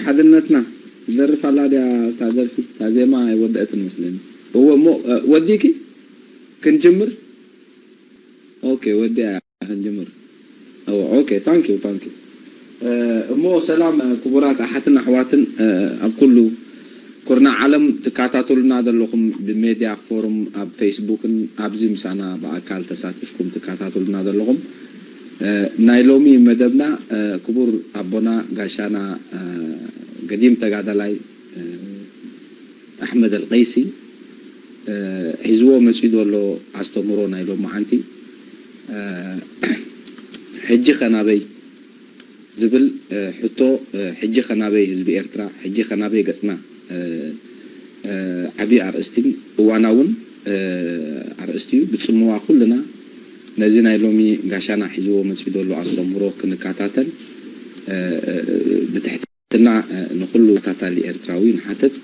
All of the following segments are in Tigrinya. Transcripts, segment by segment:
ሓድነትና ትደርፍ ኣላ ድያ እታ ደርፊ? እታ ዜማ ኣይወደአትን መስለኒ። እወ እሞ፣ እ፣ ወዲእኪ? ክንጅምር? ኦኬ፣ ወዲኣ ክንጅምር። እወ፣ ኦኬ፣ ታንክ ዩ፣ ታንክ ዩ። እ፣ እሞ ሰላም፣ እ፣ ክቡራት ኣሓትን ኣሕዋትን፣ እ፣ ኣብ ኩሉ ኩርናዕ ዓለም ትከታተሉና ዘለኹም ብሜድያ ፎርም ኣብ ፌስቡክን ኣብዚ ምሳና ብኣካል ተሳቲፍኩም ትከታተሉና ዘለኹም፣ እ፣ ናይ ሎሚ መደብና፣ እ፣ ክቡር ኣቦና ጋሻና፣ እ፣ ገዲም ተጋዳላይ፣ እ፣ ኣሕመድ ኣልቀይሲ፣ እ፣ ሒዝዎ መጺኡ ዘሎ ኣስተምህሮ ናይ ሎማዓንቲ፣ እ፣ ሕጂ ኸ ናበይ ዝብል፣ እ፣ ሕቶ፣ እ፣ ሕጂ ኸ ናበይ ህዝቢ ኤርትራ፣ ሕጂ ኸ ናበይ ገጽና፣ እ፣ እ፣ ዓቢ ኣርእስቲን እዋናውን፣ እ፣ ኣርእስቲ እዩ። ብጽምዋ ኩልና ነዚ ናይ ሎሚ ጋሻና ሒዝዎ መጺኡ ዘሎ ኣስተምህሮ ክንከታተል፣ እ፣ እ፣ ብትሕትና፣ እ፣ ንኹሉ ተኸታታሊ ኤርትራዊ ንሓትት።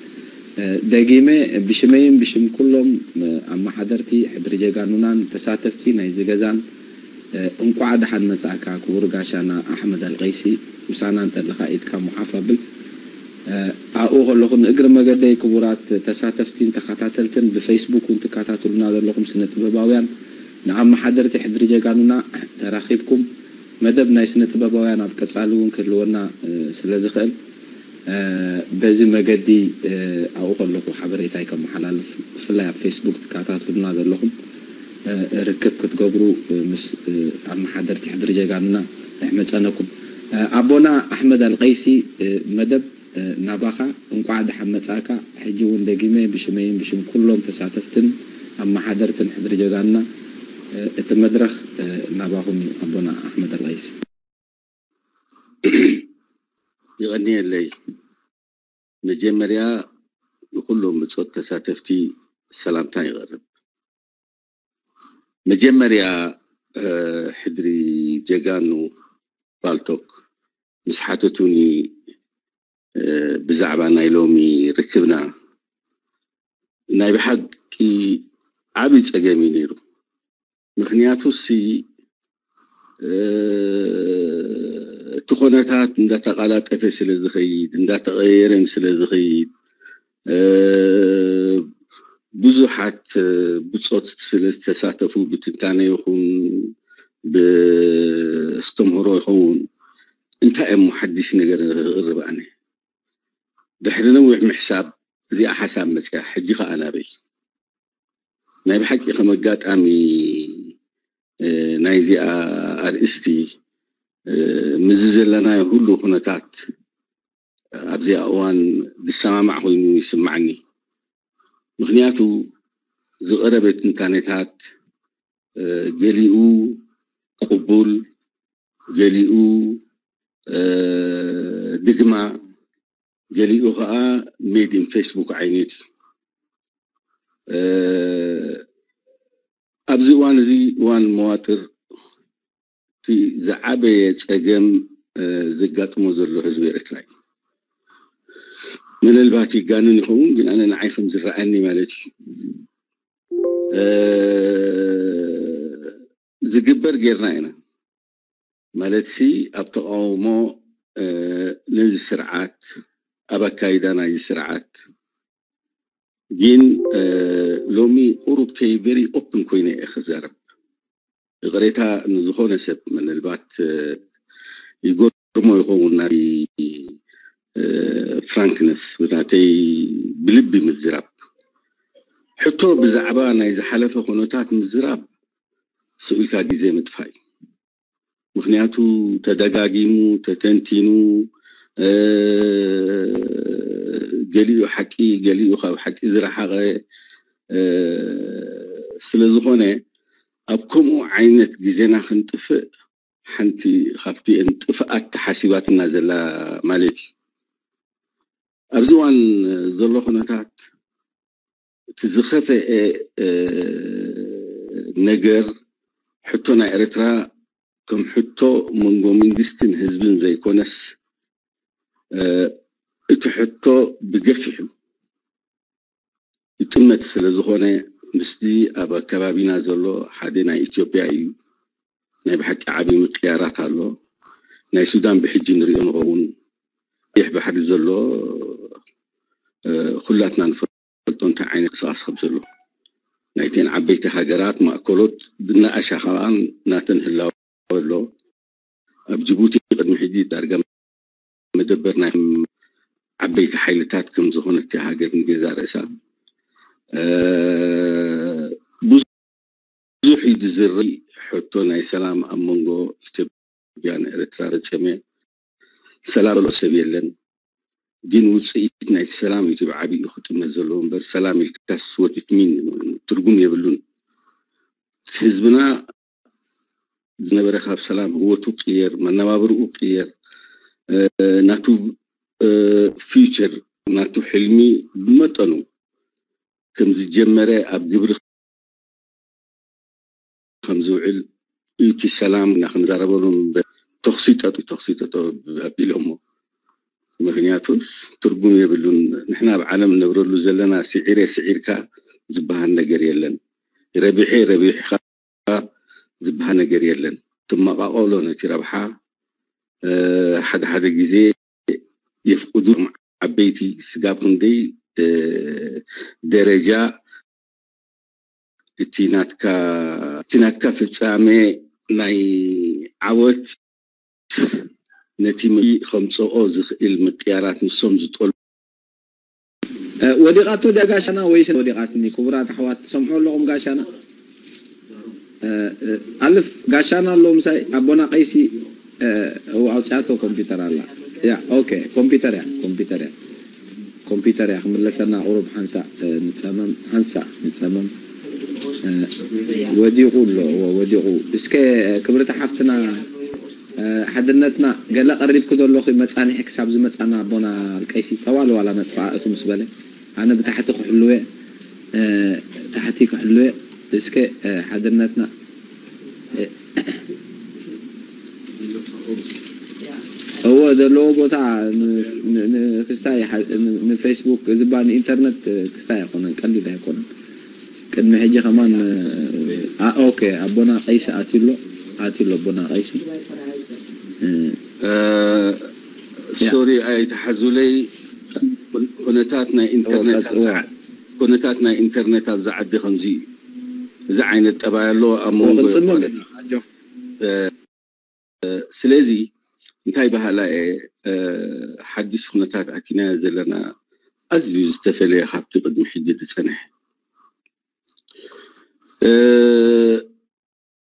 እ፣ ደጊመ ብሽመይን ብሽም ኩሎም፣ እ፣ ኣመሓደርቲ ሕድሪ ጀጋኑናን ተሳተፍቲ ናይዚ ገዛን፣ እ፣ እንቋዕ ደሓን መጻእካ ክቡር ጋሻና ኣሕመድ ኣልቀይሲ። ምሳና እንተለኻ ኢድካ ሙሓፍ ኣብል። እ፣ ኣብኡ ከለኹ ንእግሪ መገደይ ክቡራት ተሳተፍቲን ተኸታተልትን ብፌስቡክ እውን ትከታተሉና ዘለኹም ስነ ጥበባውያን ንኣመሓደርቲ ሕድሪ ጀጋኑና ተራኺብኩም መደብ ናይ ስነ ጥበባውያን ኣብ ቀጻሊ እውን ክህልወና፣ እ፣ ስለ ዝኽእል፣ እ፣ በዚ መገዲ፣ እ፣ ኣብኡ ከለኹ ሓበሬታይ ከመሓላልፍ፣ ብፍላይ ኣብ ፌስቡክ ትከታተሉና ዘለኹም፣ እ፣ ርክብ ክትገብሩ፣ እ፣ ምስ፣ እ፣ ኣመሓደርቲ ሕድሪ ጀጋኑና ንሕመጸነኩም። እ፣ ኣቦና ኣሕመድ ኣልቀይሲ፣ እ፣ መደብ፣ እ፣ ናባኻ። እንቋዕ ደሓን መጻእካ። ሕጂ እውን ደጊመ ብሽመይን ብሽም ኩሎም ተሳተፍትን ኣመሓደርትን ሕድሪ ጀጋኑና፣ እ፣ እቲ መድረኽ፣ እ፣ ናባኹም እዩ ኣቦና ኣሕመድ ኣልቀይሲ። የቐንየለይ። መጀመርያ ንኹሎም ብጾት ተሳተፍቲ ሰላምታ ይቐርብ። መጀመርያ፣ እ፣ ሕድሪ ጀጋኑ ፓልቶክ ምስ ሓተቱኒ፣ እ፣ ብዛዕባ ናይ ሎሚ ርክብና ናይ ብሓቂ ዓቢ ጸገም እዩ ነይሩ። ምኽንያቱ ሲ፣ እ፣ እቲ ኾነታት እንዳተቓላጠፈ ስለ ዝኸይድ፣ እንዳተቐየረን ስለ ዝኸይድ፣ እ፣ ብዙሓት፣ እ፣ ብጾት ስለ ዝተሳተፉ ብትንታነ ይኹን ብእስተምህሮ ይኸውን እንታይ እሞ ሓድሽ ነገር ክቕርብ ኣነ? ድሕሪ ነዊሕ ምሕሳብ እዚኣ ሓሳብ መጽያ። ሕጂ ኸኣ ናበይ? ናይ ብሓቂ ከም ኣጋጣሚ፣ እ፣ ናይዚኣ ኣርእስቲ፣ እ፣ ምስዚ ዘለናዮ ኩሉ ኩነታት ኣብዚኣ እዋን ዝሰማማዕ ኮይኑ ይስማዓኒ። ምኽንያቱ ዝቐረበ ትንታኔታት፣ እ፣ ገሊኡ ቅቡል፣ ገሊኡ፣ እ፣ ድግማ፣ ገሊኡ ኸኣ made in Facebook ዓይነት እዩ። እ፣ ኣብዚ እዋን እዚ እዋን መዋጥር እቲ ዝዓበየ ጸገም፣ እ፣ ዘጋጥሞ ዘሎ ህዝቢ ኤርትራ እዩ። ምናልባት ይጋንን ይኸውን፣ ግን ኣነ ንዓይ ከም ዝረኣየኒ ማለት እዩ። እ፣ ዝግበር ጌርና ኢና። ማለትሲ ኣብ ተቓውሞ፣ እ፣ ነዚ ስርዓት፣ ኣብ ኣካይዳ ናይዚ ስርዓት። ግን፣ እ፣ ሎሚ ቁሩብ ከይ very open ኮይነ እየ ክዛረብ። ይቕሬታ ንዝኾነ ሰብ ምናልባት፣ እ፣ ይገርሞ ይኸውን ናይ፣ እ፣ frankness፣ ናተይ ብልቢ ምዝራብ። ሕቶ ብዛዕባ ናይ ዝሓለፈ ኩነታት ምዝራብ ስቕ ኢልካ ግዜ ምጥፋእ እዩ። ምኽንያቱ ተደጋጊሙ፣ ተተንቲኑ፣ እ፣ ገሊኡ ሓቂ፣ ገሊኡ ካብ ሓቂ ዝረሓቐ፣ እ፣ ስለ ዝኾነ ኣብ ከምኡ ዓይነት ግዜና ክንጥፍእ ሓንቲ ካብቲ እን ጥፍኣት ተሓሲባትና ዘላ ማለት እዩ። ኣብዚ እዋን ዘሎ ኩነታት እቲ ዝኸፍአ፣ እ፣ ነገር ሕቶ ናይ ኤርትራ ከም ሕቶ መንጎ መንግስትን ህዝብን ዘይኮነስ፣ እ፣ እቲ ሕቶ ብገፊሑ ይጥመት ስለ ዝኾነ ምስቲ ኣብ ኣከባቢና ዘሎ ሓደ ናይ ኢትዮጵያ እዩ። ናይ ብሓቂ ዓቢ ምቅያራት ኣሎ። ናይ ሱዳን ብሕጂ ንሪኦ ንኸውን። ቀይሕ ባሕሪ ዘሎ ኩላትና ንፈልጦ እንታይ ዓይነት ቅስቃስ ከም ዘሎ ናይተን ዓበይቲ ሃገራት ማእከሎት ብናኣሻ ከኣ ናተን ህላወ ኣሎ። ኣብ ጅቡቲ ቅድሚ ሕጂ ዳርጋ መደበር ናይ ዓበይቲ ሓይልታት ከም ዝኾነት እያ ሃገር ንገዛ ርእሳ ብዙሕ እዩ ዝዝረብ ሕቶ ናይ ሰላም ኣብ መንጎ ኢትዮጵያን ኤርትራ ፈጸመ ሰላም ዘሎ ሰብ የለን። ግን ውፅኢት ናይቲ ሰላም እዩ ብዓብዩ ክጥመት ዘለዎ እምበር ሰላም ኢልካስ ወዲት ሚን ትርጉም የብሉን። ህዝብና ዝነበረ ካብ ሰላም ህወቱ ቅየር መነባብርኡ ቅየር ናቱ ፊውቸር ናቱ ሕልሚ ብመጠኑ ከም ዝጀመረ ኣብ ግብሪ ከም ዝውዕል እቲ ሰላም ኢና ክንዛረበሉ ተኽሲ ጠጡ ተኽሲ ጠጦ ኣቢሎሞ ምክንያቱ ትርጉም የብሉን። ንሕና ኣብ ዓለም ነብረሉ ዘለና ስዒረ ስዒርካ ዝበሃል ነገር የለን። ረቢሐ ረቢሕካ ዝበሃል ነገር የለን። ትመቃቀሎ ነቲ ረብሓ ሓደ ሓደ ግዜ የፍቅዱ ዓበይቲ ስጋብ ክንደይ ደረጃ እቲ ናትካ እቲ ናትካ ፍጻሜ ናይ ዓወት ነቲ ምእንቲ ከምጽኦ ዝኽእል ምቅያራት ንሶም ዝጠልቡ ወዲቓቶ ድያ ጋሻና ወይስ ወዲቓትኒ? ክቡራት ኣሕዋት ትሰምዑ ኣለኹም? ጋሻና ኣልፍ ጋሻና ኣሎ ምሳይ ኣቦና ቀይሲ ኣውፅኣቶ ኮምፒውተር ኣላ። ያ ኦኬ ኮምፒውተር እያ ኮምፒውተር እያ ኮምፒውተር እያ ክምለሰና ቁሩብ ሓንሳእ ንፀመም ሓንሳእ ንፀመም ወዲቑ ኣሎ ወዲቑ እስከ ክብርቲ ሓፍትና ሓድነትና ገለ ቀሪብኪ ዶ ኣለኺ መፃንሒ ክሳብ ዝመፃና ኣቦና ቀይሲ ጠዋል ዋላ ነጥፋ እቱ ምስ በለ ኣነ ብታሕቲ ክሕልወ ታሕቲ ክሕልወ እስከ ሓድነትና እወ ዘለዎ ቦታ ንክስታይ ንፌስቡክ ዝባ ንኢንተርነት ክስታይ ኣይኮነን ቀሊል ኣይኮነን ቅድሚ ሕጂ ከማን ኦኬ ኣቦና ቀይሲ ኣትሎ ኣትሎ ኣቦና ቀይሲ ሶሪ ኣይተሓዙለይ ኩነታት ናይ ኢንተርነት ኩነታት ናይ ኢንተርነት ኣብዚ ዓዲ ከምዚ እዩ እዚ ዓይነት ጠባይ ኣለዎ ኣብ መንጎ ስለዚ እንታይ ባህላ እየ ሓድሽ ኩነታት ኣቲናዮ ዘለና ኣዝዩ ዝተፈለየ ካብቲ ቅድሚ ሕጂ ዝፀንሐ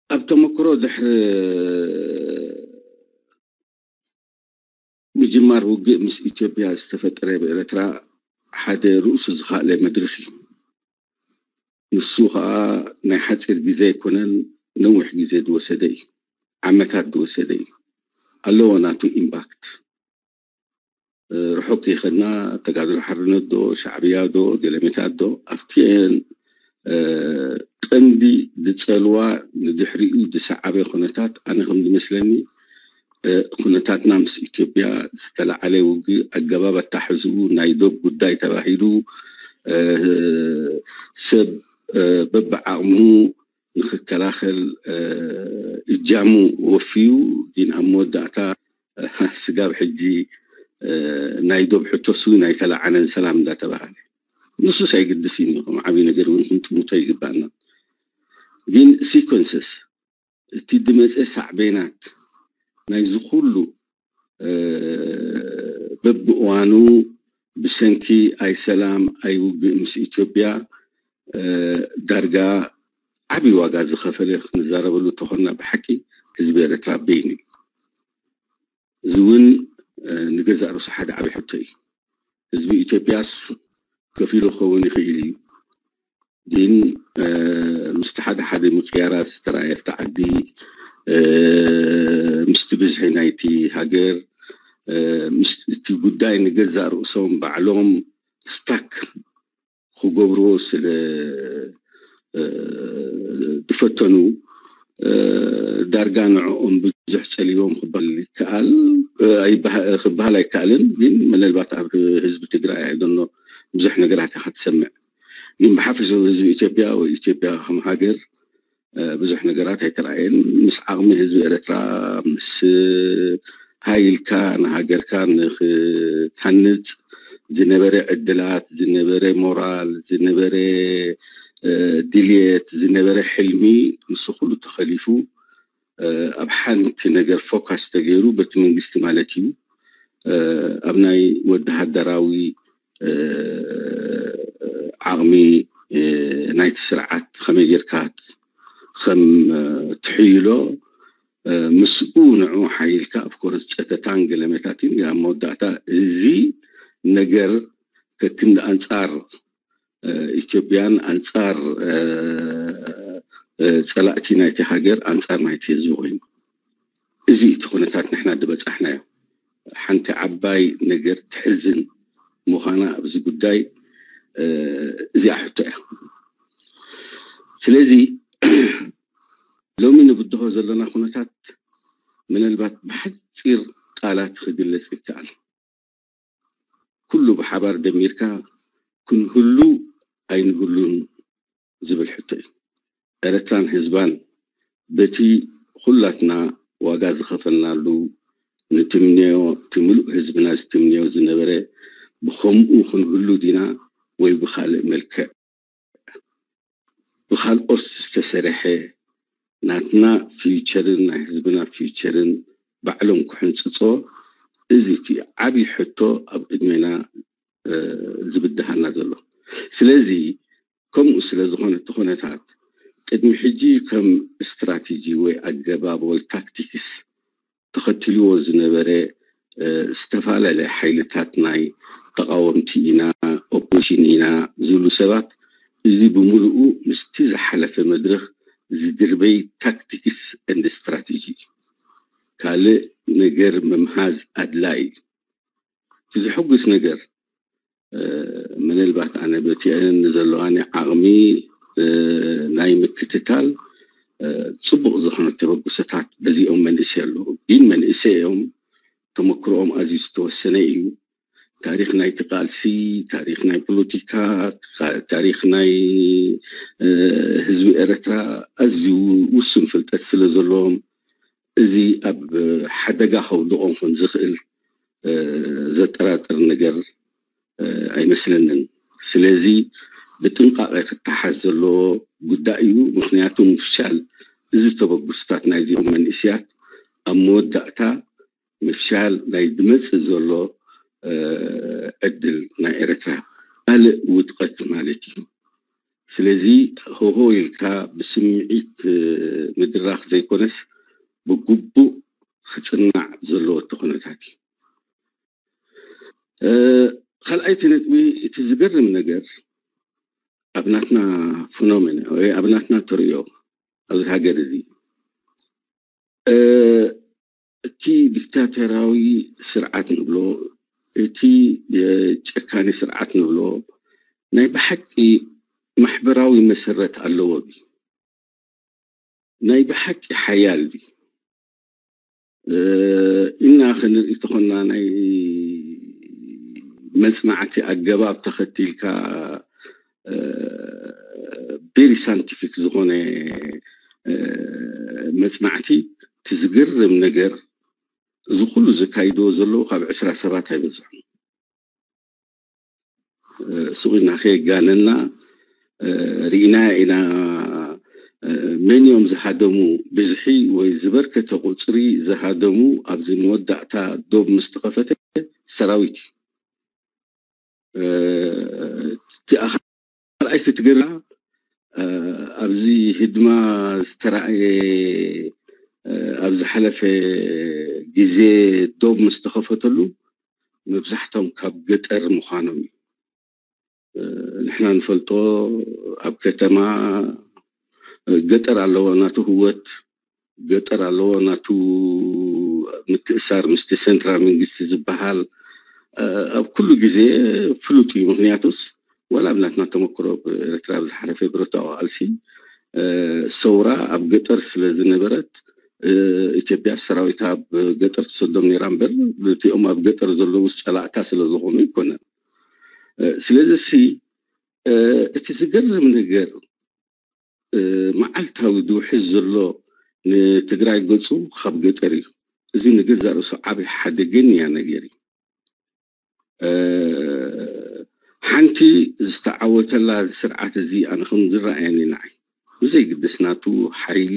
ኣብ ተመክሮ ድሕሪ ምጅማር ውግእ ምስ ኢትዮጵያ ዝተፈጠረ ብኤርትራ ሓደ ርእሱ ዝኻእለ መድርኽ እዩ። ንሱ ኸኣ ናይ ሓፂር ግዜ ኣይኮነን ነዊሕ ግዜ ዝወሰደ እዩ። ዓመታት ዝወሰደ እዩ። ኣለዎ ናቱ ኢምፓክት። ርሑቕ ከይኸድና ተጋድሎ ሓርነት ዶ ሻዕብያ ዶ ገለሜታት ዶ ኣብቲአን ቀንዲ ዝፀልዋ ንድሕሪኡ ዝሰዓበ ኩነታት ኣነ ከም ዝመስለኒ ኩነታትና ምስ ኢትዮጵያ ዝተለዓለ ውግእ ኣገባብ ኣታሕዝኡ ናይ ዶብ ጉዳይ ተባሂሉ ሰብ በብዓቕሙ ንክከላኸል እጃሙ ወፍዩ ግን ኣብ መወዳእታ ስጋብ ሕጂ ናይ ዶብ ሕቶስ እውን ኣይተለዓለን ሰላም እንዳተባሃለ ንሱስ ኣይግድስ እዩ ከም ዓብዪ ነገር እውን ክንጥምቶ ይግባእና ግን ሲኮንስስ እቲ ዝመፀ ሳዕቤናት ናይዚ ኩሉ በብእዋኑ ብሰንኪ ኣይሰላም ኣይውግእ ምስ ኢትዮጵያ ዳርጋ ዓብዪ ዋጋ ዝኸፈለ ክንዛረበሉ ተኾንና ብሓቂ ህዝቢ ኤርትራ በይኑ እዩ። እዚ እውን ንገዛእ ርእሱ ሓደ ዓብዪ ሕቶ እዩ። ህዝቢ ኢትዮጵያስ ከፊሉ ክኸውን ይኽእል እዩ። ግን ምስቲ ሓደ ሓደ ምቅያራት ዝተረኣየ ኣብቲ ዓዲ ምስቲ ብዝሒ ናይቲ ሃገር እቲ ጉዳይ ንገዛእ ርእሶም ባዕሎም ስታክ ክገብርዎ ስለ ዝፈተኑ ዳርጋ ንዕኦም ብዙሕ ጸሊዎም ክበሃል ይከኣል ክበሃል ኣይከኣልን። ግን ምናልባት ኣብ ህዝቢ ትግራይ ኣይደኖ ብዙሕ ነገራት ኢኻ ትሰምዕ። ግን ብሓፈሽኡ ህዝቢ ኢትዮጵያ ወይ ኢትዮጵያ ከም ሃገር ብዙሕ ነገራት ኣይተረኣየን። ምስ ዓቕሚ ህዝቢ ኤርትራ ምስ ሃይልካ ንሃገርካ ንክታንጽ ዝነበረ ዕድላት፣ ዝነበረ ሞራል፣ ዝነበረ ድልየት፣ ዝነበረ ሕልሚ፣ ምስ ኩሉ ተኸሊፉ ኣብ ሓንቲ ነገር ፎካስ ተገይሩ፣ በቲ መንግስቲ ማለት እዩ፣ ኣብ ናይ ወተሃደራዊ ዓቕሚ ናይቲ ስርዓት ከመይ ጌርካ ከም ትሕይሎ፣ ምስኡ ንዑ ሓይልካ፣ ኦፍኮርስ፣ ጸተታን ገለመታትን፣ ኣብ መወዳእታ እዚ ነገር ከክንዲ ኣንጻር ኢትዮጵያን ኣንጻር ጸላእቲ ናይቲ ሃገር፣ ኣንጻር ናይቲ ህዝቢ ኮይኑ፣ እዚ እቲ ኩነታት ንሕና ዝበጻሕናዮ። ሓንቲ ዓባይ ነገር ትሕዝን ምዃና ኣብዚ ጉዳይ እዚኣ ሕቶ እያ። ስለዚ ሎሚ ንብድሆ ዘለና ኩነታት ምናልባት ብሓፂር ቃላት ክግለጽ ይከኣል። ኩሉ ብሓባር ደሚርካ ክንህሉ ኣይንህሉን ዝብል ሕቶ እዩ። ኤረትራን ህዝባን በቲ ኩላትና ዋጋ ዝኸፈልናሉ፣ ንትምነዮ፣ እቲ ምሉእ ህዝብና ዝትምነዮ ዝነበረ፣ ብኸምኡ ክንህሉ ዲና ወይ ብኻልእ መልክዕ ብኻልኦት ዝተሰረሐ ናትና ፊውቸርን ናይ ህዝብና ፊውቸርን ባዕሎም ክሕንፅፆ፣ እዚ እቲ ዓብዪ ሕቶ ኣብ ቅድሜና ዝብድሃና ዘሎ። ስለዚ ከምኡ ስለ ዝኾነ እቲ ኩነታት ቅድሚ ሕጂ ከም ስትራቴጂ ወይ ኣገባብ ወይ ታክቲክስ ተኸትልዎ ዝነበረ ዝተፈላለየ ሓይልታት ናይ ተቓወምቲ ኢና፣ ኦፖዚሽን ኢና ዝብሉ ሰባት፣ እዚ ብምሉኡ ምስቲ ዝሓለፈ መድረኽ ዝድርበይ ታክቲክስ ኤንድ ስትራቴጂ እዩ። ካልእ ነገር ምምሃዝ ኣድላይ እዩ። እቲ ዝሕጉስ ነገር ምናልባት ኣነ በቲ ዘለዋኒ ዓቕሚ ናይ ምክትታል ፅቡቕ ዝኾነ ተበግሶታት በዚኦም መንእሰይ ኣለዉ። ግን መንእሰይ እዮም፣ ተመክሮኦም ኣዝዩ ዝተወሰነ እዩ። ታሪኽ ናይቲ ቃልሲ፣ ታሪኽ ናይ ፖለቲካ፣ ታሪኽ ናይ ህዝቢ ኤረትራ ኣዝዩ ውሱን ፍልጠት ስለ ዘለዎም፣ እዚ ኣብ ሓደጋ ከውድቖም ከም ዝኽእል ዘጠራጥር ነገር ኣይመስለንን። ስለዚ ብጥንቃቐ ክተሓዝ ዘለዎ ጉዳይ እዩ። ምኽንያቱ ምፍሻል እዚ ተበግሶታት ናይዚኦም መንእሰያት ኣብ መወዳእታ ምፍሻል ናይ ዝመጽእ ዘሎ ዕድል ናይ ኤረትራ ካልእ ውድቐት ማለት እዩ። ስለዚ ሆሆ ኢልካ ብስምዒት ምድራኽ ዘይኮነስ ብግቡእ ክጽናዕ ዘለዎ እቲ ኩነታት እዩ። ካልኣይቲ ነጥቢ፣ እቲ ዝገርም ነገር ኣብ ናትና ፊኖሜና ወይ ኣብ ናትና ተርእዮ ኣብዚ ሃገር እዚ እቲ ዲክታተራዊ ስርዓት ንብሎ፣ እቲ ጨካኒ ስርዓት ንብሎ ናይ ብሓቂ ማሕበራዊ መሰረት ኣለዎ ድዩ? ናይ ብሓቂ ሓያል ድዩ ኢልና ክንርኢ ተኾንና፣ ናይ መጽናዕቲ ኣገባብ ተኸቲልካ ቬሪ ሳይንቲፊክ ዝኾነ መጽናዕቲ፣ እቲ ዝገርም ነገር እዚ ኩሉ ዘካይድዎ ዘለዉ ካብ ዕስራ ሰባት ኣይበዝሑን። ሱቕ ኢልና ከየጋነና ርኢና ኢና። መን እዮም ዝሃደሙ? ብዝሒ ወይ ዝበርከተ ቁፅሪ ዝሃደሙ ኣብዚ መወዳእታ ዶብ ምስ ተኸፈተ ሰራዊት እዩ። እቲ ካልኣይቲ ትገርማ ኣብዚ ህድማ ዝተረኣየ ኣብ ዝሓለፈ ግዜ ዶብ ምስ ተኸፈተሉ መብዛሕቶም ካብ ገጠር ምዃኖም እዩ። ንሕና ንፈልጦ ኣብ ከተማ ገጠር ኣለዎ ናቱ ህወት፣ ገጠር ኣለዎ ናቱ ምትእሳር ምስቲ ሰንትራል መንግስቲ ዝበሃል ኣብ ኩሉ ግዜ ፍሉጥ እዩ። ምክንያቱስ ዋላ ኣብ ናትና ተመክሮ ኤርትራ ኣብ ዝሓለፈ ብረታዊ ቃልሲ ሰውራ ኣብ ገጠር ስለ ዝነበረት ኢትዮጵያ ሰራዊታ ኣብ ገጠር ትሰዶም ነይራ እምበር እቲኦም ኣብ ገጠር ዘለዉ ጸላእታ ስለ ዝኾኑ ኣይኮነን። ስለዚ ሲ እቲ ዝገርም ነገር መዓልታዊ ዝውሕዝ ዘሎ ንትግራይ ገፁ ካብ ገጠር እዩ። እዚ ንገዛእ ርእሱ ዓብዪ ሓደገኛ ነገር እዩ። ሓንቲ ዝተዓወተላ ስርዓት እዚ ኣነ ከም ዝረኣየኒ ንዓይ ብዘይግድስ ናቱ ሓይሊ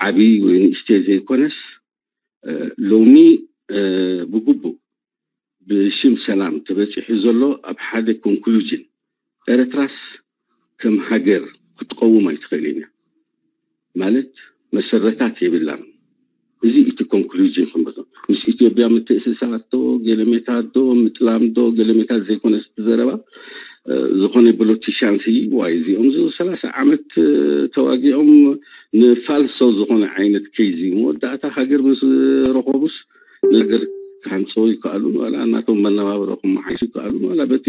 ዓብዪ ወይ ንእሽተይ ዘይኮነስ ሎሚ ብግቡእ ብሽም ሰላም ተበፂሑ ዘሎ ኣብ ሓደ ኮንክሉዥን ኤርትራስ ከም ሃገር ክትቀውም ኣይትኽእልን እያ ማለት መሰረታት የብላን። እዚ እቲ ኮንክሉዥን ክንበሎ ምስ ኢትዮጵያ ምትእስሳር ዶ ገለሜታት ዶ ምጥላም ዶ ገለሜታት ዘይኮነ ዝተዘረባ ዝኾነ ፖለቲሻንሲ ዋይ እዚኦም ዝ ሰላሳ ዓመት ተዋጊኦም ንፋልሶ ዝኾነ ዓይነት ከይዚ መወዳእታ ሃገር ምስ ረኸቡስ ነገር ክሃንፀው ይከኣሉ ዋላ እናቶም መነባብሮ ክመሓይሹ ይከኣሉ ዋላ በቲ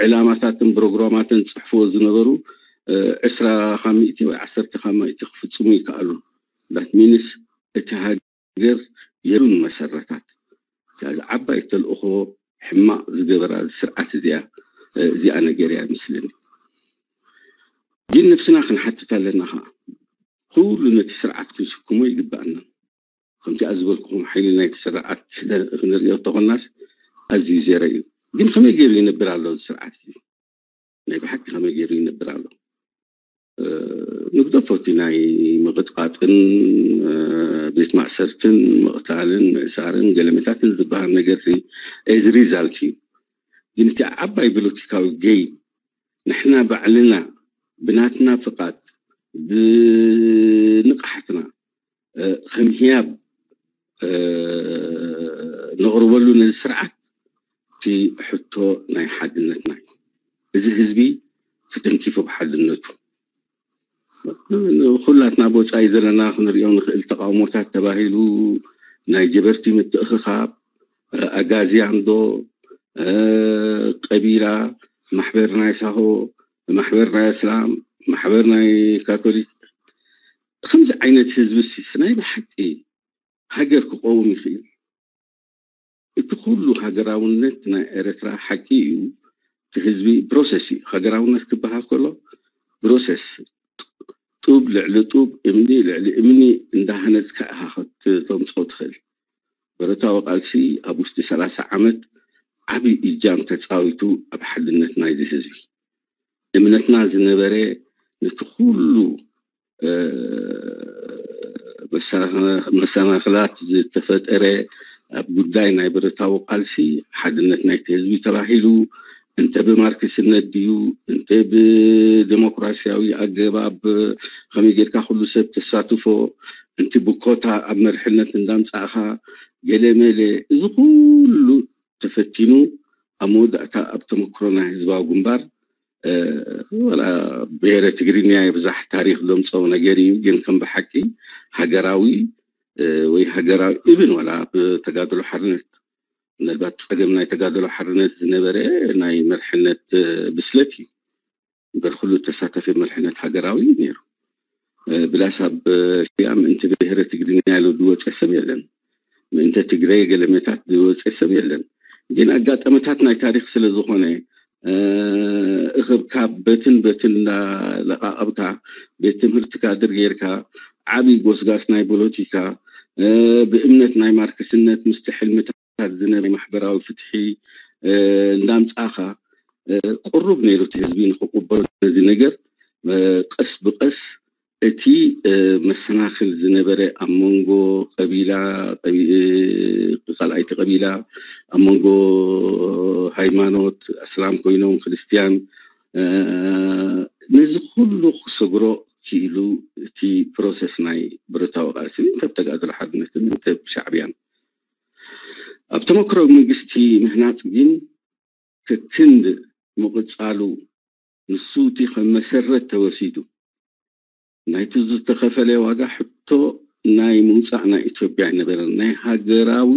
ዕላማታትን ፕሮግራማትን ፅሕፍዎ ዝነበሩ ዕስራ ካብ ሚእቲ ወይ ዓሰርተ ካብ ሚእቲ ክፍፅሙ ይከኣሉ። ዳት ሚንስ እቲ ሃገር የሉን መሰረታት። ስለዚ ዓባይ ተልእኾ ሕማቕ ዝገበራ ስርዓት እዚኣ እዚኣ ነገር እያ ይመስለኒ። ግን ነብስና ክንሓትት ኣለና ከዓ ኩሉ ነቲ ስርዓት ክንስክሞ ይግባኣና። ከምቲ ዝበልኩኹም ሓይሊ ናይቲ ስርዓት ክንሪኦ ተኾናስ ኣዝዩ ዜሮ እዩ። ግን ከመይ ገይሩ ይነብር ኣሎ እዚ ስርዓት እዚ? ናይ ብሓቂ ከመይ ገይሩ ይነብር ኣሎ? ንግደፎ እቲ ናይ ምቕጥቃጥን ቤት ማእሰርትን ምቕታልን ምእሳርን ገለመታትን ዝበሃል ነገር እዚ ሪዛልት እዩ። ግን እቲ ዓባይ ፖለቲካዊ ገይም ንሕና ባዕልና ብናትና ፍቓድ ብንቕሓትና ከም ህያብ ነቕርበሉ ነዚ ስርዓት እቲ ሕቶ ናይ ሓድነትና እዩ። እዚ ህዝቢ ተተንኪፉ ብሓድነቱ ኩላትና ብወፃኢ ዘለና ክንሪኦ ንኽእል ተቃውሞታት ተባሂሉ ናይ ጀበርቲ ምትእኽኻብ ኣጋዝያን ዶ ቀቢላ ማሕበር ናይ ሳሆ ማሕበር ናይ እስላም ማሕበር ናይ ካቶሊክ ከምዚ ዓይነት ህዝቢ ሲ ናይ ብሓቂ ሃገር ክቀውም ይኽእል? እቲ ኩሉ ሃገራውነት ናይ ኤርትራ ሓቂ እዩ። እቲ ህዝቢ ፕሮሰስ እዩ። ሃገራውነት ክበሃል ከሎ ፕሮሰስ ጡብ ልዕሊ ጡብ እምኒ ልዕሊ እምኒ እንዳሃነፅካ ኢኻ ከተምፅኦ ትኽእል። ብረታዊ ቃልሲ ኣብ ውሽጢ ሰላሳ ዓመት ዓብዪ እጃም ተፃዊቱ ኣብ ሓድነት ናይዚ ህዝቢ እምነትና ዝነበረ ነቲ ኩሉ መሰናኽላት ዝተፈጠረ ኣብ ጉዳይ ናይ ብረታዊ ቃልሲ ሓድነት ናይቲ ህዝቢ ተባሂሉ እንተ ብማርክስነት ድዩ እንተ ብዴሞክራሲያዊ ኣገባብ ከመይ ጌርካ ኩሉ ሰብ ተሳትፎ እንቲ ብኮታ ኣብ መርሕነት እንዳምፃእኻ ገለመለ እዚ ኩሉ ተፈቲኑ ኣብ መወዳእታ ኣብ ተመክሮ ናይ ህዝባዊ ግንባር ወላ ብሄረ ትግርኛ የብዛሕ ታሪክ ዘምፀው ነገር እዩ። ግን ከም ብሓቂ ሃገራዊ ወይ ሃገራዊ እብን ወላ ብተጋድሎ ሓርነት ምናልባት ፀገም ናይ ተጋድሎ ሓርነት ዝነበረ ናይ መርሕነት ብስለት እዩ። እምበር ኩሉ ተሳታፊ መርሕነት ሃገራዊ እዩ ነይሩ። ብላስ ኣብ ሽያ ምእንቲ ብሄረ ትግርኛ ኢሉ ዝወፀ ሰብ የለን። ምእንተ ትግረ ገለሜታት ዝወፀ ሰብ የለን። ግን ኣጋጣሚታት ናይ ታሪክ ስለ ዝኾነ እኽብካብ በትን በትን እንዳለቃቐብካ ቤት ትምህርቲ ካድር ጌርካ ዓብዪ ጎስጋስ ናይ ፖለቲካ ብእምነት ናይ ማርክስነት ምስቲ ሕልምታት ዝነበረ ማሕበራዊ ፍትሒ እንዳምፃእኻ ቁሩብ ነይሩ እቲ ህዝቢ ንክቅበሎ ነዚ ነገር ቀስ ብቀስ እቲ መሰናክል ዝነበረ ኣብ መንጎ ቀቢላ ካልኣይቲ ቀቢላ ኣብ መንጎ ሃይማኖት ኣስላም ኮይኖም ክርስትያን ነዚ ኩሉ ክሰግሮ ክኢሉ እቲ ፕሮሰስ ናይ ብረታዊ ቃልሲ እንተ ተጋድሎ ሓርነትን እንተ ሻዕብያን ኣብ ተመክሮ መንግስቲ ምህናፅ ግን ከክንድ ምቕፃሉ ንሱ እቲ ከም መሰረት ተወሲዱ ናይቲ ዝተኸፈለ ዋጋ ሕቶ ናይ ምውፃእ ናይ ኢትዮጵያ ኣይነበረን። ናይ ሃገራዊ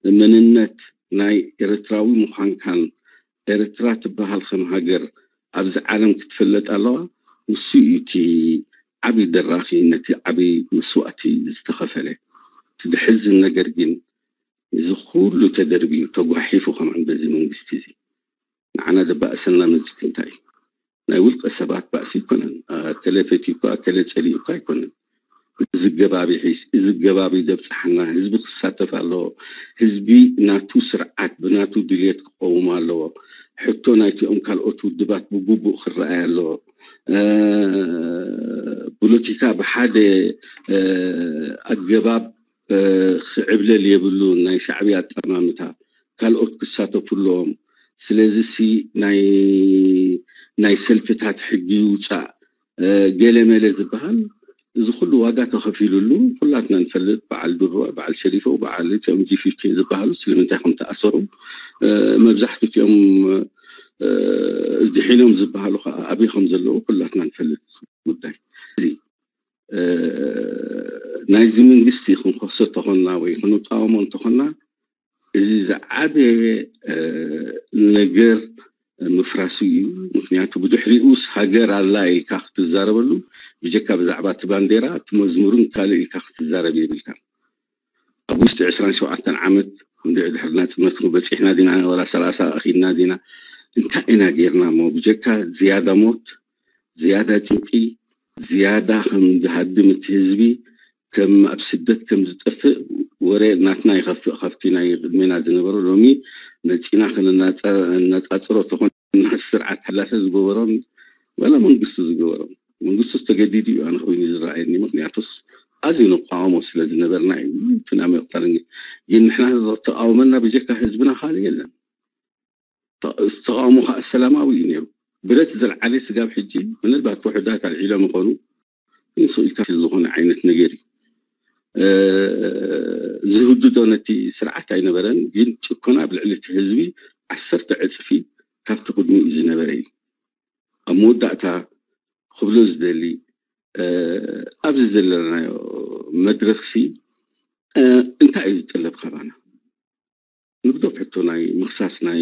መንነት ናይ ኤርትራዊ ምዃንካን ኤርትራ ትበሃል ከም ሃገር ኣብዚ ዓለም ክትፍለጥ ኣለዋ። ንሱ እዩ እቲ ዓብዪ ደራኺ ነቲ ዓብዪ መስዋእቲ ዝተኸፈለ። እቲ ዘሕዝን ነገር ግን እዚ ኩሉ ተደርብዩ ተጓሒፉ ከማን በዚ መንግስቲ እዚ ንዓና ዘባእሰና መዚ እንታይ እዩ? ናይ ውልቀ ሰባት ባእሲ ኣይኮነን። ኣከለ ፈትዩካ ኣከለ ፀሊኡካ ኣይኮነን። እዚ ገባብ ይሒዝ፣ እዚ ገባብ ይደብፅሓና። ህዝቢ ክሳተፍ ኣለዎ። ህዝቢ ናቱ ስርዓት ብናቱ ድልየት ክቐውም ኣለዎ። ሕቶ ናይቲኦም ካልኦት ውድባት ብግቡእ ክረኣይ ኣለዎ። ፖለቲካ ብሓደ ኣገባብ ክዕብለል የብሉን። ናይ ሻዕብያ ኣጠማምታ ካልኦት ክሳተፉ ኣለዎም። ስለዚ ሲ ናይ ሰልፍታት ሕጊ ይውፃእ ገለ መለ ዝበሃል፣ እዚ ኩሉ ዋጋ ተኸፊሉሉ ኩላትና ንፈልጥ። በዓል ድሮ፣ በዓል ሸሪፎ፣ በዓል እቲኦም ጂ ፊፍቲን ዝበሃሉ ስለምንታይ ከም ተኣሰሩ፣ መብዛሕትኡ እቲኦም ድሒኖም ዝበሃሉ ከዓ ኣበይ ከም ዘለዉ ኩላትና ንፈልጥ ጉዳይ። ናይዚ መንግስቲ ክንከሶ እንተኾንና ወይ ክንቃወሞ እንተኾንና፣ እዚ ዝዓበየ ነገር ምፍራሱ እዩ። ምክንያቱ ብድሕሪኡስ ሃገር ኣላ ኢልካ ክትዛረበሉ፣ ብጀካ ብዛዕባ እቲ ባንዴራ፣ እቲ መዝሙርን ካልእ ኢልካ ክትዛረብ የብልካ። ኣብ ውሽጢ ዕስራን ሸውዓተን ዓመት እንድዒ ድሕሪ ናፅነት በፂሕና ዲና፣ ወላ ሰላሳ ኣኺድና ዲና፣ እንታይ ኢና ጌርና እሞ? ብጀካ ዝያዳ ሞት፣ ዝያዳ ጭንቂ፣ ዝያዳ ከም ዝሃድም እቲ ህዝቢ፣ ከም ኣብ ስደት ከም ዝጠፍእ ወረ ናትና ይኸፍእ። ካብቲ ናይ ቅድሜና ዝነበሮ ሎሚ መፂና ከነናፃፅሮ ተኾንና፣ ስርዓት ሓላሰ ዝገበሮን ዋላ መንግስቱ ዝገበሮን፣ መንግስቱ ተገዲዱ እዩ ኣነ ኮይኑ ዝረኣየኒ። ምክንያቱስ ኣዝዩ ንቃወሞ ስለ ዝነበርና እዩ። ፍናመ ይቕተለኒ ግን ንሕና ተቃውመና ብጀካ ህዝብና ካልእ የለን። ተቃውሞ ከዓ ሰላማዊ እዩ ነይሩ። ብረት ዘልዓለ ስጋብ ሕጂ ምናልባት ውሕዳት ኣልዒሎም ይኾኑ፣ ግን ስቕ ኢልካ ዝኾነ ዓይነት ነገር እዩ። ዝህድዶ ነቲ ስርዓት ኣይነበረን፣ ግን ጭኮና ኣብ ልዕሊ እቲ ህዝቢ ዓሰርተ ዕፅፊ ካብቲ ቅድሚኡ ዝነበረ እዩ። ኣብ መወዳእታ ክብሎ ዝደሊ፣ ኣብዚ ዘለናዮ መድረኽሲ እንታይ እዩ ዝጥለብ ካባና? ንግደፍ ሕቶ ናይ ምኽሳስ፣ ናይ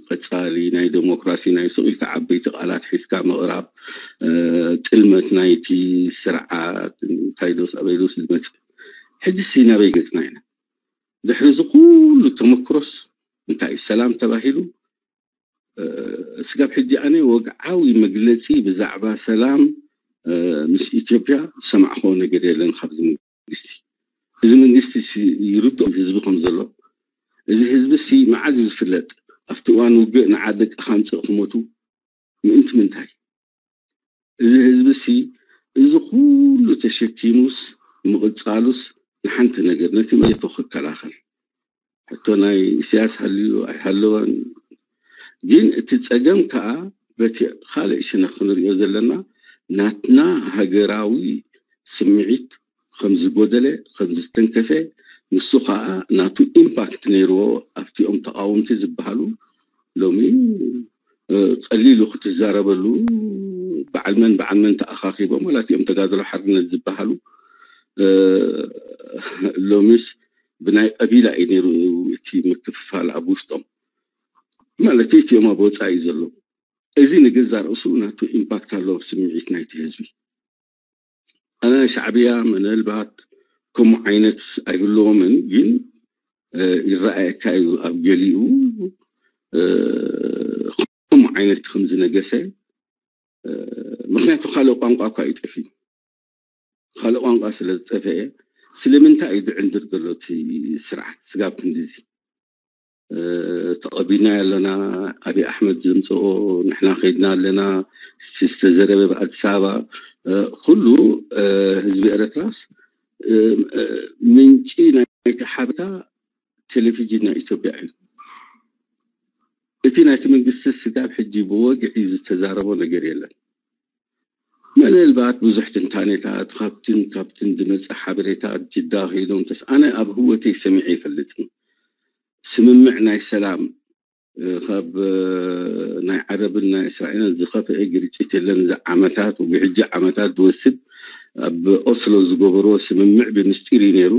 ቀፃሊ ናይ ዴሞክራሲ፣ ናይ ስቕ ኢልካ ዓበይቲ ቃላት ሒዝካ ምቕራብ፣ ጥልመት ናይቲ ስርዓት እንታይ ዶስ ኣበይ ዶስ ዝመፅእ። ሕጂ ሲ ናበይ ገፅና ኢና? ድሕሪ እዚ ኩሉ ተመክሮስ እንታይ እዩ? ሰላም ተባሂሉ ስጋብ ሕጂ ኣነ ወግዓዊ መግለፂ ብዛዕባ ሰላም ምስ ኢትዮጵያ ዝሰማዕክዎ ነገር የለን ካብዚ መንግስቲ። እዚ መንግስቲ ይርድኦ ህዝቢ ከም ዘሎ። እዚ ህዝቢ ሲ መዓዝ እዩ ዝፍለጥ? ኣብቲ እዋን ውግእ ንዓ ደቅኻ ኣምፅእ ክሞቱ ምእንቲ ምንታይ? እዚ ህዝቢ ሲ እዚ ኩሉ ተሸኪሙስ ምቕፃሉስ ንሓንቲ ነገር ነቲ መሬቱ ክከላኸል። ሕቶ ናይ ኢሳያስ ሃልዩ ኣይሃለወን፣ ግን እቲ ፀገም ከዓ በቲ ካልእ ሽነኽ ክንሪኦ ዘለና ናትና ሃገራዊ ስምዒት ከም ዝጎደለ ከም ዝተንከፈ፣ ንሱ ከዓ ናቱ ኢምፓክት ነይርዎ ኣብቲኦም ተቃወምቲ ዝበሃሉ። ሎሚ ቀሊሉ ክትዛረበሉ በዓል መን በዓል መን ተኣኻኺቦም ዋላ እቲኦም ተጋድሎ ሓርነት ዝበሃሉ ሎሚስ ብናይ ቀቢላ እዩ ነይሩ እቲ ምክፍፋል ኣብ ውሽጦም ማለት እቲኦም ኣብ ወፃኢ እዩ ዘሎ። እዚ ንገዛ ርእሱ ናቱ ኢምፓክት ኣለዎ ኣብ ስምዒት ናይቲ ህዝቢ። ኣነ ሻዕብያ ምናልባት ከምኡ ዓይነት ኣይህልዎምን፣ ግን ይረኣየካ እዩ ኣብ ገሊኡ ከምኡ ዓይነት ከም ዝነገሰ። ምክንያቱ ካልእ ቋንቋ እኳ ይጠፊ፣ ካልእ ቋንቋ ስለ ዝጠፈአ ስለምንታይ እዩ ዝዕንድር ዘሎ እቲ ስርዓት ስጋብ ክንድዚ? ተቐቢልና ኣለና። ኣብይ ኣሕመድ ዘምፅኦ ንሕና ከይድና ኣለና። ዝተዘረበ ብኣዲስ ኣበባ ኩሉ ህዝቢ ኤረትራስ ምንጪ ናይቲ ሓበሬታ ቴሌቪዥን ናይ ኢትዮጵያ እዩ። እቲ ናይቲ መንግስቲ ስጋብ ሕጂ ብወግዒ ዝተዛረቦ ነገር የለን። ምናልባት ብዙሕ ትንታኔታት ካብትን ካብትን ዝመፀ ሓበሬታ ጅዳ ከይዶም ተስ ኣነ ኣብ ህወተይ ሰሚዐ ይፈልጥን ስምምዕ ናይ ሰላም ካብ ናይ ዓረብን ናይ እስራኤልን ዝኸፍአ ግርጭት የለን። እዚ ዓመታት ብሕጂ ዓመታት ዝወስድ ኣብ ኦስሎ ዝገበርዎ ስምምዕ ብምስጢር እዩ ነይሩ።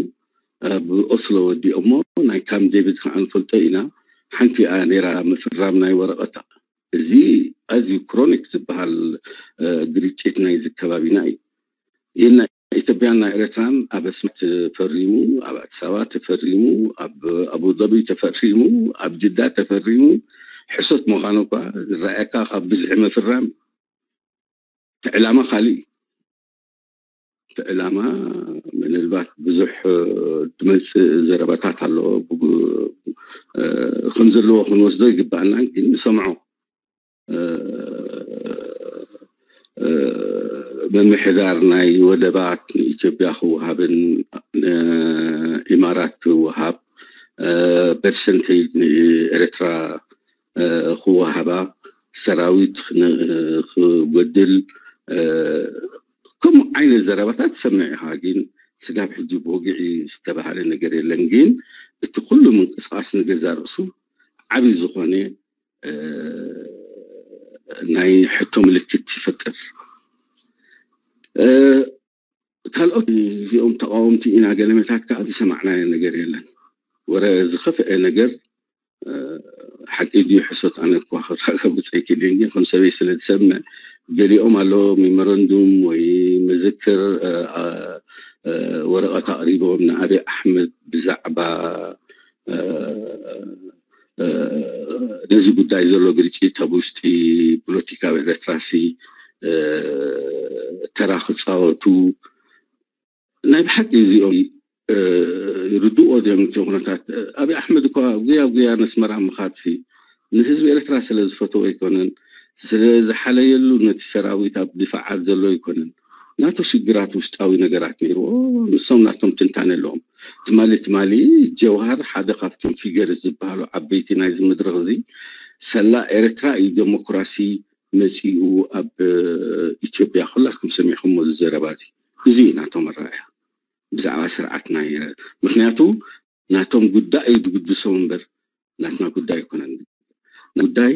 ኣብ ኦስሎ ወዲኦሞ ናይ ካምፕ ዴቪድ ከዓ ንፈልጦ ኢና። ሓንቲ እያ ነይራ ምፍራም ናይ ወረቐታ። እዚ ኣዝዩ ክሮኒክ ዝበሃል ግርጭት ናይዚ ከባቢና እዩ። ይህና ኢትዮጵያን ናይ ኤርትራን ኣብ ኣስመራ ተፈሪሙ፣ ኣብ ኣዲስ ኣበባ ተፈሪሙ፣ ኣብ ኣቡዳቢ ተፈሪሙ፣ ኣብ ጅዳ ተፈሪሙ። ሕሶት ምዃኑ እኳ ዝረኣየካ ካብ ብዝሒ ምፍራም እቲ ዕላማ ካልእ እዩ። ዕላማ ምናልባት ብዙሕ ድመፅእ ዘረባታት ኣሎ። ከም ዘለዎ ክንወስዶ ይግባኣና፣ ግን ንሰምዖ ምምሕዳር ናይ ወደባት ንኢትዮጵያ ክወሃብን ንኢማራት ክወሃብ፣ ፐርሰንቴጅ ንኤርትራ ክወሃባ፣ ሰራዊት ክጎድል፣ ከምኡ ዓይነት ዘረባታት ትሰምዕ ኢኻ። ግን ስጋብ ሕጂ ብወግዒ ዝተባህለ ነገር የለን። ግን እቲ ኩሉ ምንቅስቃስ ንገዛ ርእሱ ዓብዪ ዝኾነ ናይ ሕቶ ምልክት ይፈጥር። ካልኦት እዚኦም ተቃወምቲ ኢና ገለመታት ከዓ ዝሰማዕናዮ ነገር የለን። ወረ ዝኸፍአ ነገር ሓቂ ድዩ ሕሶት ኣነ እኳ ክረጋግፅ ኣይክእልን፣ ግን ከም ሰበይ ስለ ዝሰምዕ ገሊኦም ኣሎ ሜሞረንዱም ወይ መዘክር ወረቐት ኣቕሪቦም ንኣብይ ኣሕመድ ብዛዕባ ነዚ ጉዳይ ዘሎ ግርጭት ኣብ ውሽጢ ፖለቲካዊ ኤርትራሲ ተራ ክፃወቱ ናይ ብሓቂ እዚኦም ርድኦ ድዮም እቲ ኩነታት? ኣብይ ኣሕመድ እኳ ጉያ ጉያ ነስመራ ምኻድሲ ንህዝቢ ኤርትራ ስለ ዝፈተዎ ኣይኮነን፣ ስለ ዝሓለየሉ ነቲ ሰራዊት ኣብ ድፋዓት ዘሎ ኣይኮነን። ናቱ ሽግራት ውሽጣዊ ነገራት ነይርዎ። ንሶም ናቶም ትንታነ ኣለዎም። ትማሊ ትማሊ ጀውሃር ሓደ ካብቶም ፊገር ዝበሃሉ ዓበይቲ ናይዚ መድረኽ እዚ ሰላ ኤርትራ እዩ ዴሞክራሲ መፂኡ ኣብ ኢትዮጵያ። ኩላትኩም ሰሚዕኩሞ ዝዘረባ እዚ እዚ እዩ ናቶም ኣረኣያ ብዛዕባ ስርዓት ናይ ምክንያቱ ናቶም ጉዳይ እዩ ዝግድሶም እምበር ናትና ጉዳይ ኣይኮነን። ጉዳይ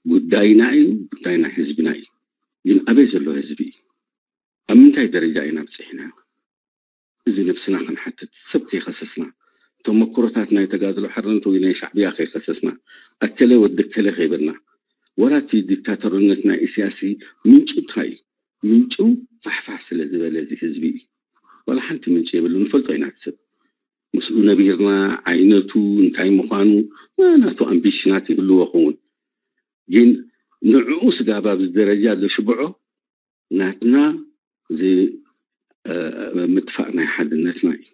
ጉዳይና እዩ፣ ጉዳይ ናይ ህዝብና እዩ። ግን ኣበይ ዘሎ ህዝቢ እዩ? ኣብ ምንታይ ደረጃ ኢና ብፅሒና? እዚ ነብስና ክንሓትት ሰብ ከይኸሰስና፣ ተመክሮታት ናይ ተጋድሎ ሓርነት ወይ ናይ ሻዕብያ ከይኸሰስና፣ ኣከለ ወዲ ከለ ከይበልና፣ ዋላ እቲ ዲክታተርነት ናይ ኢሳያስ ምንጩ እንታይ እዩ? ምንጩ ፋሕፋሕ ስለ ዝበለ እዚ ህዝቢ እዩ። ዋላ ሓንቲ ምንጭ የብሉ። ንፈልጦ ኢና እቲ ሰብ ምስኡ ነቢርና ዓይነቱ እንታይ ምዃኑ ናቱ ኣምቢሽናት ይህልዎ ክውን ግን ንዕኡ ስጋብ ኣብዚ ደረጃ ዘሽብዖ ናትና እዚ ምጥፋእ ናይ ሓድነትና እዩ።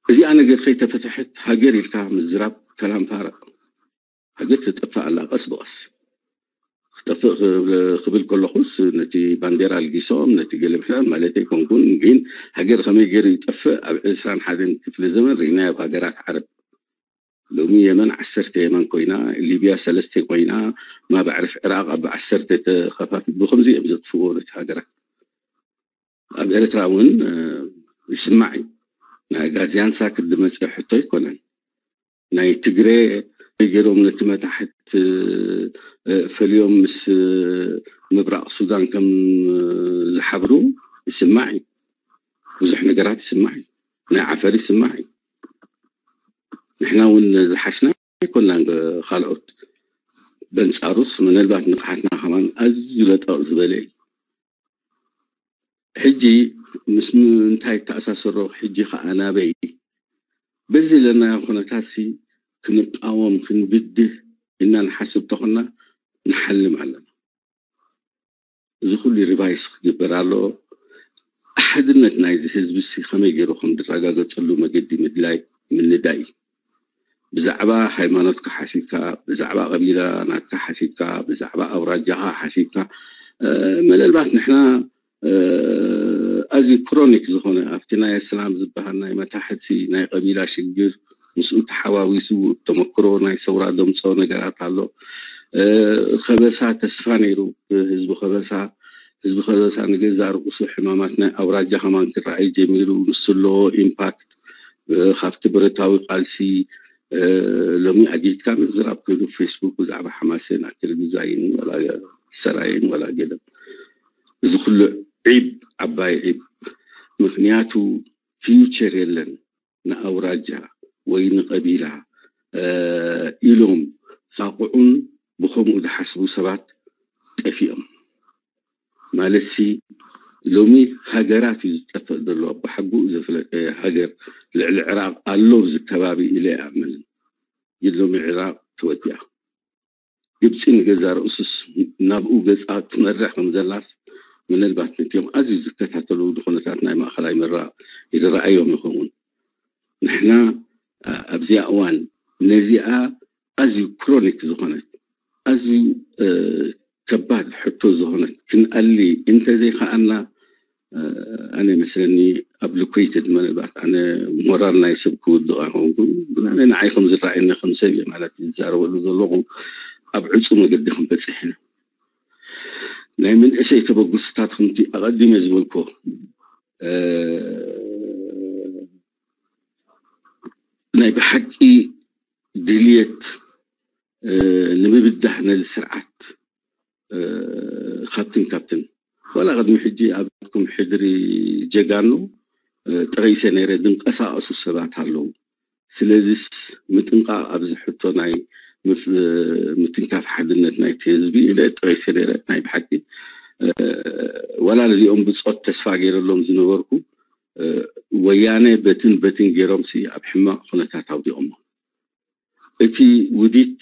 እዚኣ ነገር ከይተፈትሐት ሃገር ኢልካ ምዝራብ ከላም ፋረቕ። ሃገር ትጠፍእ ኣላ ቀስ ብቐስ። ክጠፍእ ክብል ከለኹስ ነቲ ባንዴራ ኣልጊሶም ነቲ ገለ ምሕዳር ማለት ኣይኮንኩን፣ ግን ሃገር ከመይ ገይሩ ይጠፍእ ኣብ ዕስራን ሓደን ክፍለ ዘመን ርኢናዮ ኣብ ሃገራት ዓረብ። ሎሚ የመን ዓሰርተ የመን ኮይና፣ ሊብያ ሰለስተ ኮይና፣ ማብ ኣዕርፍ ዕራቕ ኣብ ዓሰርተ ተኸፋፊ ብኸምዚ እዮም ዘጥፍእዎ ነቲ ሃገራት። ኣብ ኤርትራ እውን ይስማዕ እዩ። ናይ ኣጋዝያን ሳክት ዝመፀ ሕቶ ኣይኮነን። ናይ ትግሬ ገይሮም ነቲ መታሕት ፈልዮም ምስ ምብራቕ ሱዳን ከም ዝሓብሩ ይስማዕ እዩ። ብዙሕ ነገራት ይስማዕ እዩ። ናይ ዓፈር ይስማዕ እዩ። ንሕና እውን ዝሓሽና ኣይኮናን። ካልኦት በንፃሩስ ምናልባት ንቕሓትና ከማን ኣዝዩ ለጠቕ ዝበለ እዩ። ሕጂ ምስ ምንታይ ተኣሳሰሮ? ሕጂ ከዓ ናበይ? በዚ ዘለናዮ ኩነታት ሲ ክንቃወም ክንብድህ ኢልና ንሓስብ ተኾና ንሓልም ኣለና። እዚ ኩሉ ሪቫይስ ክግበር ኣለዎ። ሓድነት ናይዚ ህዝቢ ሲ ከመይ ገይሩ ከም ዝረጋገፀሉ መገዲ ምድላይ ምንዳይ እዩ። ብዛዕባ ሃይማኖትካ ሓሲብካ፣ ብዛዕባ ቀቢላ ናትካ ሓሲብካ፣ ብዛዕባ ኣውራጃኻ ሓሲብካ፣ ምናልባት ንሕና ኣዝዩ ክሮኒክ ዝኾነ ኣብቲ ናይ እስላም ዝበሃል ናይ መታሕቲ ናይ ቀቢላ ሽግር ምስኡ ተሓዋዊሱ ተመክሮ ናይ ሰውራ ደምፆ ነገራት ኣሎ። ከበሳ ተስፋ ነይሩ ብህዝቢ ከበሳ። ህዝቢ ከበሳ ንገዛ ርቁሱ ሕማማት ናይ ኣውራጃ ከማን ክረኣይ ጀሚሩ። ንሱ ኣለዎ ኢምፓክት ካብቲ ብረታዊ ቃልሲ። ሎሚ ኣጊድካ ምዝራብ ኮይኑ ፌስቡክ ብዛዕባ ሓማሴን ኣክል ግዛይን ወላ ሰራይን ወላ ገለን እዚ ኩሉ ዒብ ዓባይ ዒብ። ምክንያቱ ፊውቸር የለን። ንኣውራጃ ወይ ንቀቢላ ኢሎም ሳቁዑን ብከምኡ ዝሓስቡ ሰባት ጠፊኦም። ማለትሲ ሎሚ ሃገራት እዩ ዝጠፍእ ዘሎ። ብሓጉኡ ዘፍለጠ ሃገር ልዕሊ ዕራቕ ኣሎ ኣብዚ ከባቢ ኢለ ኣይኣምንን። ግን ሎሚ ዕራቕ ተወዲኣ። ግብፂ ንገዛ ርእሱስ ናብኡ ገፃ ትመርሕ ከም ዘላስ ምናልባት ነቲኦም ኣዝዩ ዝከታተሉ ንኹነታት ናይ ማእኸላይ መራ ይረኣዮም ይኸውን። ንሕና ኣብዚኣ እዋን ነዚኣ ኣዝዩ ክሮኒክ ዝኾነት ኣዝዩ ከባድ ሕቶ ዝኾነት ክንኣሊ እንተዘይከኣልና ኣነ መስለኒ ኣብ ሊኩይትድ ምናልባት ኣነ ሞራል ናይ ሰብ ክውድቕ ኣይኮንኩን። ኣነ ንዓይ ከም ዝረኣየኒ ከም ሰብ እየ ማለት ዝዛረበሉ ዘለኹ ኣብ ዕፁ መገዲ ክንበፅሕ ኢና። ናይ መንእሰይ ተበግሶታት ከምቲ ኣቐዲመ ዝበልኮ ናይ ብሓቂ ድልየት ንምብዳህ ነዚ ስርዓት ካብትን ካብትን ዋላ ቅድሚ ሕጂ ኣብኩም ሕድሪ ጀጋኑ ጠቂሰ ነይረ ዝንቀሳቀሱ ሰባት ኣለዉ። ስለዚስ ምጥንቃቅ ኣብዚ ሕቶ ናይ ምትንካፍ ሓድነት ናይቲ ህዝቢ ኢለ ጠቂሰ ነይረ። ናይ ብሓቂ ዋላ ነዚኦም ብፆት ተስፋ ገይረሎም ዝነበርኩ ወያነ በትን በትን ገይሮም ሲ ኣብ ሕማቅ ኩነታት ኣውዲቆሞ። እቲ ውዲት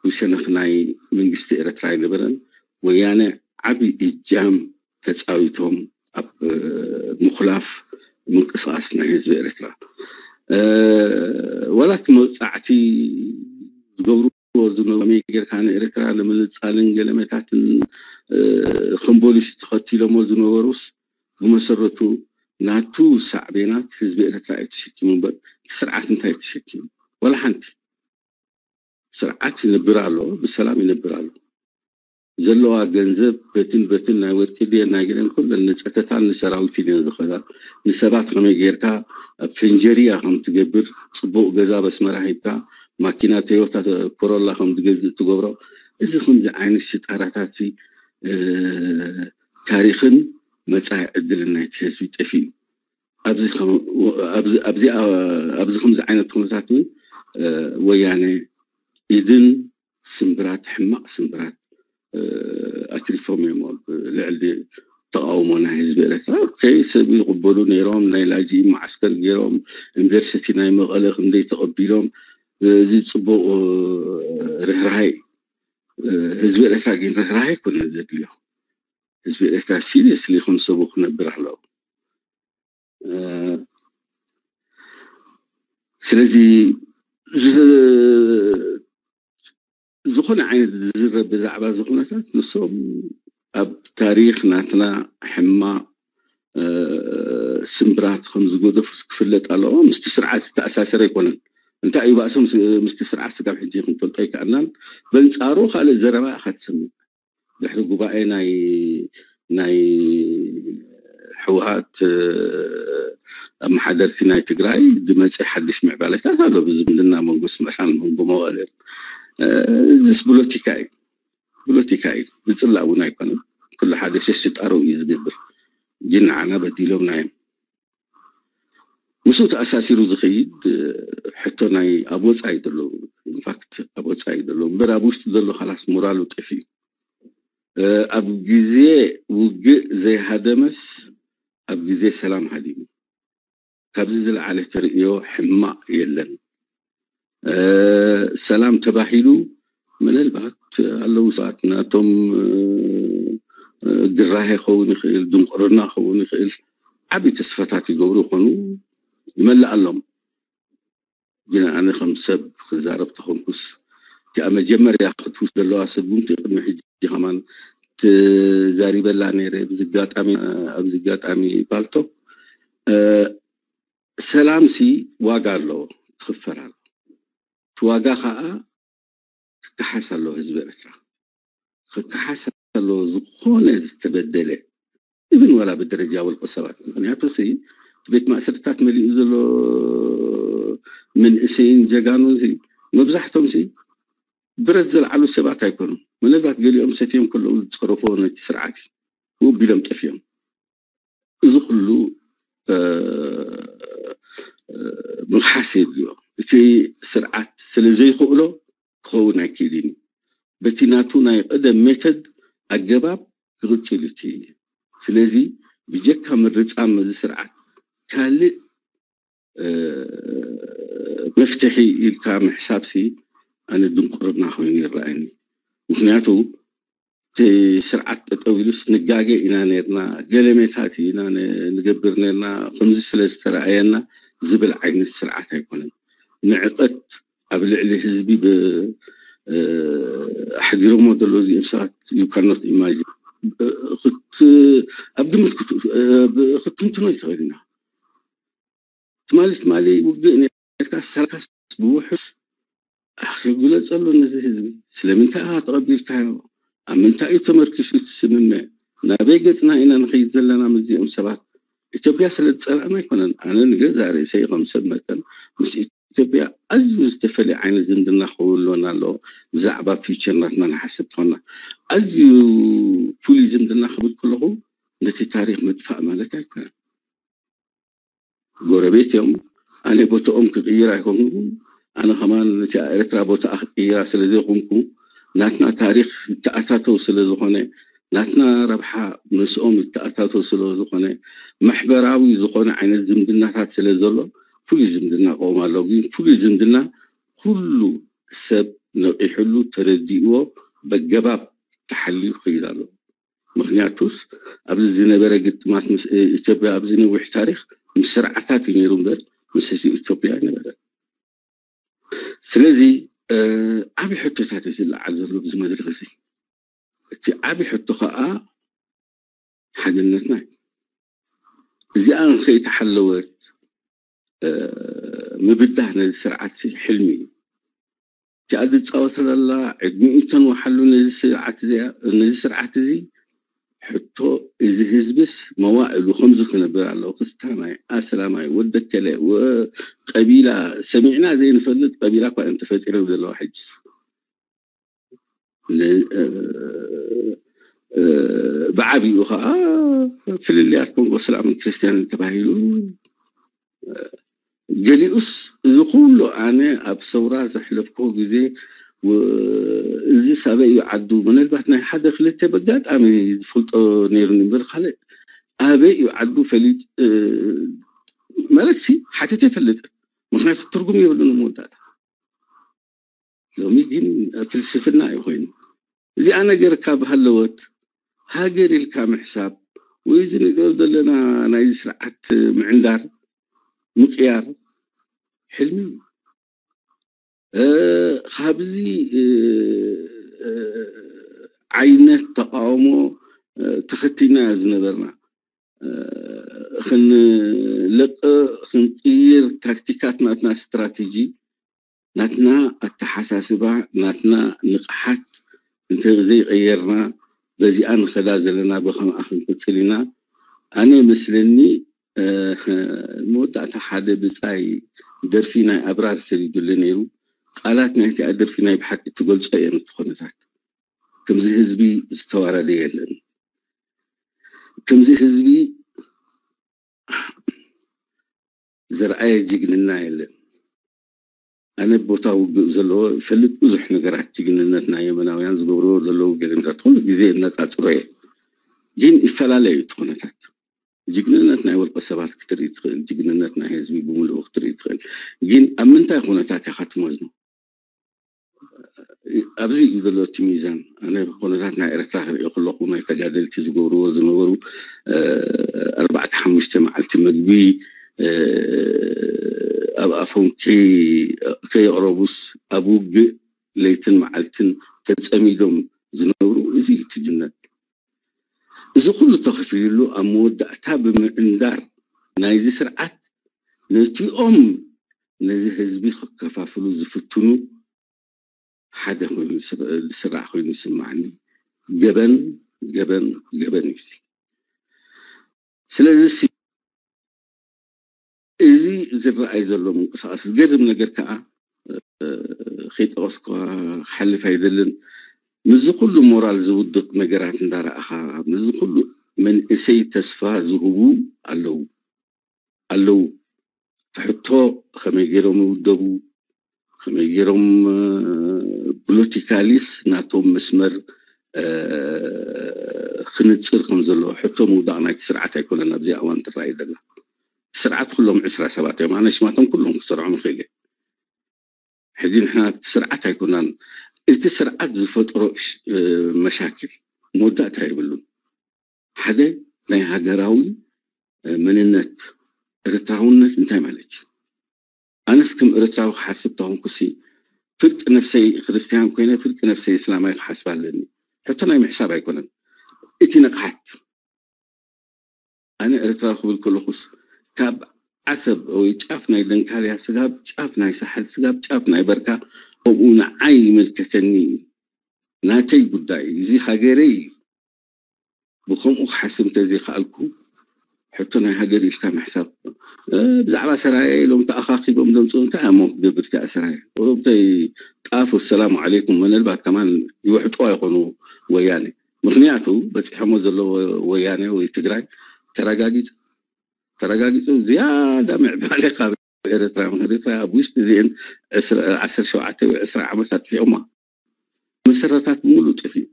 ብሸነኽ ናይ መንግስቲ ኤረትራ ኣይነበረን። ወያነ ዓቢ እጃም ተጻዊቶም ኣብ ምኹላፍ ምንቅስቃስ ናይ ህዝቢ ኤረትራ። ዋላ እቲ መውጻዕቲ ዝገብርዎ ዝነበሩ ከመይ ጌርካ ንኤረትራ ንምንጻልን ገለመታትን ከም ቦሊሲ ተኸቲሎሞ ዝነበሩስ ብመሰረቱ ናቱ ሳዕቤናት ህዝቢ ኤረትራ እዩ ተሸኪሙ እምበር እቲ ስርዓት እንታይ እዩ ተሸኪሙ? ዋላ ሓንቲ። ስርዓት ይነብር ኣሎ፣ ብሰላም ይነብር ኣሎ። ዘለዋ ገንዘብ በትን በትን ናይ ወርቂ ድየን ናይ ገለን ኩለን ንፀተታን ንሰራዊትን እየን ዝኸዳ። ንሰባት ከመይ ጌርካ ኣብ ፈንጀሪያ ከም ትገብር፣ ፅቡቅ ገዛ በስመራ ሂብካ ማኪና ቶዮታ ኮሮላ ከም ትገዝእ ትገብሮ። እዚ ከምዚ ዓይነት ሽጣራታት ታሪኽን መፃኢ ዕድልን ናይቲ ህዝቢ ጠፊኡ። ኣብዚ ከምዚ ዓይነት ኩነታት እውን ወያነ ኢድን ስምብራት ሕማቕ ስምብራት ኣትሪፎም እዮም ኣብ ልዕሊ ተቃውሞ ናይ ህዝቢ ኤረትራ። ኦኬ፣ ሰብ ይቕበሉ ነይሮም፣ ናይ ላጂ መዓስከር ገይሮም፣ ዩኒቨርሲቲ ናይ መቐለ ክንደይ ተቐቢሎም፣ እዚ ፅቡቕ ርህራሄ። ህዝቢ ኤረትራ ግን ርህራሄ ኣይኮነን ዘድልዮ። ህዝቢ ኤረትራ ሲሪየስሊ ከም ሰቡ ክነብር ኣለዎ። ስለዚ ዝኾነ ዓይነት ዝዝረብ ብዛዕባ እዚ ኩነታት ንሶም ኣብ ታሪኽ ናትና ሕማቕ ስምብራት ከም ዝገደፉ ክፍለጥ ኣለዎ። ምስቲ ስርዓት ዝተኣሳሰረ ኣይኮነን። እንታይ እዩ ባእሶም ምስቲ ስርዓት ስጋብ ሕጂ ክንፈልጦ ኣይከኣልናን። በንጻሩ ካልእ ዘረባ ኢኻ ትሰምዕ። ድሕሪ ጉባኤ ናይ ናይ ህወሓት ኣመሓደርቲ ናይ ትግራይ ዝመፀ ሓድሽ ምዕባለታት ኣሎ። ብዝምድና መንጎ ስመራን መንጎ መቐለን እዚስ ብሎቲካ እዩ። ብሎቲካ እዩ። ብፅላእ እውን ኣይኮነን። ኩሉ ሓደ ሸሽጣሮ እዩ ዝገብር። ግን ንዓና በዲሎምና እዮም። ምስኡ ተኣሳሲሩ ዝኸይድ ሕቶ ናይ ኣብ ወፃኢ ዘሎ ኢንፋክት ኣብ ወፃኢ ዘሎ እምበር ኣብ ውሽጢ ዘሎ ካላስ ሞራሉ ጠፊኡ ኣብ ግዜ ውግእ ዘይሃደመስ ኣብ ግዜ ሰላም ሃዲሙ። ካብዚ ዝለዓለ ተርእዮ ሕማቕ የለን። ሰላም ተባሂሉ ምናልባት ኣለዉ ሰባት ናቶም ግራሄ ክኸውን ይኽእል፣ ድንቁርና ክኸውን ይኽእል፣ ዓብዪ ተስፋታት ይገብሩ ይኾኑ፣ ይመልኣሎም። ግን ኣነ ከም ሰብ ክዛረብ ተኾንኩስ እቲኣ መጀመርያ ክትውስ ዘለዋ ስጉምቲ ቅድሚ ሕጂ ከማን ትዛሪበላ ነይረ። ኣብዚ ኣጋጣሚ ኣብዚ ኣጋጣሚ ባልቶ ሰላም ሲ ዋጋ ኣለዎ፣ ክኽፈል ኣለዎ። እቲ ዋጋ ከዓ ክከሓስ ኣለዎ ህዝቢ ኤርትራ። ክከሓስ ኣለዎ ዝኾነ ዝተበደለ ኢቭን ዋላ ብደረጃ ውልቀ ሰባት። ምክንያቱ ሲ እቲ ቤት ማእሰርታት መሊኡ ዘሎ መንእሰይን ጀጋኑን ሲ መብዛሕቶም ሲ ብረት ዘልዓሉ ሰባት ኣይኮኑን። ምናልባት ገሊኦም ሰትዮም ከለዉ ዝፀረፎ ነቲ ስርዓት እዩ። ውብ ኢሎም ጠፍዮም። እዚ ኩሉ ምኽሓስ የድልዮ። እቲ ስርዓት ስለ ዘይኽእሎ ክኸውን ኣይክእልን እዩ። በቲ ናቱ ናይ ቀደም ሜተድ ኣገባብ ክቕፅል እቲ ስለዚ ብጀካ ምርፃም እዚ ስርዓት ካልእ መፍትሒ ኢልካ ምሕሳብሲ ኣነ ድንቁርና ኮይኑ ይረኣየኒ። ምክንያቱ እቲ ስርዓት ጠጠው ኢሉስ ንጋገ ኢና ነርና፣ ገለሜታት ኢና ንገብር ነርና፣ ከምዚ ስለ ዝተረኣየና ዝብል ዓይነት ስርዓት ኣይኮነን። ንዕቀት ኣብ ልዕሊ ህዝቢ ኣሕዲሮሞ ዘለዉ እዚኦም ሰባት you cannot imagine። ኣብ ግምት ክትንትኖ ይትኽእል ኢና። ትማሊ ትማሊ ውግእ ነርካ ሰራካስ ብውሑስ ግለፀሉ ነዚ ህዝቢ። ስለምንታይ ኢኻ ተቐቢልካዮ? ኣብ ምንታይ እዩ ተመርኪሱ እቲ ስምምዕ? ናበይ ገፅና ኢና ንኸይድ ዘለና ምስዚኦም ሰባት? ኢትዮጵያ ስለ ዝፀላእና ኣይኮነን። ኣነ ንገዛ ርእሰይ ከም ሰብ መጠን ምስ ኢትዮጵያ ኣዝዩ ዝተፈለየ ዓይነት ዝምድና ክህልወና ኣለዎ። ብዛዕባ ፊቸር ናትና ንሓስብ ትኾና ኣዝዩ ፍሉይ ዝምድና ክብል ከለኹ ነቲ ታሪክ ምጥፋእ ማለት ኣይኮነን። ጎረቤት እዮም። ኣነ ቦታኦም ክቅይር ኣይኮንኩ። ኣነ ከማን ነቲ ኤርትራ ቦታ ክቅይራ ስለ ዘይኮንኩ ናትና ታሪክ ይተኣታተው ስለ ዝኾነ ናትና ረብሓ ምስኦም ይተኣታተው ስለ ዝኾነ ማሕበራዊ ዝኾነ ዓይነት ዝምድናታት ስለ ዘሎ ፍሉይ ዝምድና ክኦም ኣሎ። ግን ፍሉይ ዝምድና ኩሉ ሰብ ነቂሕሉ ተረዲእዎ በገባብ ተሓልዩ ክይድ ኣሎ። ምክንያቱስ ኣብዚ ዝነበረ ግጥማት ምስ ኢትዮጵያ ኣብዚ ነዊሕ ታሪክ ምስ ስርዓታት እዩ ነይሩ እምበር ምስ ህዝቢ ኢትዮጵያ ኣይነበረ። ስለዚ ዓብዪ ሕቶታት እዩ ዝለዓል ዘሎ ብዚ መድረክ እዚ። እቲ ዓብዪ ሕቶ ከዓ ሓድነትና እዩ። እዚኣ ንከይተሓለወት ምብዳህ ነዚ ስርዓት ሕልሚ እዩ። እቲኣ ዝፃወት ዘላ ዕድሚኡ ተንወሓሉ ነዚ ስርዓት እዚ ሕቶ እዚ ህዝብስ መዋእሉ ከምዚ ክነብር ኣለዎ። ክስታናይ፣ ኣስላማይ፣ ወደከለ፣ ቀቢላ ሰሚዕና ዘይንፈልጥ ቀቢላ እኳ እዮም ተፈጢሮም ዘለዋ ሕጂ። ብዓብኡ ከዓ ፍልልያት ኮንጎ እስላምን ክርስትያንን ተባሂሉ ገሊኡስ እዚ ኩሉ ኣነ ኣብ ሰውራ ዘሕለፍክዎ ግዜ እዚ ኣበይ እዩ ዓዱ ምናልባት ናይ ሓደ ክልተ በጋጣሚ ዝፈልጦ ነይሩኒ እምበር ካልእ ኣበይ እዩ ዓዱ ፈሊጥ ማለት ሲ ሓቲተ ይፈልጥ ምክንያቱ ትርጉም የብሉን መወዳእታ ሎሚ ግን ፍልስፍና እዩ ኮይኑ እዚኣ ነገር ካብ ሃለወት ሃገር ኢልካ ምሕሳብ ወይ እዚ ንሪኦ ዘለና ናይ ስርዓት ምዕንዳር ምቅያር ሕልሚ ካብዚ ዓይነት ተቃውሞ ተኸቲልና ዝነበርና ክንለቅ ክንቅይር ታክቲካት ናትና ስትራቴጂ ናትና ኣተሓሳስባ ናትና ንቕሓት እንተዘይቀየርና በዚኣ ንኸዳ ዘለና ብኸምኣ ክንቅፅል ኢና ኣነ መስለኒ መወዳእታ ሓደ ብፃይ ደርፊ ናይ ኣብራር ሰዲዱለ ነይሩ ቃላት ናይቲኣ ደርፊ ናይ ብሓቂ ትገልፆ እየን እቲ ኩነታት ከምዚ ህዝቢ ዝተዋረደ የለን ከምዚ ህዝቢ ዘርኣየ ጅግንና የለን ኣነ ቦታ ውግእ ዘለዎ ይፈልጥ ብዙሕ ነገራት ጅግንነት ናይ የመናውያን ዝገብርዎ ዘለዉ ገለምታት ኩሉ ግዜ እነፃፅሮ እየ ግን ይፈላለዩ እቲ ኩነታት ጅግንነት ናይ ወልቀ ሰባት ክትርኢ ትኽእል ጅግንነት ናይ ህዝቢ ብምልኡ ክትርኢ ትኽእል ግን ኣብ ምንታይ ኩነታት ኢኻ ትመዝኖ ኣብዚ እዩ ዘሎ እቲ ሚዛን ኣነ ኩነታት ናይ ኤርትራ ክርኢ ከለኹ ናይ ተጋደልቲ ዝገብርዎ ዝነበሩ ኣርባዕተ ሓሙሽተ መዓልቲ ምግቢ ኣብ ኣፎም ከየቕረቡስ ኣብ ውግእ ለይትን መዓልትን ተፀሚዶም ዝነብሩ እዚ እዩ ትጅነት እዚ ኩሉ ተኸፊሉሉ ኣብ መወዳእታ ብምዕንዳር ናይዚ ስርዓት ነቲኦም ነዚ ህዝቢ ክከፋፍሉ ዝፍትኑ ሓደ ኮይኑ ዝስራዕ ኮይኑ ይስማዓኒ ገበን ገበን ገበን እዩ ስለዚ እዚ ዝረኣይ ዘሎ ምንቅስቃስ ዝገርም ነገር ከዓ ከይጠቀስኳ ክሓልፍ ኣይደልን ምስዚ ኩሉ ሞራል ዝውድቅ ነገራት እንዳረኣኻ ምስዚ ኩሉ መንእሰይ ተስፋ ዝህቡ ኣለዉ ኣለዉ ትሕቶ ከመይ ገይሮም ይውደቡ ከመይ ገይሮም ፖለቲካሊስ ናቶም መስመር ክንፅር ከም ዘለዎ ሕቶ ምውዳቕ ናይቲ ስርዓት ኣይኮነን ኣብዚ ኣዋን ትረኣይ ዘላ ስርዓት ኩሎም ዕስራ ሰባት እዮም ኣነ ሽማቶም ኩሎም ክሰርዖም ይኽእል ሕጂ ንሕና እቲ ስርዓት ኣይኮናን እቲ ስርዓት ዝፈጥሮ ሽ- እ፣ መሻክል መወዳእታ የብሉን። ሓደ ናይ ሃገራዊ መንነት ኤርትራውነት እንታይ ማለት እዩ? ኣነስ ከም ኤርትራዊ ክሓስብ ተኾንኩሲ ፍርቂ ነፍሰይ ክርስትያን ኮይነ ፍርቂ ነፍሰይ እስላማይ ክሓስብ ኣለኒ። ሕቶ ናይ ምሕሳብ ኣይኮነን። እቲ ንቕሓት ኣነ ኤርትራዊ ክብል ከለኹስ ካብ ዓሰብ ወይ ጫፍ ናይ ደንካልያ ስጋብ ጫፍ ናይ ሳሕል ስጋብ ጫፍ ናይ በርካ ከምኡ ንዓይ ይምልከተኒ እዩ። ናተይ ጉዳይ እዩ። እዚ ሃገረይ እዩ። ብከምኡ ክሓስብ እንተዘይከኣልኩ ሕቶ ናይ ሃገር ኢልካ ምሕሳብ ብዛዕባ ሰራየ ኢሎም ተኣኻኺቦም ዘምፅኡ እንታይ እሞ ክትገብር እቲኣ ሰራየ ኦሮምተይ ጣፍ ወሰላሙ ዓለይኩም ምንልባት ከማን ይውሕጥዋ ይኾኑ ወያነ ምክንያቱ በፂሖሞ ዘለዎ ወያነ ወይ ትግራይ ተረጋጊፁ ተረጋጊፁ ዝያዳ ምዕባለ ካብ ኤርትራ ምክንያቱ ኤርትራ ኣብ ውሽጢ እዚአን ዓሰርተ ሸውዓተ ወይ ዕስራ ዓመት ኣጥፊኦማ መሰረታት ብምሉእ ጥፊኡ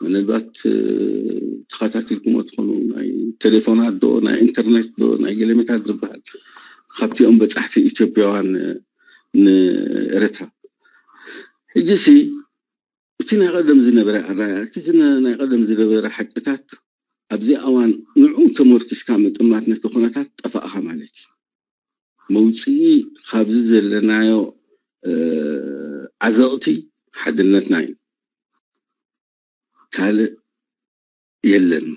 ምናልባት ተኸታቲልኩሞ ትኾኑ ናይ ቴሌፎናት ዶ ናይ ኢንተርኔት ዶ ናይ ገለመታት ዝበሃል ካብቲኦም በፃሕቲ ኢትዮጵያውያን ንኤረትራ ሕጂ ሲ እቲ ናይ ቀደም ዝነበረ ኣራያ እቲ ናይ ቀደም ዝነበረ ሓቅታት ኣብዚ ኣዋን ንዑ ተመርኪስካ ምጥማት ነቲ ኩነታት ጠፋእኻ ማለት እዩ መውፅኢ ካብዚ ዘለናዮ ዓዘቕቲ ሓድነትና እዩ ካልእ የለን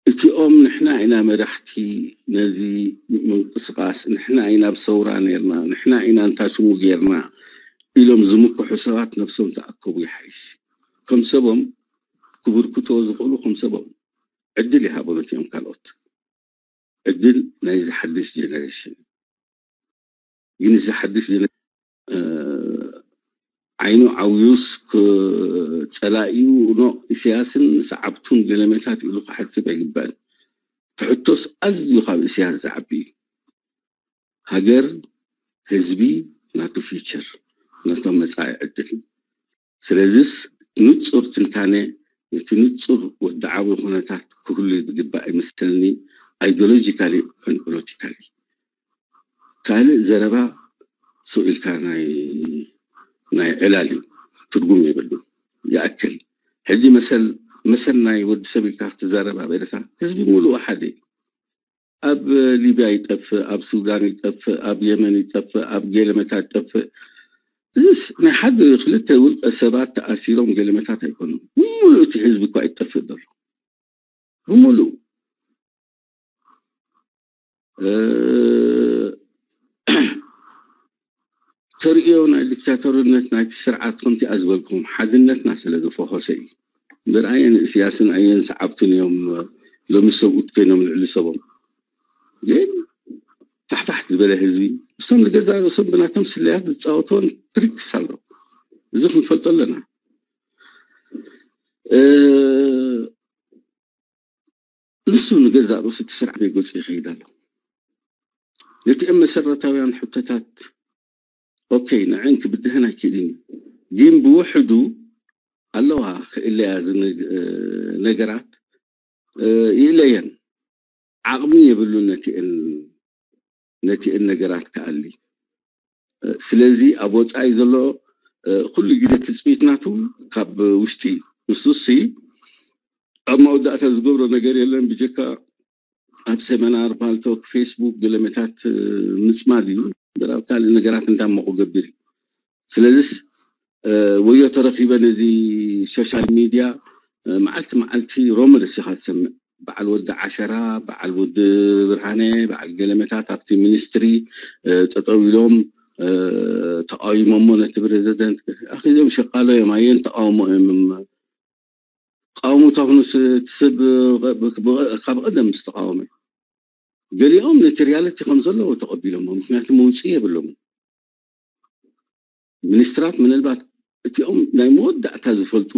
እቲኦም ንሕና ኢና መራሕቲ ነዚ ምንቅስቃስ ንሕና ኢና ኣብ ሰውራ ነርና ንሕና ኢና እንታ ስሙ ገርና ኢሎም ዝምክሑ ሰባት ነብሶም ተኣከቡ ይሓይሽ ከም ሰቦም ክብርክቶ ዝኽእሉ ከም ሰቦም ዕድል ይሃቦ ነቲኦም ካልኦት ዕድል ናይ ዝሓድሽ ጀነሬሽን ግን እዚ ሓድሽ ዓይኑ ዓብዩስ ጸላኢኡ ኖ ኢሳያስን ሰዓብቱን ገለመታት ኢሉ ክሓስብ ኣይግባእን ትሕቶስ ኣዝዩ ካብ ኢሳያስ ዝዓቢ እዩ ሃገር ህዝቢ ናቱ ፊቸር ናቶም መጻኢ ዕድል ስለዚስ ንጹር ትንታነ ነቲ ንጹር ወድዓዊ ኩነታት ክህሉ ዝግባእ ይመስለኒ ideologically and politically ካልእ ዘረባ ስቕ ኢልካ ናይ ናይ ዕላል እዩ ትርጉም የብሉ ይኣክል ሕጂ መሰል መሰል ናይ ወዲ ሰብ ኢልካ ክትዛረብ ኣብ ኤርትራ ህዝቢ ሙሉኡ ሓደ እዩ ኣብ ሊብያ ይጠፍእ ኣብ ሱዳን ይጠፍእ ኣብ የመን ይጠፍእ ኣብ ገለመታት ይጠፍእ እዚስ ናይ ሓደ ክልተ ውልቀ ሰባት ተኣሲሮም ገለመታት ኣይኮኑን ብሙሉእ እቲ ህዝቢ እኳ ይጠፍእ ዘሎ ብሙሉእ ተርእዮ ናይ ዲክታቶርነት ናይቲ ስርዓት ከምቲኣ ዝበልኩም ሓድነትና ስለ ዝፈኾሰ እዩ እምበር ኣየን እስያስን ኣየን ሰዓብትን እዮም ሎሚ ሰብኡት ኮይኖም ልዕሊ ሰቦም ግን ታሕታሕት ዝበለ ህዝቢ ምስቶም ንገዛ ርእሶም ብናቶም ስለያት ዝፃወትዎን ትሪክስ ኣሎ እዚ ክንፈልጦ ኣለና ንሱ ንገዛእ ርእሱ እቲ ስርዓት ገይጎፂ ይኸይድ ኣሎ ነቲኦም መሰረታውያን ሕቶታት ኦኬ ንዕን ክብድህን ኣይክእልን እዩ ግን ብውሕዱ ኣለዋ ክእለያ ነገራት ይእለየን ዓቕሚ የብሉን ነቲአን ነቲአን ነገራት ክኣሊ ስለዚ ኣብ ወፃኢ ዘሎ ኩሉ ግዜ ትፅቢት ናቱ ካብ ውሽጢ ንሱሲ ኣብ መወዳእታ ዝገብሮ ነገር የለን ብጀካ ኣብ ሰመናር ፓልቶክ ፌስቡክ ገለመታት ምፅማድ እዩ እምበር ኣብ ካልእ ነገራት እንታይ እሞ ክገብር እዩ ስለዚስ ወዮ ተረኺበ ነዚ ሶሻል ሚድያ መዓልቲ መዓልቲ ሮመደስ ኢኻ ትሰምዕ በዓል ወዲ ዓሸራ በዓል ወዲ ብርሃነ በዓል ገለመታት ኣብቲ ሚኒስትሪ ጠጠው ኢሎም ተቃዊሞሞ ነቲ ፕሬዚደንት ኣኺዞም ሸቃሎ እዮም ኣየን ተቃውሞ እዮም ተቃውሞ ተኹኑ ሰብ ካብ ቀደም ምስ ተቃወመ ገሊኦም ነቲ ሪያለቲ ከም ዘለዎ ተቐቢሎሞ ምክንያቱ መውፅኢ የብሎምን ሚኒስትራት ምናልባት እቲኦም ናይ መወዳእታ ዝፈልጡ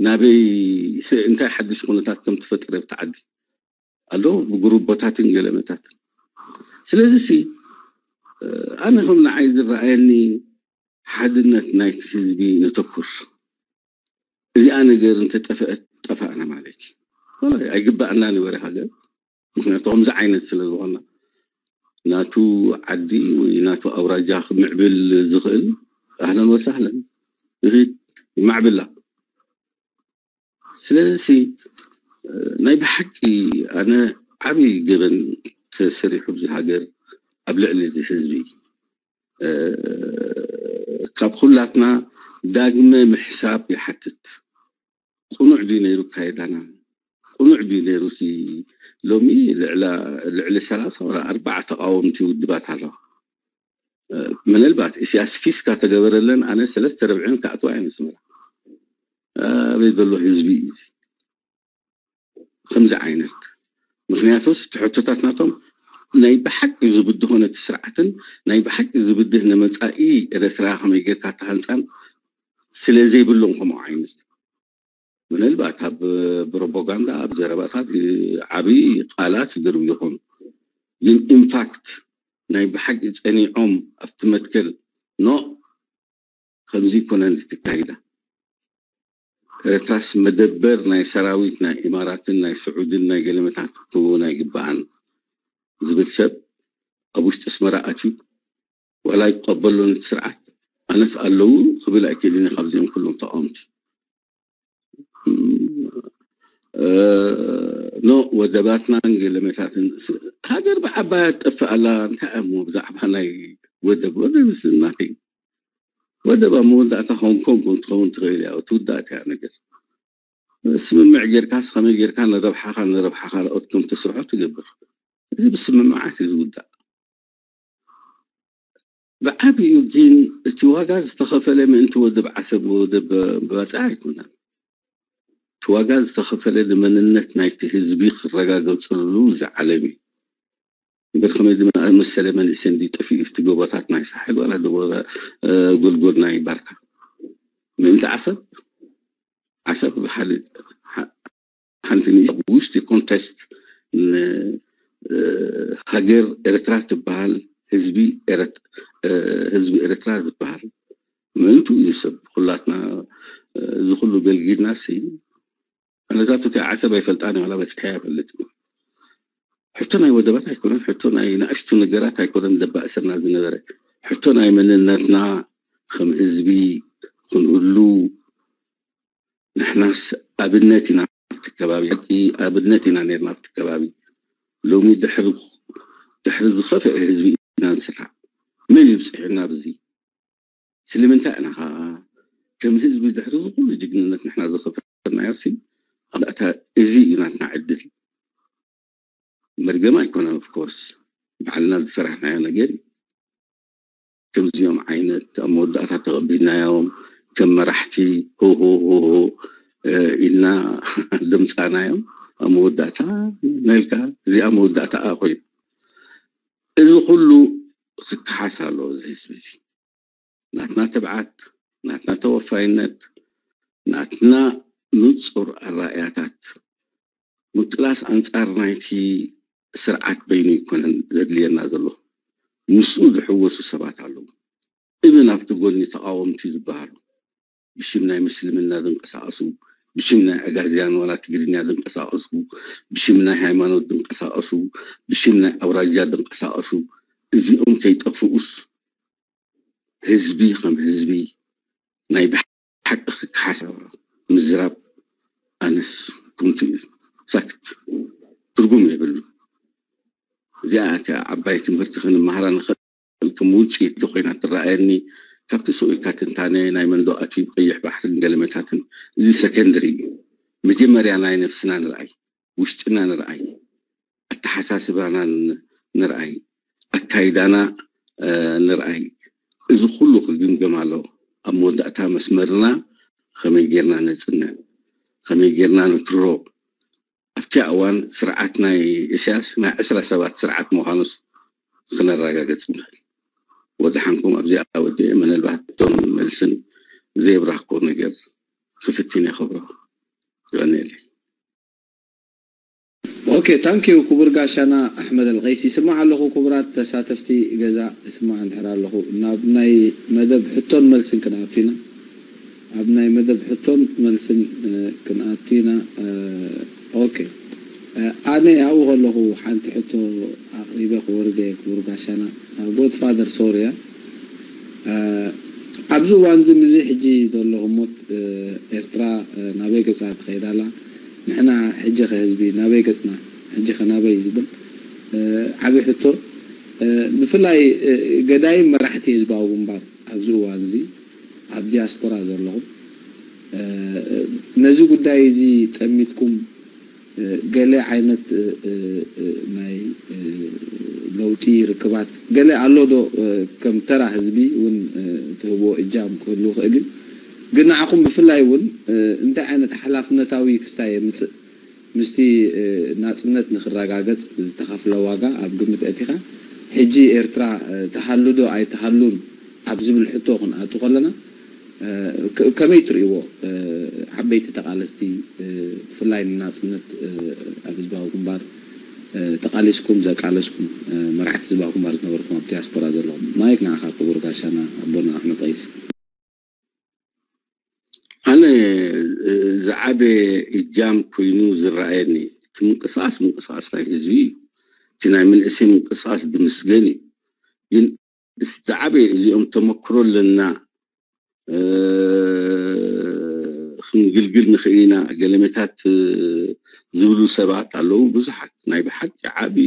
ናበይ እንታይ ሓድሽ ኩነታት ከም ተፈጠረ ኣብቲ ዓዲ ኣሎ ብጉሩቦታትን ገለመታትን ስለዚ ሲ ኣነ ከም ንዓይ ዝረኣየኒ ሓድነት ናይቲ ህዝቢ ነተኩር እዚኣ ነገር እንተጠፍአት ጠፋእና ማለት እዩ ኣይግባእና ንበረ ሃገር ምክንያቱ ከምዚ ዓይነት ስለ ዝኾና ናቱ ዓዲ ወይ ናቱ ኣውራጃ ክምዕብል ዝኽእል ኣህለን ወሳህለን ይኺድ ይማዕብላ። ስለዚ ናይ ብሓቂ ኣነ ዓብዪ ገበን ተሰሪሑ ኣብዚ ሃገር ኣብ ልዕሊ እዚ ህዝቢ ካብ ኩላትና ዳግመ ምሕሳብ ይሓትት። ቅኑዕ ድዩ ነይሩ ኣካይዳና? ቅኑዕ ድዩ ነይሩ? ሲ ሎሚ ልዕሊ ሰላሳ ወላ ኣርባዓ ተቃወምቲ ውድባት ኣለዋ። ምናልባት ኢሳያስ ኪስ ካተገበረለን ኣነ ሰለስተ ረብዕን ክኣትዋ እየን ኣስመራ። ኣበይ ዘሎ ህዝቢ እዩ ከምዚ ዓይነት? ምክንያቱስ እቲ ሕቶታት ናቶም ናይ ብሓቂ ዝብድሆ ነቲ ስርዓትን ናይ ብሓቂ ዝብድህ ንመፃኢ ኤረትራ ከመይ ጌርካ ተሃንፃን ስለ ዘይብሎም ከምኡ ዓይነት ምናልባት ኣብ ፕሮፓጋንዳ ኣብ ዘረባታት ዓብዪ ቃላት ይድርቡ ይኾኑ ግን ኢምፓክት ናይ ብሓቂ ፀኒዖም ኣብቲ መትከል ኖ ከምዚ ይኮነን ዝትካይዳ ኤርትራስ መደበር ናይ ሰራዊት ናይ ኢማራትን ናይ ስዑድን ናይ ገለመታት ክትህቦ ናይ ግበኣን ዝብል ሰብ ኣብ ውሽጢ ኣስመራ ኣትዩ ዋላ ይቀበሎ ነቲ ስርዓት ኣነስ ኣለዉ ክብል ኣይክእልን ካብዚኦም ኩሎም ተቃወምቲ ኖ ወደባትናን ገለመታትን ሃገር ብዓባያ ትጠፍእ ኣላ እንታይ እሞ ብዛዕባ ናይ ወደብ ወደብ ምስልናት እዩ ወደብ ኣብ መወዳእታ ሆንግ ኮንግ ክትኸውን ትኽእል እያ ትውዳእ እያ ነገር ስምምዕ ጌርካስ ከመይ ጌርካ ንረብሓኻ ንረብሓ ካልኦት ከም ተስርሖ ትገብር እዚ ብስምምዓት እዩ ዝውዳእ ብዓብኡ ግን እቲ ዋጋ ዝተኸፈለ ምእንቲ ወደብ ዓሰብ ወደብ ባፅዕ ኣይኮነን እቲ ዋጋ ዝተኸፈለ ንመንነት ናይቲ ህዝቢ ክረጋገፅሉ ዝዓለም እዩ እምበር ከመይ ዝመሰለ መንእሰይ እንዲ ጠፊኡ እቲ ጎቦታት ናይ ሳሕል ዋላ ጎልጎል ናይ ባርካ ምእንቲ ዓሰብ ዓሰብ ሓደ ሓንቲ ንእሽቶ ውሽጢ ኮንቴስት ሃገር ኤርትራ ትበሃል ህዝቢ ህዝቢ ኤርትራ ዝበሃል ምእንቱ እዩ ሰብ ኩላትና እዚ ኩሉ ገልጊድና ሲ ኣነታት እቲ ዓሰብ ኣይፈልጣን ዋላ በፅሐ ኣይፈልጥ ሕቶ ናይ ወደባት ኣይኮነን ሕቶ ናይ ንእሽቱ ነገራት ኣይኮነን ደባእሰና ዝነበረ ሕቶ ናይ መንነትና ከም ህዝቢ ክንህሉ ንሕናስ ኣብነት ኢና ኣብቲ ከባቢ ሓቂ ኣብነት ኢና ነርና ኣብቲ ከባቢ ሎሚ ድሕሪ ድሕሪ ዝኸፍአ ህዝቢ ኢና ንስራሕ መን ይብፅሕና ኣብዚ ስለምንታይ ኢና ከዓ ከም ህዝቢ ድሕሪ ዝኩሉ ጅግንነት ንሕና ዝኸፈናዮ ሲ ኣታ እዚ እዩ ናትና ዕድል መርገም ኣይኮነን ኦፍኮርስ ባዕልና ዝሰራሕናዮ ነገር እዩ ከምዚኦም ዓይነት ኣብ መወዳእታ ተቐቢልናዮም ከም መራሕቲ ሆሆሆሆ ኢልና ደምፃናዮም ኣብ መወዳእታ ናልካ እዚኣ መወዳእታ ኮይኑ እዚ ኩሉ ክከሓስ ኣለዎ እዚ ህዝቢ እዚ ናትና ትብዓት ናትና ተወፋይነት ናትና ንፁር ኣራእያታት ምቅላስ ኣንፃር ናይቲ ስርዓት በይኑ ኣይኮነን ዘድልየና ዘሎ ምስኡ ዝሕወሱ ሰባት ኣለዉ እብን ኣብቲ ጎኒ ተቃወምቲ ዝበሃሉ ብሽም ናይ ምስልምና ዝንቀሳቀሱ ብሽም ናይ ኣጋዝያን ዋላ ትግርኛ ዝንቀሳቀሱ ብሽም ናይ ሃይማኖት ዝንቀሳቀሱ ብሽም ናይ ኣውራጃ ዝንቀሳቀሱ እዚኦም ከይጠፍኡስ ህዝቢ ከም ህዝቢ ናይ ብሓቂ ክከሓስ ምዝራብ ኣነስ ኩምቱ እዩ ሳክት ትርጉም የብሉ እዚኣ እቲኣ ዓባይ ትምህርቲ ክንመሃራ ንኽእል ከም ውፅኢት ኮይና ትረኣየኒ ካብቲ ስኡ ኢልካ ትንታነ ናይ መንዶ ኣትዩ ቀይሕ ባሕርን ገለመታትን እዚ ሰከንድሪ እዩ መጀመርያ ናይ ነብስና ንርኣይ ውሽጥና ንርኣይ ኣተሓሳስባና ንርኣይ ኣካይዳና ንርኣይ እዚ ኩሉ ክግምገም ኣሎ ኣብ መወዳእታ መስመርና ከመይ ጌርና ነፅነ ከመይ ጌርና ንትሮ ኣብቲ እዋን ስርዓት ናይ እስያስ ናይ ዕስራ ሰባት ስርዓት ምዃኑስ ክነረጋገፅ ንኽእል ወድሓንኩም ኣብዚኣ ወዲአ ምናልባት እቶም መልስን ዘይብራህኮ ነገር ክፍትን የኸብሮ ይቐንየለይ ኦኬ ታንኪዩ ክቡር ጋሻና ኣሕመድ ኣልቀይሲ ይስማዕ ኣለኹ ክቡራት ተሳተፍቲ ገዛ ይስማዕ እንድሕር ኣለኹ ናብ ናይ መደብ ሕቶን መልስን ክንኣቱ ኢና ኣብ ናይ መደብ ሕቶን መልስን ክንኣቱ ኢና ኦኬ ኣነ ኣብኡ ከለኹ ሓንቲ ሕቶ ኣቅሪበ ክወርደ ክቡር ጋሻና ጎድፋደር ሶርያ ኣብዚ እዋን እዚ ምስዚ ሕጂ ዘሎ ህሞት ኤርትራ ናበይ ገጻ ትኸይድ ኣላ? ንሕና ሕጂ ከ ህዝቢ ናበይ ገጽና? ሕጂ ከ ናበይ ዝብል ዓቢ ሕቶ። ብፍላይ ገዳይም መራሕቲ ህዝባዊ ግንባር ኣብዚ እዋን እዚ ኣብ ዲያስፖራ ዘለኹም ነዚ ጉዳይ እዚ ጠሚትኩም ገለ ዓይነት ናይ ለውጢ ርክባት ገለ ኣሎ ዶ? ከም ተራ ህዝቢ እውን ትህብዎ እጃም ክህሉ ይኽእል እዩ። ግን ንዓኹም ብፍላይ እውን እንታይ ዓይነት ሓላፍነታዊ ክስታይ የምፅእ? ምስቲ ናፅነት ንክረጋገፅ ዝተኸፍለ ዋጋ ኣብ ግምት ኣእቲኻ ሕጂ ኤርትራ ትሃሉ ዶ ኣይትሃሉን ኣብ ዝብል ሕቶ ክንኣቱ ከለና ከመይ ትርእይዎ? ዓበይቲ ተቓለስቲ ብፍላይ ንናፅነት ኣብ ህዝባዊ ግንባር ተቓሊስኩም ዘቃለስኩም መራሕቲ ህዝባዊ ግንባር ዝነበርኩም ኣብ ዲያስፖራ ዘለኹም ማይክ ንዓኻ ክቡር ጋሻና ኣቦና ኣሕመድ ቀይስ። ኣነ ዝዓበየ እጃም ኮይኑ ዝረኣየኒ እቲ ምንቅስቃስ ምንቅስቃስ ናይ ህዝቢ እዩ። እቲ ናይ መንእሰይ ምንቅስቃስ ድምስገን እዩ። ግን ዝዓበየ እዚኦም ተመክሮ ኣለና ክንግልግል ንኽእል ኢና ገለመታት ዝብሉ ሰባት ኣለዉ። ብዙሓት ናይ ብሓቂ ዓቢ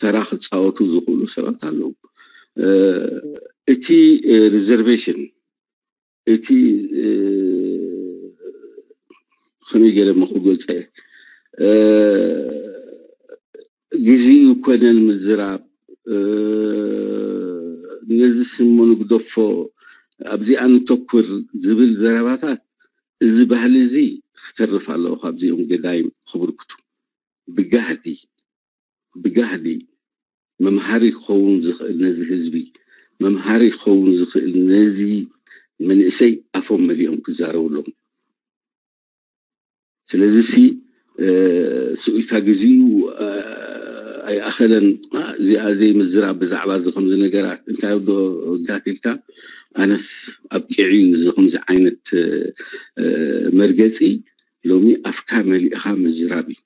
ተራ ክፃወቱ ዝኽእሉ ሰባት ኣለዉ። እቲ ሪዘርቬሽን እቲ ከመይ ገለ ሞ ክገልፀ ግዜኡ ኮነን ምዝራብ ነዚ ስሞ ንግደፎ ኣብዚኣ ንተኩር ዝብል ዘረባታት እዚ ባህሊ እዚ ክተርፍ ኣለዎ። ካብዚኦም ገዳይም ክብርክቱ ብጋህዲ ብጋህዲ መምሃሪ ክኸውን ዝኽእል ነዚ ህዝቢ መምሃሪ ክኸውን ዝኽእል ነዚ መንእሰይ ኣፎም መሊኦም ክዛረቡ ኣለዎም። ስለዚ ሲ ስኢልካ ግዜኡ ኣይኣኸለን። እዚኣ ዘይምዝራብ ብዛዕባ እዚ ከምዚ ነገራት እንታይ ዶ ጋት ኢልካ ኣነስ ኣብቂዑ እዩ እዚ ከምዚ ዓይነት መርገፂ ሎሚ ኣፍካ መሊእኻ ምዝራብ እዩ።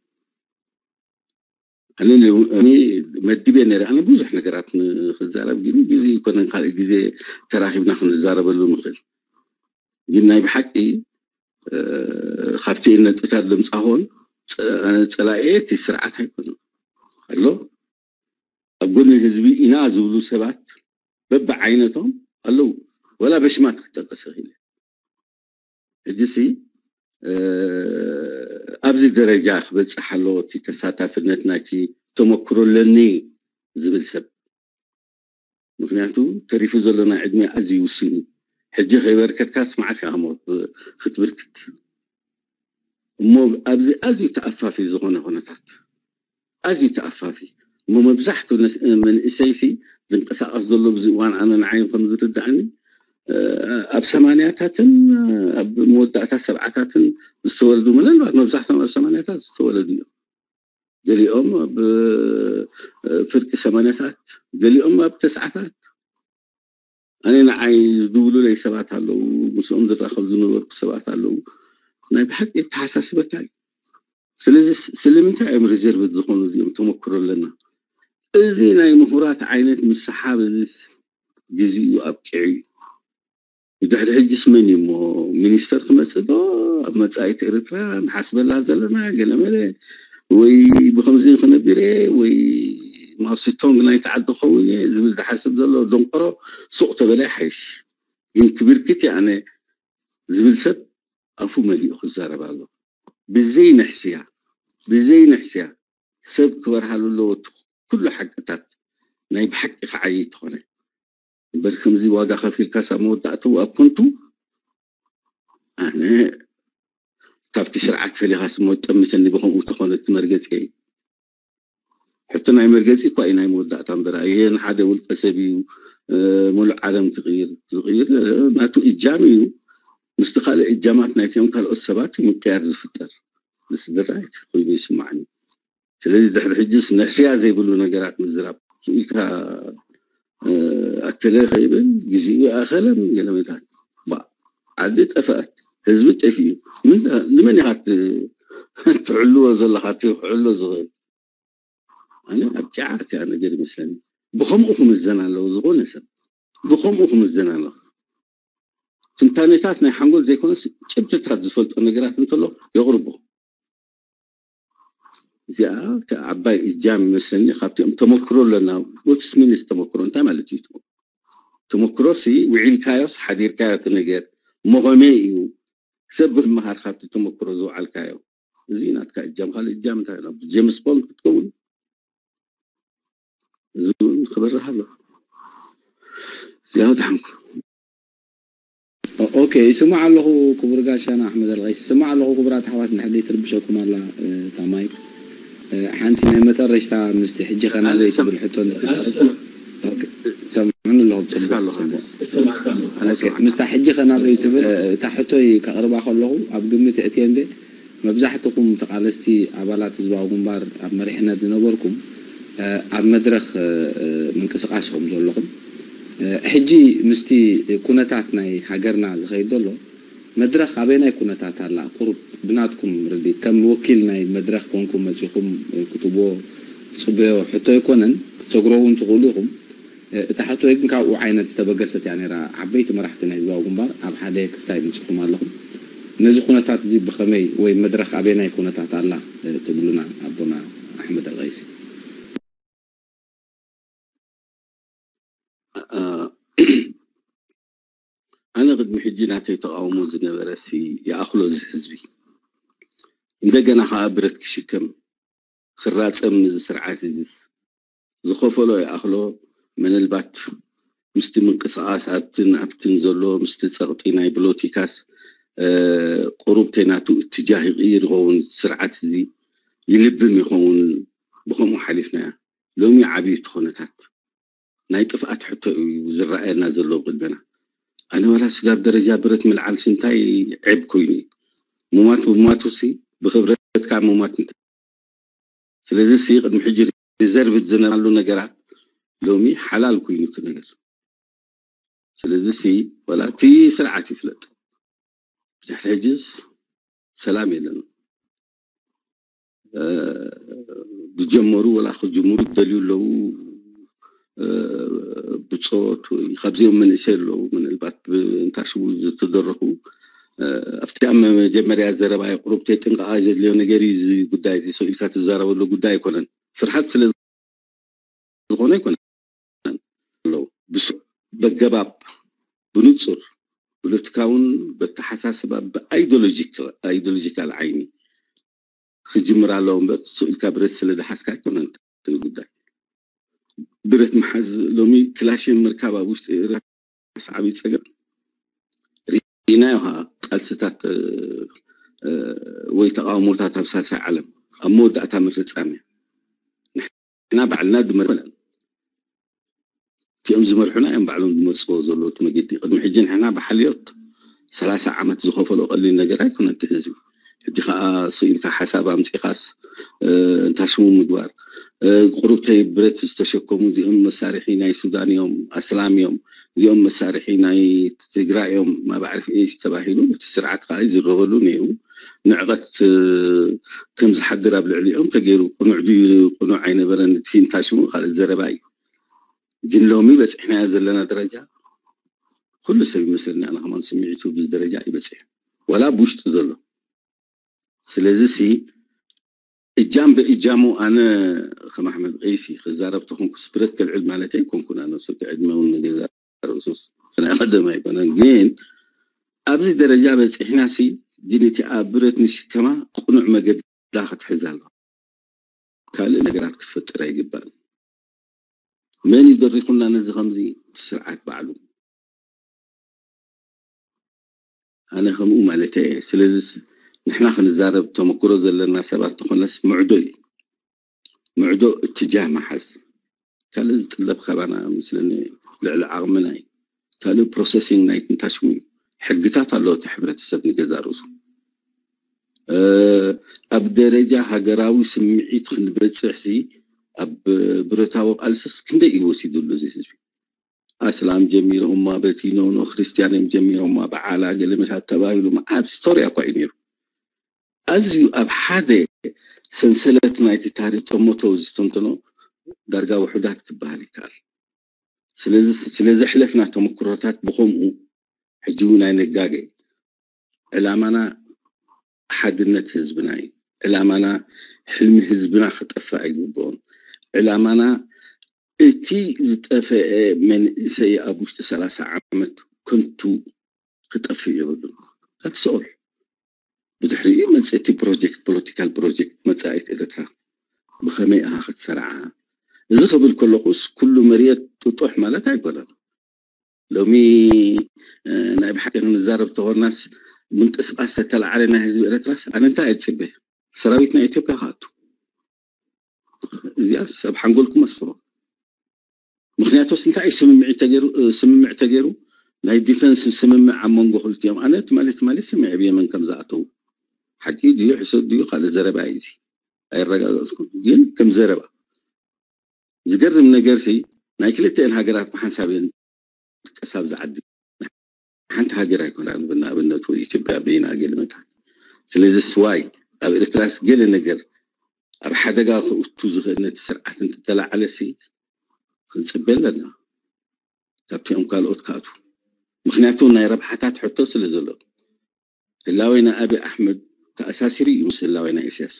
ኣነ መዲበ ነረ ኣነ ብዙሕ ነገራት ንክዛረብ ግን ግዜ ይኮነን ካልእ ግዜ ተራኪብና ክንዛረበሉ ንኽእል። ግን ናይ ብሓቂ ካብቲ ነጥብታት ዘምፃኾን ፀላኤ እቲ ስርዓት ኣይኮነን ኣሎ ኣብ ጎኒ ህዝቢ ኢና ዝብሉ ሰባት በብዓይነቶም ኣለዉ። ወላ በሽማት ክጠቀስ ይኽእል ሕጂሲ ኣብዚ ደረጃ ክበፅሕ ኣለዎ እቲ ተሳታፍነት ናይቲ ተመክሮ ኣለኒ ዝብል ሰብ። ምክንያቱ ተሪፉ ዘሎ ናይ ዕድመ ኣዝዩ ውሱን እዩ። ሕጂ ከይበርከትካ ስማዕካ ክትብርክት እሞ ኣብዚ ኣዝዩ ተኣፋፊ ዝኾነ ኩነታት ኣዝዩ ተኣፋፊ እሞ መብዛሕቱ መንእሰይሲ ዝንቀሳቐስ ዘሎ ብዚ እዋን ኣነ ንዓይ ከም ዝርዳእኒ ኣብ ሰማንያታትን ኣብ መወዳእታ ሰብዓታትን ዝተወለዱ ምናልባት መብዛሕቶም ኣብ ሰማንያታት ዝተወለዱ እዮም። ገሊኦም ኣብ ፍርቂ ሰማንያታት፣ ገሊኦም ኣብ ተስዓታት። ኣነ ንዓይ ዝድውሉለይ ሰባት ኣለዉ፣ ምስኦም ዝራኸብ ዝነበርኩ ሰባት ኣለዉ። ናይ ብሓቂ የተሓሳስበካ እዩ። ስለዚ ስለምንታይ እዮም ሪዘርቭ ዝኾኑ እዚኦም ተመክሮ ኣለና። እዚ ናይ ምሁራት ዓይነት ምስሓብ እዚ ግዜኡ ኣብቂዑ እዩ። ብድሕሪ ሕጂስ መን እዩ እሞ ሚኒስተር ክመፅእ ዶ ኣብ መፃኢት ኤርትራ ንሓስበላ ዘለና ገለመለ ወይ ብከምዚ ክነቢረ ወይ ማውሲቶንግ ናይቲ ዓዲ ክኸውን እየ ዝብል ዝሓስብ ዘሎ ደንቆሮ ሱቕ ተበለ ይሓይሽ። ግን ክብርክት ኣነ ዝብል ሰብ ኣፉ መሊኡ ክዛረብ ኣሎ። ብዘይ ንሕስያ ብዘይ ንሕስያ ሰብ ክበርሃሉ ኣለዎ። እቲ ኩሉ ሓቅታት ናይ ብሓቂ ክዓይ ተኾነ እምበር ከምዚ ዋጋ ከፊልካ ሳብ መወዳእትኡ ኣብ ኮንቱ ኣነ ካብቲ ስርዓት ፈሊኻ ስሞ ጠምተኒ ብከምኡ ተኾነ እቲ መርገፂ እዩ። ሕቶ ናይ መርገፂ እኳ እዩ ናይ መወዳእታ እምበር ኣየ ንሓደ ውልቀ ሰብ እዩ ሙሉእ ዓለም ክቕይር ዝቕይር ናቱ እጃም እዩ። ምስቲ ካልእ እጃማት ናይቲኦም ካልኦት ሰባት እዩ ምቅያር ዝፍጠር። ንስድራ ኮይኑ ይስማዕኒ። ስለዚ ድሕሪ ሕጅስ ንሕስያ ዘይብሉ ነገራት ምዝራብ ኢልካ ኣከለ ከይብል ግዜኡ ኣኸለን ገለመታት ዓዲ ጠፍአት ህዝቢ ጠፊኡ ንመን ኢኻ ትዕልዎ ዘለኻ ክዕሎ ዝኽእል ኣነ ኣብ ጫዓት እያ ነገር ይመስለኒ ብኸምኡ ክምዘን ኣለዎ ዝኾነ ሰብ ብኸምኡ ክምዘን ኣለዎ ትንታኔታት ናይ ሓንጎል ዘይኮነስ ጭብጥታት ዝፈልጦ ነገራት እንተሎ የቕርቦ። እዚኣ ዓባይ እጃም ይመስለኒ። ካብቲኦም ተመክሮ ኣለና። ወትስ ሚንስ ተመክሮ እንታይ ማለት እዩ? ተመክሮ ሲ ውዒልካዮስ ሓዲርካዮ እቲ ነገር መቐመይ እዩ። ሰብ ክመሃር ካብቲ ተመክሮ ዝወዓልካዮ። እዚ ናትካ እጃም። ካልእ እጃም እንታይ ኣሎ? ጀምስ ቦንድ ክትከውን፣ እዚ እውን ክበርህ ኣሎ። ያው ድሓንኩ። ኦኬ፣ ይስማዕ ኣለኹ ክቡር ጋሻና ኣሕመድ ኣልቀይስ፣ ይስማዕ ኣለኹ ክቡራት ኣሕዋት። ንሕደይ ትርብሸኩም ኣላ። ታማይ ሓንቲ ናይ መጠረሽታ ምስቲ ሕጂ ኸናበይ ትብል ሕቶ ሰምዑኒ ኣለኹም። ምስታ ሕጂ ኸናበይ ትብል እታ ሕቶይ ከቕርባ ከለኹ ኣብ ግምት እእትየ እንደ መብዛሕትኹም ተቓለስቲ ኣባላት ህዝባዊ ግንባር ኣብ መሪሕነት ዝነበርኩም ኣብ መድረኽ ምንቅስቃስ ከም ዘለኹም፣ ሕጂ ምስቲ ኩነታት ናይ ሃገርና ዝኸይድ ዘሎ መድረኽ ኣበየናይ ኩነታት ኣላ? ቁሩብ ብናትኩም ርድኢት፣ ከም ወኪል ናይ መድረኽ ኮንኩም መጺኹም ክትብዎ ትጽበዮ ሕቶ ኣይኮነን፣ ክትሰግሮ እውን ትኽእሉ ኢኹም። እታ ሕቶይ ግን ካብኡ ዓይነት ዝተበገሰት እያ ነይራ። ዓበይቲ መራሕቲ ናይ ህዝባዊ ግንባር ኣብ ሓደ ክስታይ መጺኹም ኣለኹም። ነዚ ኩነታት እዚ ብኸመይ ወይ መድረኽ ኣበየናይ ኩነታት ኣላ ትብሉና ኣቦና ኣሕመድ ኣልቀይሲ? ኣነ ቅድሚ ሕጂ ናተይ ተቓውሞ ዝነበረ ሲ ይኣኽሎ እዚ ህዝቢ። እንደገና ከዓ ብረት ክሽከም ክራጸም እዚ ስርዓት እዚ ዝኸፈሎ ይኣኽሎ። ምናልባት ምስቲ ምንቅስቃስ ኣብትን ኣብትን ዘሎ ምስቲ ጸቕጢ ናይ ብሎቲካስ ቁሩብተይ ናቱ እትጃህ ይቕይር ይኸውን። ስርዓት እዚ ይልብም ይኸውን። ብኸምኡ ሓሊፍናያ። ሎሚ ዓብዩ እቲ ኩነታት ናይ ጥፍኣት ሕቶ እዩ ዝረኣየና ዘሎ ቅድመና። ኣነ ዋላ ስጋብ ደረጃ ብረት ምልዓል ስንታይ ዕብ ኮይኑ እዩ። ሙማት ብሙማቱ ሲ ብክብረትካ ሙማት እንተ ስለዚ ሲ ቅድሚ ሕጂ ሪዘርቭ ዝነበራሉ ነገራት ሎሚ ሓላል ኮይኑ እቲ ነገር። ስለዚ ሲ ዋላ እቲ ስርዓት ይፍለጥ። ድሕሪ ሕጂ ሰላም የለን። ዝጀመሩ ወላ ክጅምሩ ዝደልዩ ኣለዉ። ብፆት ወይ ካብዚኦም መንእሰይ ኣለዉ። ምናልባት ብእንታሽቡ ዝተደረኹ ኣብቲ ኣብ መጀመርያ ዘረባ ቁሩብተይ ጥንቃቐ ዘድልዮ ነገር እዩ። እዚ ጉዳይ እዚ ሰው ኢልካ ትዛረበሉ ጉዳይ ኣይኮነን። ፍርሓት ስለ ዝኾነ ኣይኮነን ኣለዉ። ብስ በገባብ ብንጹር ፖለቲካውን በተሓሳስባ ብኣይዲዮሎጂካል ዓይኒ ክጅምር ኣለዎ እምበር ስኢልካ ብረት ስለ ዝሓዝካ ኣይኮነን እቲ ጉዳይ። ብረት ምሓዝ ሎሚ ክላሽን ምርካብ ኣብ ውሽጢ ኤርትራ ዓብዪ ጸገም ርኢናዮ። ቃልስታት ወይ ተቃውሞታት ኣብ ሳልሳይ ዓለም ኣብ መወዳእታ ምፍጻም እያ። ንሕና ባዕልና ድመርመለን እቲኦም ዝመርሑና እዮም ባዕሎም ዝመርፅዎ ዘለዉ እቲ መገዲ። ቅድሚ ሕጂ ንሕና ብሓልዮት ሰላሳ ዓመት ዝኸፈሎ ቀሊል ነገር ኣይኮነ እቲ ህዝቢ። ሕጂ ከዓ ስኢልካ ሓሳብ ኣምፂኻስ እንታሽሙ ምግባር። ቁሩብተይ ብረት ዝተሸከሙ እዚኦም መሳርሒ ናይ ሱዳን እዮም፣ ኣስላም እዮም፣ እዚኦም መሳርሒ ናይ ትግራይ እዮም፣ ማባዕርፍ ኤስ ተባሂሉ እቲ ስርዓት ከዓ ይዝረበሉ ነይሩ። ንዕቐት ከም ዝሓድር ኣብ ልዕሊኦም ተገይሩ። ቅኑዕ ድዩ ቅኑዕ ኣይነበረን እቲ እንታሽሙ ካልእ ዘረባ እዩ። ግን ሎሚ በፂሕናዮ ዘለና ደረጃ ኩሉ ሰብ ይመስለኒ ኣነ ከማን ስምዒቱ ብዚ ደረጃ እዩ በፂሑ ዋላ ብውሽጢ ዘሎ። ስለዚ ሲ እጃም ብእጃሙ ኣነ ከም ኣሕመድ ቀይሲ ክዛረብ ተኾንኩስ ብረት ከልዕል ማለት ኣይኮንኩን። ኣነ ሰቲ ዕድመ እውን ንገዛ ርእሱስ ናይ ቀደም ኣይኮነን። ግን ኣብዚ ደረጃ በፂሕና ሲ ግን እቲ ኣብ ብረት ንሽከማ ቅኑዕ መገዳ ክትሕዝ ኣለዋ። ካልእ ነገራት ክትፈጥር ኣይግባእን። መን እዩ ደሪኹና ነዚ ከምዚ? እቲ ስርዓት ባዕሉ። ኣነ ከምኡ ማለት እየ። ስለዚ ንሕና ክንዛረብ ተመክሮ ዘለና ሰባት ተኾነስ ምዕዶ እዩ። ምዕዶ እትጃህ መሓዝ ካልእ ዝጥለብ ካባና ምስለኒ ልዕሊ ዓቕምና እዩ። ካልእ ፕሮሰሲንግ ናይ ትንታሽሙ እዩ። ሕግታት ኣለዎ እቲ ሕብረተሰብ ንገዛ ርእሱ። ኣብ ደረጃ ሃገራዊ ስምዒት ክንበፅሕ ሲ ኣብ ብረታዊ ቃልስስ ክንደይ እዩ ወሲዱሉ እዚ ህዝቢ? ኣስላም ጀሚሮማ በቲ ኖኖ ክርስትያን እዮም ጀሚሮማ በዓላ ገለ መሻት ተባሂሉ መዓት ስቶሪ እኳ እዩ ነይሩ። ኣዝዩ ኣብ ሓደ ሰንሰለት ናይቲ ታሪክ ጠመቶ ዝተንተኖ ዳርጋ ውሑዳት ክበሃል ይከኣል። ስለዚ ስለዘሕለፍና ተመክሮታት ብኸምኡ ሕጂ እውን ኣይነጋገ። ዕላማና ሓድነት ህዝብና እዩ። ዕላማና ሕልሚ ህዝብና ክጠፍእ ኣይግብኦን። ዕላማና እቲ ዝጠፈአ መንእሰይ ኣብ ውሽጢ ሰላሳ ዓመት ከንቱ ክጠፍእ የብሉን። That's all። ብድሕሪኡ መፅእ እቲ ፕሮጀክት፣ ፖለቲካል ፕሮጀክት መፃኢት ኤርትራ ብኸመይ ኢኻ ክትሰርዓ? እዚ ክብል ከለኹስ ኩሉ መርየት ጥጡሕ ማለት ኣይኮነን። ሎሚ ናይ ብሓቂ ክንዛረብ ተኾርናስ ምንቅስቃስ ተተላዓለ ናይ ህዝቢ ኤርትራስ ኣነ እንታይ እፅበ? ሰራዊት ናይ ኢትዮጵያ ክኣቱ። እዚኣስ ኣብ ሓንጎልኩም ኣስፍሮ። ምክንያቱስ እንታይ እዩ ስምምዕ ተገይሩ? ስምምዕ ተገይሩ ናይ ዲፈንስ ስምምዕ ኣብ መንጎ ክልቲኦም። ኣነ ትማሊ ትማሊ ሰሚዐ ብየመን ከም ዝኣተው። ሓቂ ድዩ ሕሰብ ድዩ ካልእ ዘረባ እዩ እዚ። ኣይረጋገጽኩም ግን ከም ዘረባ ዝገርም ነገር ሲ ናይ ክልቲኤን ሃገራት ብሓንሳብ እየን ዝጥቀሳ ኣብዚ ዓዲ። ሓንቲ ሃገር ኣይኮናን ብናኣብነት ወይ ኢትዮጵያ በይና ገለ መታን። ስለዚ ስዋይ ኣብ ኤርትራስ ገለ ነገር ኣብ ሓደጋ ክእቱ ዝኽእል ነቲ ስርዓት እንትተላዓለ ሲ ክንፅበ ኣለና ካብቲኦም ካልኦት ክኣቱ። ምክንያቱ ናይ ረብሓታት ሕቶ ስለ ዘሎ ህላዌና ኣብይ ኣሕመድ ተኣሳሲሩ እዩ ምስ ህላዌና ኢሳያስ።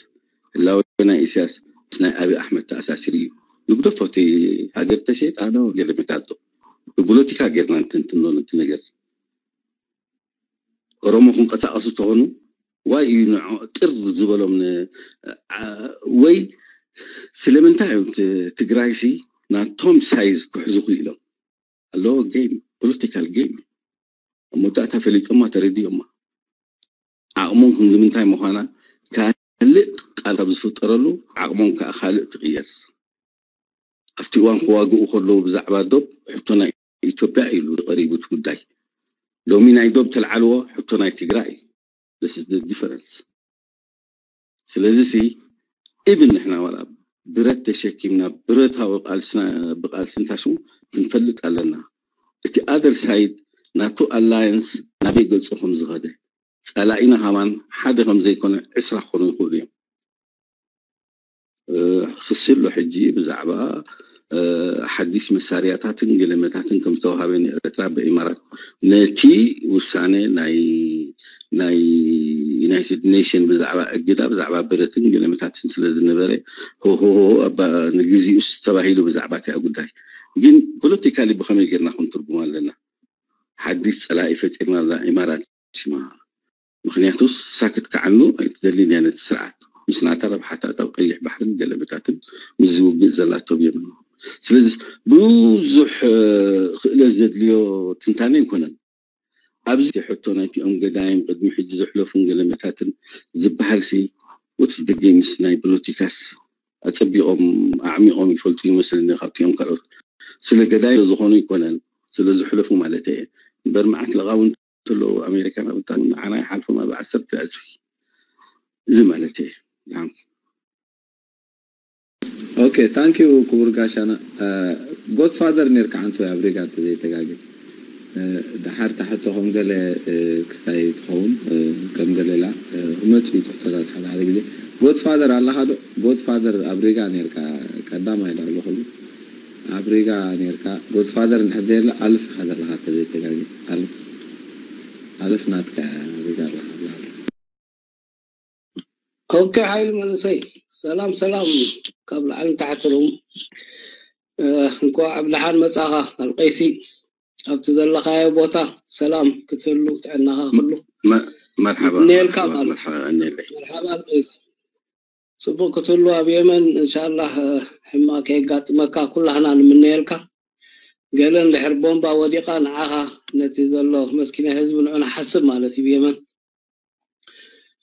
ህላዌና ኢሳያስ ምስ ናይ ኣብይ ኣሕመድ ተኣሳሲሩ እዩ። ንግደፎ እቲ ሃገር ተሸይጣ ዶ ገለ መታቶ ብፖለቲካ ጌርና እንትንትኖ ነቲ ነገር። ኦሮሞ ክንቀሳቀሱ ተኾኑ ዋይ እዩ ንዖ ጥር ዝበሎም ን- ዓ- ወይ ስለምንታይ እዮም ት- ትግራይ ሲ ናቶም ሳይዝ ክሕዙ ክኢሎም ኣለዎ። ጌም ፖለቲካል ጌም ኣብ መወዳእታ ፈሊጦማ ተረዲኦማ ዓቕሞም ክንዲ ምንታይ ምዃና ካልእ ቃል ካብ ዝፍጠረሉ ዓቕሞም ከዓ ካልእ ትቕየር። ኣብቲ እዋን ክዋግኡ ከለዉ ብዛዕባ ዶብ ሕቶ ናይ ኢትዮጵያ ኢሉ ቀሪቡ እቲ ጉዳይ። ሎሚ ናይ ዶብ ተልዓልዎ ሕቶ ናይ ትግራይ እዩ። This is the difference። ስለዚ ሲ ኢቭን ንሕና ዋላ ብረት ተሸኪምና ብረታዊ ቃልስና ብቃልሲ እንታሽሙ ክንፈልጥ ኣለና። እቲ ኣደር ሳይድ ናቱ ኣላየንስ ናበይ ገጹ ከም ዝኸደ ጸላኢና ከማን ሓደ ከም ዘይኮነ ዕስራ ክኾኑ ይኽእሉ እዮም። ክሲ ኣሎ ሕጂ ብዛዕባ ሓዲሽ መሳርያታትን ገለመታትን ከም ዝተዋሃበ ንኤርትራ ብኢማራት ነቲ ውሳነ ናይ ናይ ዩናይትድ ኔሽን ብዛዕባ እግዳ ብዛዕባ ብረትን ገለመታትን ስለ ዝነበረ ሆሆሆ ንግዚኡስ ተባሂሉ ብዛዕባ እቲኣ ጉዳይ ግን ፖለቲካሊ ብኸመይ ጌርና ክንትርጉም ኣለና? ሓዲሽ ጸላኢ ፈጢርና እዛ ኢማራት ሲማ ምክንያቱስ ሳክት ክዓኑ ኣይትደልን እያ ነቲ ስርዓት ምስ ናታ ረብሓታት ኣብ ቀይሕ ባሕርን ገለመታትን ምስ ዝውግእ ዘላቶ ብየመን። ስለዚ ብዙሕ ክእለት ዘድልዮ ትንታነ ኣይኮነን። ኣብዚ ሕቶ ናይቲኦም ገዳይም ቅድሚ ሕጂ ዘሕለፉን ገለመታትን ዝበሃል ሲ ወትስ ደገ ምስ ናይ ፖለቲካስ ኣጸቢቖም ኣዕሚቖም ይፈልጡ ይመስለኒ ካብቲኦም ካልኦት ስለ ገዳይ ዝኾኑ ይኮነን ስለ ዝሕለፉ ማለት እየ እምበር መዓት ለቓውንቲ ኣለዉ ኣሜሪካና ብጣዕሚ ንዓና ይሓልፎም ኣብ ዓሰርተ ዕፅፊ እዚ ማለት እየ። ኦኬ ታንኪዩ ክቡር ጋሻና። ጎድፋደር ነርካ ሓንቲ ኣብ ሪጋ እንተዘይተጋግየ። ድሓር ታሕቶ ከም ገለ ክስታይ ትኸውን ከም ገለላ መፅኡ ትሕቶታት ሓደ ሓደ ግዜ ጎድፋደር ኣለኻ ዶ? ጎድፋደር ኣብ ሪጋ ነርካ ቀዳማይ ዶ ኣለኹሉ ኣብ ሪጋ ነርካ ጎድፋደር እንድሕር ዘየለ ኣልፍ ኢኻ ዘለኻ እንተዘይተጋግየ ኣልፍ ኣልፍ ናትካ ሪጋ ኣለኻ። ኦኬ ሓይሊ መንእሰይ ሰላም ሰላም ካብ ላዕሊ ንታሕቲ ሎም እንኳዕ ኣብ ደሓን መጻኻ ኣልቀይሲ ኣብቲ ዘለኻዮ ቦታ ሰላም ክትህሉ ጥዕናኻ ኩሉ መርሓባ ነልካ መርሓባ ማለት መርሓባ እኔለይ መርሓባ ኣልቀይሲ ጽቡቅ ክትህሉ ኣብ የመን እንሻላህ ሕማ ከየጋጥመካ ኩላህና ንምነየልካ ገለ እንድሕር ቦምባ ወዲቃ ንዓኻ ነቲ ዘሎ መስኪና ህዝቢ ንዑ ንሓስብ ማለት እዩ የመን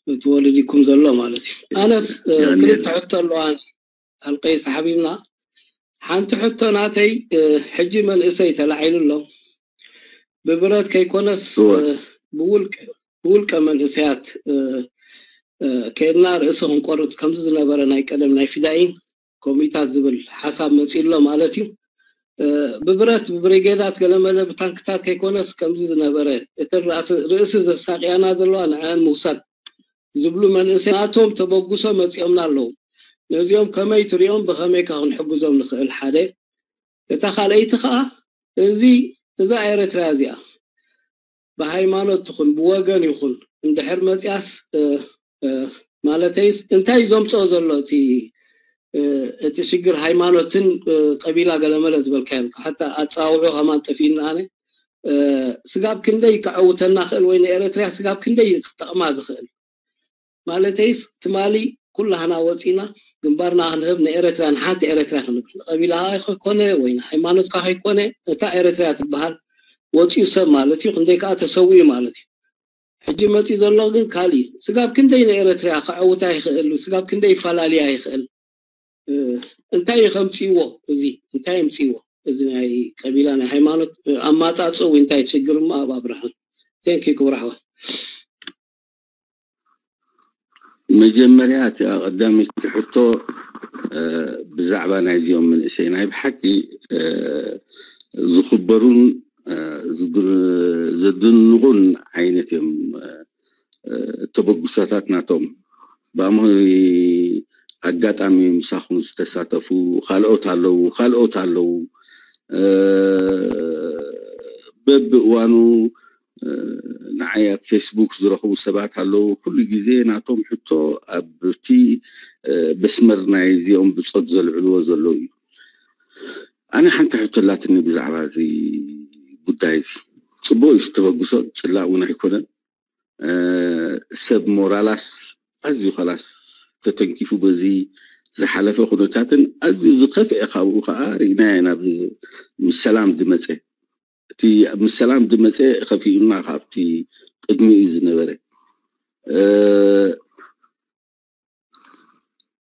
እቲ ወለዲኩም ዘሎ ማለት እዩ ኣነስ ክልተ ሕቶ ኣለዋ ኣልቀይስ ሓቢብና ሓንቲ ሕቶ ናተይ ሕጂ መንእሰይ ተላዒሉ ኣሎ ብብረት ከይኮነስ ብውልቀ መንእሰያት ከድና ርእሲ ክንቆርፅ ከምዚ ዝነበረ ናይ ቀደም ናይ ፊዳኢን ኮሚታት ዝብል ሓሳብ መፂ ኣሎ ማለት እዩ ብብረት ብብሪጌዳት ገለመለ ብታንክታት ከይኮነስ ከምዚ ዝነበረ እተን ርእሲ ዘሳቅያና ዘለዋ ንዐን ምውሳድ ዝብሉ መንእሰይ ናቶም ተበጉሶ መፂኦምና ኣለዉ ነዚኦም ከመይ ትሪኦም ብከመይ ካ ክንሕግዞም ንኽእል ሓደ እታ ካልኣይቲ ከዓ እዚ እዛ ኤረትራ እዚኣ ብሃይማኖት ትኹን ብወገን ይኹን እንድሕር መፅያስ፣ ማለተይስ እንታይ እዩ ዘምፅኦ ዘሎ እቲ እቲ ሽግር ሃይማኖትን ቀቢላ ገለመለ ዝበልካዮ? ሓታ ኣፀዋውዑ ከማን ጠፊእና። ኣነ ስጋብ ክንደይ ከዐውተና ክእል ወይ ንኤረትርያ ስጋብ ክንደይ ክጠቕማ ዝኽእል? ማለተይስ ትማሊ ኩላህና ወፂና ግንባርና ክንህብ ንኤረትርያ፣ ንሓንቲ ኤረትርያ ክንብል፣ ንቀቢላኻ ከይኮነ ወይ ንሃይማኖትካ ከይኮነ፣ እታ ኤረትርያ ትበሃል ወፂኡ ሰብ ማለት እዩ። ክንደይ ከዓ ተሰዊኡ ማለት እዩ። ሕጂ መፂኡ ዘሎ ግን ካልእ እዩ። ስጋብ ክንደይ ንኤረትርያ ከዐውታ ይኽእል? ስጋብ ክንደይ ይፈላልያ ይኽእል? እንታይ እዩ ከምፅእዎ? እዚ እንታይ የምፅእዎ? እዚ ናይ ቀቢላ ናይ ሃይማኖት ኣማፃፅኡ እንታይ ሽግር እሞ ኣብ ኣብርሃም። Thank you ክቡር ኣሕዋት። መጀመርያ እቲ ቀዳመይቲ ሕቶ ብዛዕባ ናይዚኦም መንእሰይ ናይ ብሓቂ ዝኽበሩን ዘድንቑን ዓይነት እዮም ተበግሶታት ናቶም። ብኣምሆይ ኣጋጣሚ ምሳኹም ዝተሳተፉ ካልኦት ኣለዉ፣ ካልኦት ኣለዉ። በብእዋኑ ንዓይ ኣብ ፌስቡክ ዝረኽቡ ሰባት ኣለዉ። ኩሉ ግዜ ናቶም ሕቶ ኣብቲ መስመር ናይ እዚኦም ብጾት ዘልዕልዎ ዘለዉ እዩ። ኣነ ሓንቲ ሕቶ ኣላትኒ ብዛዕባ እዚ ጉዳይ እዚ። ጽቡቕ እዩ ዝተበግሶ፣ ጽላእ እውን ኣይኮነን። ሰብ ሞራላስ ኣዝዩ ኸላስ ተተንኪፉ በዚ ዝሓለፈ ኩነታትን ኣዝዩ ዝኸፍአ ካብኡ ከዓ ርኢናዮ ኢና። ምስ ሰላም ዝመፀ እቲ ምስ ሰላም ዝመፀ ኸፊኡና ካብቲ ቅድሚኡ ዝነበረ።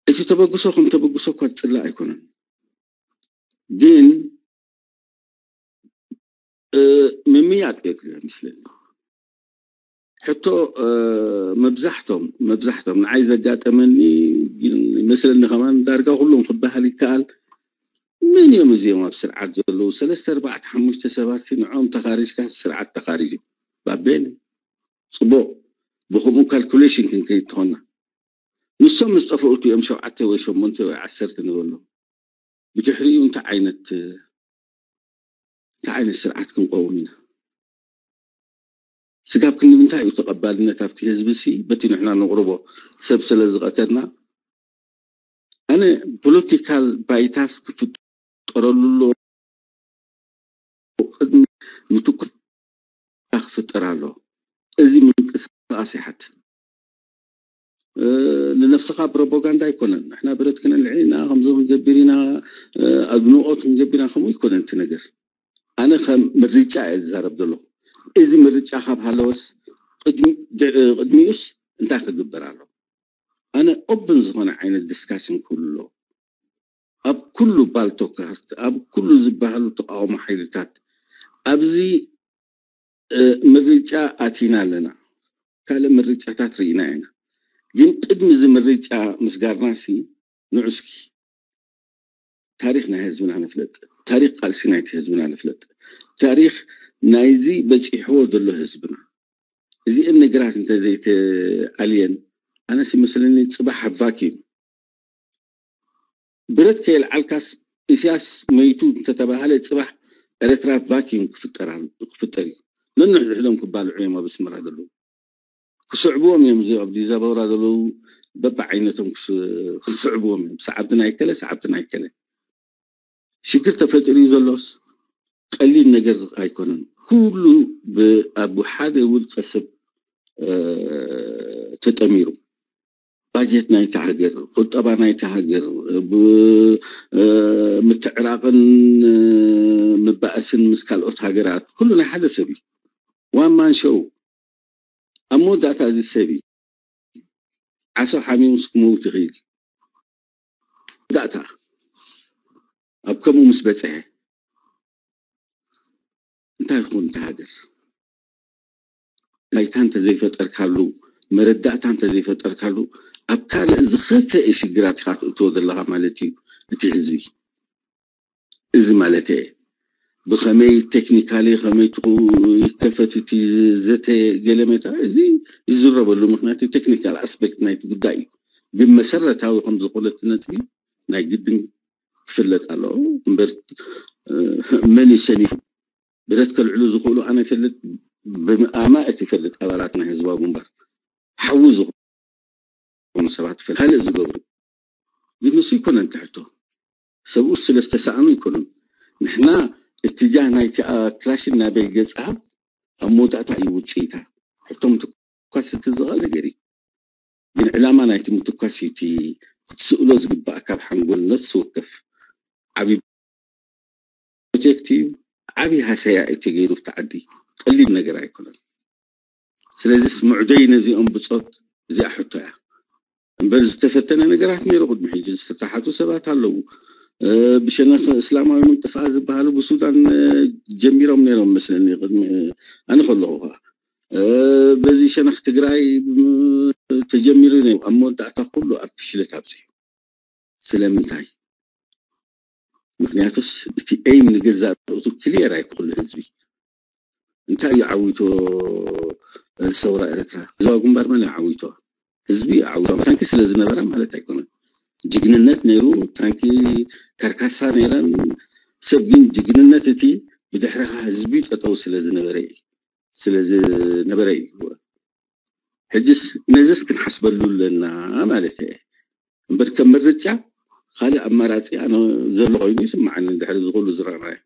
እቲ ተበግሶ ከም ተበግሶ እኳ ዝፅላእ ኣይኮነን፣ ግን ምምያጥ የድልዮ ይመስለኒ። ሕቶ መብዛሕቶም መብዛሕቶም ንዓይ ዘጋጠመኒ ይመስለኒ ከማን ዳርጋ ኩሎም ክበሃል ይከኣል። መን እዮም እዚኦም ኣብ ስርዓት ዘለዉ ሰለስተ ኣርባዕተ ሓሙሽተ ሰባት ንዕኦም ተኻሪጅካ ስርዓት ተኻሪጅ እዩ። ባቤን ጽቡቕ ብከምኡ ካልኩሌሽን ክንከይድ ተኾና ንሶም ምስ ጠፍኡ እዮም ሸውዓተ ወይ ሸሞንተ ወይ ዓሰርተ ንበሎ። ብድሕሪኡ እንታይ ዓይነት እንታይ ዓይነት ስርዓት ክንቀውም ኢና? ስጋብ ክንዲ ምንታይ እዩ ተቐባልነት ኣብቲ ህዝቢ ሲ በቲ ንሕና ነቕርቦ ሰብ ስለ ዝቐተልና? ኣነ ፖለቲካል ባይታስ ክፍጠረሉ ኣሎ ቅድሚ ምትኩር ክፍጠር ኣሎ። እዚ ምንቅስቃስ ይሓት ንነፍስኻ ፕሮፓጋንዳ ኣይኮነን። ንሕና ብረት ክነልዕል ኢና፣ ከምዚ ክንገብር ኢና፣ ኣድንቆት ክንገብር ኢና፣ ከምኡ ኣይኮነን እቲ ነገር። ኣነ ከም ምርጫ እየ ዝዛረብ ዘለኹ። እዚ ምርጫ ካብ ሃለወስ ቅድሚኡስ እንታይ ክግበር ኣሎ? ኣነ ኦፕን ዝኾነ ዓይነት ዲስካሽን ክህሉ ኣለዎ። ኣብ ኩሉ ባልቶካስት፣ ኣብ ኩሉ ዝበሃሉ ተቃውሞ ሓይልታት ኣብዚ ምርጫ ኣቲና ኣለና። ካልእ ምርጫታት ርኢና ኢና። ግን ቅድሚ እዚ ምርጫ ምስጋርና ሲ ንዑ እስኪ ታሪኽ ናይ ህዝብና ንፍለጥ። ታሪኽ ቃልሲ ናይቲ ህዝብና ንፍለጥ። ታሪኽ ናይዚ በፂሕዎ ዘሎ ህዝብና። እዚአን ነገራት እንተዘይተኣልየን ኣነስ ይመስለኒ ፅባሕ ኣብ ቫኪዩም ብረት ከየልዓልካስ ኢሳያስ መይቱ እንተተባሃለ ፅባሕ ኤረትራ ቫኪዩም ክፍጠር ኣሎ- ክፍጠር እዩ። ነንሕድሕዶም ክባልዑ እዮም ኣብ ኣስመራ ዘለዉ። ክስዕብዎም እዮም እዚ ኣብ ዲዛበራ ዘለዉ በብዓይነቶም ክስ- ክስዕብዎም እዮም። ሰዓብቲ ናይ ከለ ሰዓብቲ ናይ ከለ ሽግር ተፈጢሩ እዩ ዘሎስ ቀሊል ነገር ኣይኮነን። ኩሉ ብ- ኣብ ሓደ ውልቀ ሰብ ተጠሚሩ ባጀት ናይታ ሃገር፣ ቁጠባ ናይታ ሃገር፣ ምትዕራቕን ምባእስን ምስ ካልኦት ሃገራት ኩሉ ናይ ሓደ ሰብ እዩ። ዋን ማን ሾው ኣብ መወዳእታ እዚ ሰብ እዩ ዓሶ ሓሚሙስ ክመውት ይኽእል። መወዳእታ ኣብ ከምኡ ምስ በፅሐ እንታይ ይኹን እቲ ሃገር ባይታ እንተዘይፈጠርካሉ መረዳእታ እንተዘይፈጠርካሉ ኣብ ካልእ ዝኸፍአ ሽግራት ኢኻ ትእትዎ ዘለኻ ማለት እዩ እቲ ህዝቢ። እዚ ማለት እየ ብኸመይ ቴክኒካሊ ከመይ ትኹ ይከፈት እቲ ዘተ ገለመታ እዚ ይዝረበሉ ምክንያቱ ቴክኒካል ኣስፔክት ናይቲ ጉዳይ እዩ። ግን መሰረታዊ ከም ዝኾነ እቲ ነጥቢ ናይ ግድን ክፍለጥ ኣለዎ እምበር መን እዩ ሰኒፉ ብረት ከልዕሉ ዝኽእሉ ኣነ ይፈልጥ ብኣማእት ይፈልጥ ኣባላት ናይ ህዝባዊ ግንባር ሓዉ ዝኾኑ ሰባት ይፈልጥ። ካልእ ዝገብሩ ግን ንሱ ይኮነን ትሕቶ። ሰብኡ ስለ ዝተሰኣኑ ይኮኑን። ንሕና እትጃህ ናይቲ ክላሽን ናበይ ገጻ ኣብ መወዳእታ እዩ ውፅኢታ። ሕቶም ትኳስ እቲ ዝቐ ነገር እዩ። ግን ዕላማ ናይቲ ምትኳስ እዩ እቲ ክትስእሎ ዝግባእ ካብ ሓንጎል ነፍሲ ወከፍ ዓብዪ ፕሮጀክት እዩ። ዓብዪ ሃሰያ እዩ ተገይሩ ኣብቲ ዓዲ። ቀሊል ነገር ኣይኮነን። ስለዚስ ምዕዶይ ነዚኦም ብፆት እዚኣ ሕቶ እያ እምበር ዝተፈተነ ነገራት ነይሩ። ቅድሚ ሕጂ ዝተታሓቱ ሰባት ኣለዉ። ብሸነኽ እስላማዊ ምንቅስቃስ ዝበሃሉ ብሱዳን ጀሚሮም ነይሮም መስለኒ፣ ቅድሚ ኣነ ከለኹ ከዓ በዚ ሸነኽ ትግራይ ተጀሚሩ ነይሩ። ኣብ መወዳእታ ኩሉ ኣብ ፍሽለት ኣብፅሑ። ስለምንታይ? ምክንያቱስ እቲ ኤይም ንገዛእ ርእቱ ክሊየር ኣይክሉ ህዝቢ እንታይ እዩ ዓዊቶ? ሰውራ ኤረትራ ህዝባዊ ግንባር መን እዩ ዓዊቶ? ህዝቢ እዩ ዓዊቶ። ታንኪ ስለ ዝነበራ ማለት ኣይኮነን። ጅግንነት ነይሩ። ታንኪ ካርካሳ ነይረን። ሰብ ግን ጅግንነት እቲ ብድሕርኻ ህዝቢ ጠጠው ስለ ዝነበረ እዩ ስለ ዝነበረ እዩ። ሕጅስ ነዚስ ክንሓስበሉ ኣለና ማለት እየ። እምበር ከም ምርጫ ካልእ ኣማራፂ ኣነ ዘሎ ኮይኑ ይስምዓኒ። ድሕሪ ዝኩሉ ዝረኣናዮ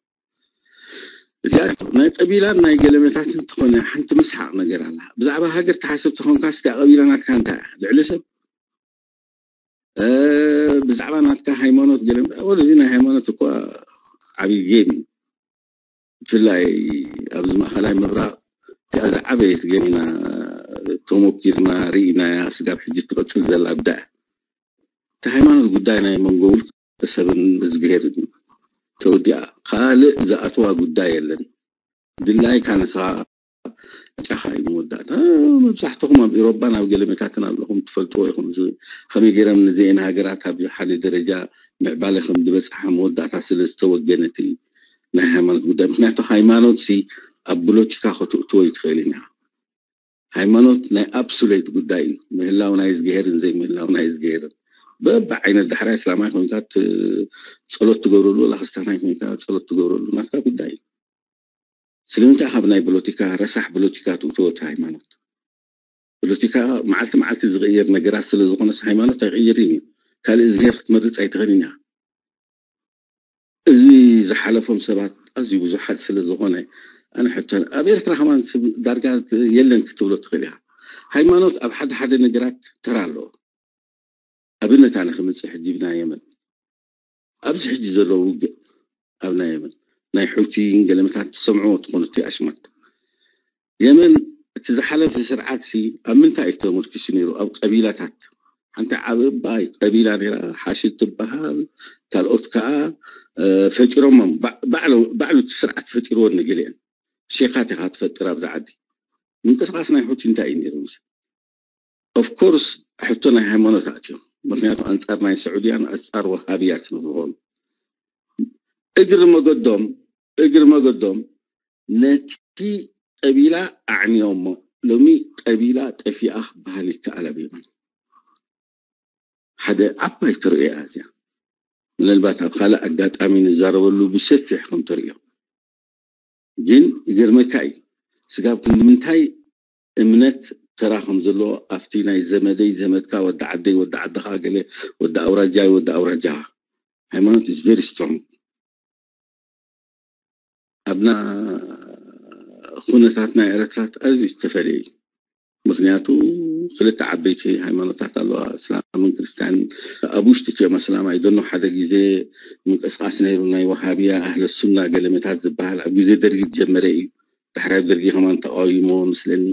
እዚኣ ናይ ቀቢላን ናይ ገለመታትን እንተኾነ ሓንቲ መስሓቕ ነገር ኣላ። ብዛዕባ ሃገር ተሓስብ ተኾንካ ስቲያ ቀቢላ ናትካ እንታይ እያ? ልዕሊ ሰብ ብዛዕባ ናትካ ሃይማኖት ገለ እዚ ናይ ሃይማኖት እኳ ዓብዪ ጌም እዩ። ብፍላይ ኣብዚ ማእኸላይ ምብራቕ እዚኣ ዝዓበየት ጌም ኢና ተሞኪርና ርኢናያ። ስጋብ ሕጂ ትቕፅል ዘላ ኣብዳ እያ። እቲ ሃይማኖት ጉዳይ ናይ መንጎ ውልቀ ሰብን እዝግሄርን እዩ። ተወዲኣ ካልእ ዝኣተዋ ጉዳይ የለን። ድላይካ ንስኻ ጫኻ እዩ መወዳእታ። መብዛሕትኹም ኣብ ኤሮፓን ኣብ ገለመታትን ኣለኹም ትፈልጥዎ ኢኹም። ከመይ ገይረም ነዚአን ሃገራት ኣብ ሓደ ደረጃ ምዕባለ ከም ዝበፅሓ መወዳእታ ስለ ዝተወገነት እዩ ናይ ሃይማኖት ጉዳይ። ምክንያቱ ሃይማኖት ሲ ኣብ ፖለቲካ ከተእትዎ ይትኽእል ኢና። ሃይማኖት ናይ ኣብሱሌት ጉዳይ እዩ። ምህላው ናይ ዝግሄርን ዘይምህላው ናይ ዝግሄርን በብዓይነት ዳሕራይ እስላማይ ኮይንካ ት- ጸሎት ትገብረሉ ወላ ክርስቲያናይ ኮይንካ ጸሎት ትገብረሉ ናትካ ጉዳይ እዩ። ስለምንታይ ካብ ናይ ፖለቲካ ረሳሕ ፖለቲካ ትእትዎ እቲ ሃይማኖት? ፖለቲካ መዓልቲ መዓልቲ ዝቕየር ነገራት ስለ ዝኾነስ ሃይማኖት ኣይቕየርን እዩ። ካልእ ዝገር ክትመርጽ ኣይትኽእልን ኢኻ። እዚ ዝሓለፎም ሰባት ኣዝዩ ብዙሓት ስለ ዝኾነ ኣነ ሕቶ ኣብ ኤርትራ ከማን ስብ ዳርጋ የለን ክትብሎ ትኽእል ኢኻ። ሃይማኖት ኣብ ሓደ ሓደ ነገራት ተራ ኣለዎ። ኣብነት ኣነ ክምፅእ ሕጂ ብናይ የመን ኣብዚ ሕጂ ዘለዉ ውግእ ኣብ ናይ የመን ናይ ሑቲን ገለመታት ትሰምዕዎ ትኾኑ እቲ ኣሽማት የመን እቲ ዝሓለፈ ስርዓት ሲ ኣብ ምንታይ እዩ ተመርኪሱ ነይሩ? ኣብ ቀቢላታት ሓንቲ ዓብ እባይ ቀቢላ ነይራ ሓሽድ ትበሃል። ካልኦት ከዓ ፈጢሮሞም ባዕሉ እቲ ስርዓት ፈጢርዎ ንግልአን ሼኻት ኢኻ ትፈጥር ኣብዛ ዓዲ። ምንቅስቃስ ናይ ሑቲ እንታይ እዩ ነይሩ? ኦፍኮርስ ሕቶ ናይ ሃይማኖት ኣትዮም። ምክንያቱ ኣንፃር ናይ ስዑድያን ኣንፃር ወሃብያ ስለዝኾኑ እግሪ መገዶም እግሪ መገዶም ነቲ ቀቢላ ኣዕንዮሞ። ሎሚ ቀቢላ ጠፊኣ ክበሃል ይከኣል ኣብ የመን። ሓደ ዓባይ ትርእያ እዚያ ምናልባት ኣብ ካልእ ኣጋጣሚ ንዛረበሉ ብሰፊሕ ከም ትርእዮ ግን ይገርመካ እዩ ስጋብ ክንዲ ምንታይ እምነት ተራ ከም ዘለዎ ኣብቲ ናይ ዘመደይ ዘመድካ ወዲ ዓደይ ወዲ ዓድኻ ገለ ወዲ ኣውራጃይ ወዲ ኣውራጃኻ ሃይማኖት is very strong ኣብና ኩነታት ናይ ኤረትራት ኣዝዩ ዝተፈለየ እዩ ምክንያቱ ክልተ ዓበይቲ ሃይማኖታት ኣለዋ እስላምን ክርስትያን ኣብ ውሽጢ እቲኦም ኣስላም ኣይደኖ ሓደ ግዜ ምንቅስቃስ ነይሩ ናይ ወሃብያ ኣህለ ሱና ገለመታት ዝበሃል ኣብ ግዜ ደርጊ ዝጀመረ እዩ ዳሕራይ ደርጊ ከማን ተቃዊሞ መስለኒ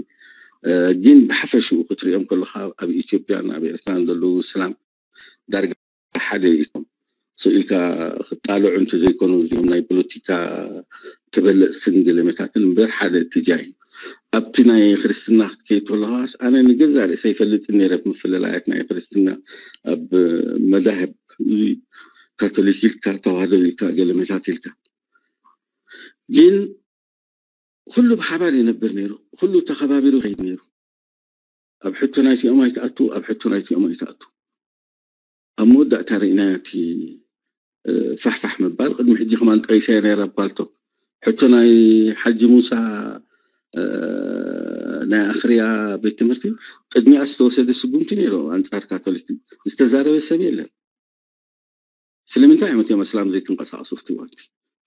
ግን ብሓፈሽኡ ክትሪኦም ከለካ ኣብ ኢትዮጵያን ኣብ ኤርትራን ዘለዉ እስላም ዳርጋ ሓደ እዮም ስኢልካ ክጣልዑ እንተ ዘይኮኑ እዚኦም ናይ ፖለቲካ ተበለፅትን ገለመታትን እምበር ሓደ እትጃ እዩ ኣብቲ ናይ ክርስትና ክትከይድ ከለካስ ኣነ ንገዛ ርእሰ ይፈልጥ ነረ ምፍልላያት ናይ ክርስትና ኣብ መዛህብ ካቶሊክ ኢልካ ተዋህዶ ኢልካ ገለመታት ኢልካ ግን ኩሉ ብሓባር ይነብር ነይሩ ኩሉ ተኸባቢሩ ይኸይድ ነይሩ ኣብ ሕቶ ናይቲኦም ኣይትኣቱ ኣብ ሕቶ ናይቲኦም ኣይትኣቱ ኣብ መወዳእታ ርኢናዮ እቲ ፋሕፋሕ ምባል ቅድሚ ሕጂ ከማን ጠቂሰ ነይረ ኣብ ፓልቶክ ሕቶ ናይ ሓጂ ሙሳ ናይ ኣኽርያ ቤት ትምህርቲ ቅድሚያ ዝተወሰደ ስጉምቲ ነይሩ ኣንጻር ካቶሊክ ዝተዛረበ ሰብ የለን። ስለምንታይ እዮም እቶም ኣስላም ዘይተንቀሳቐሱ? ፍትዋት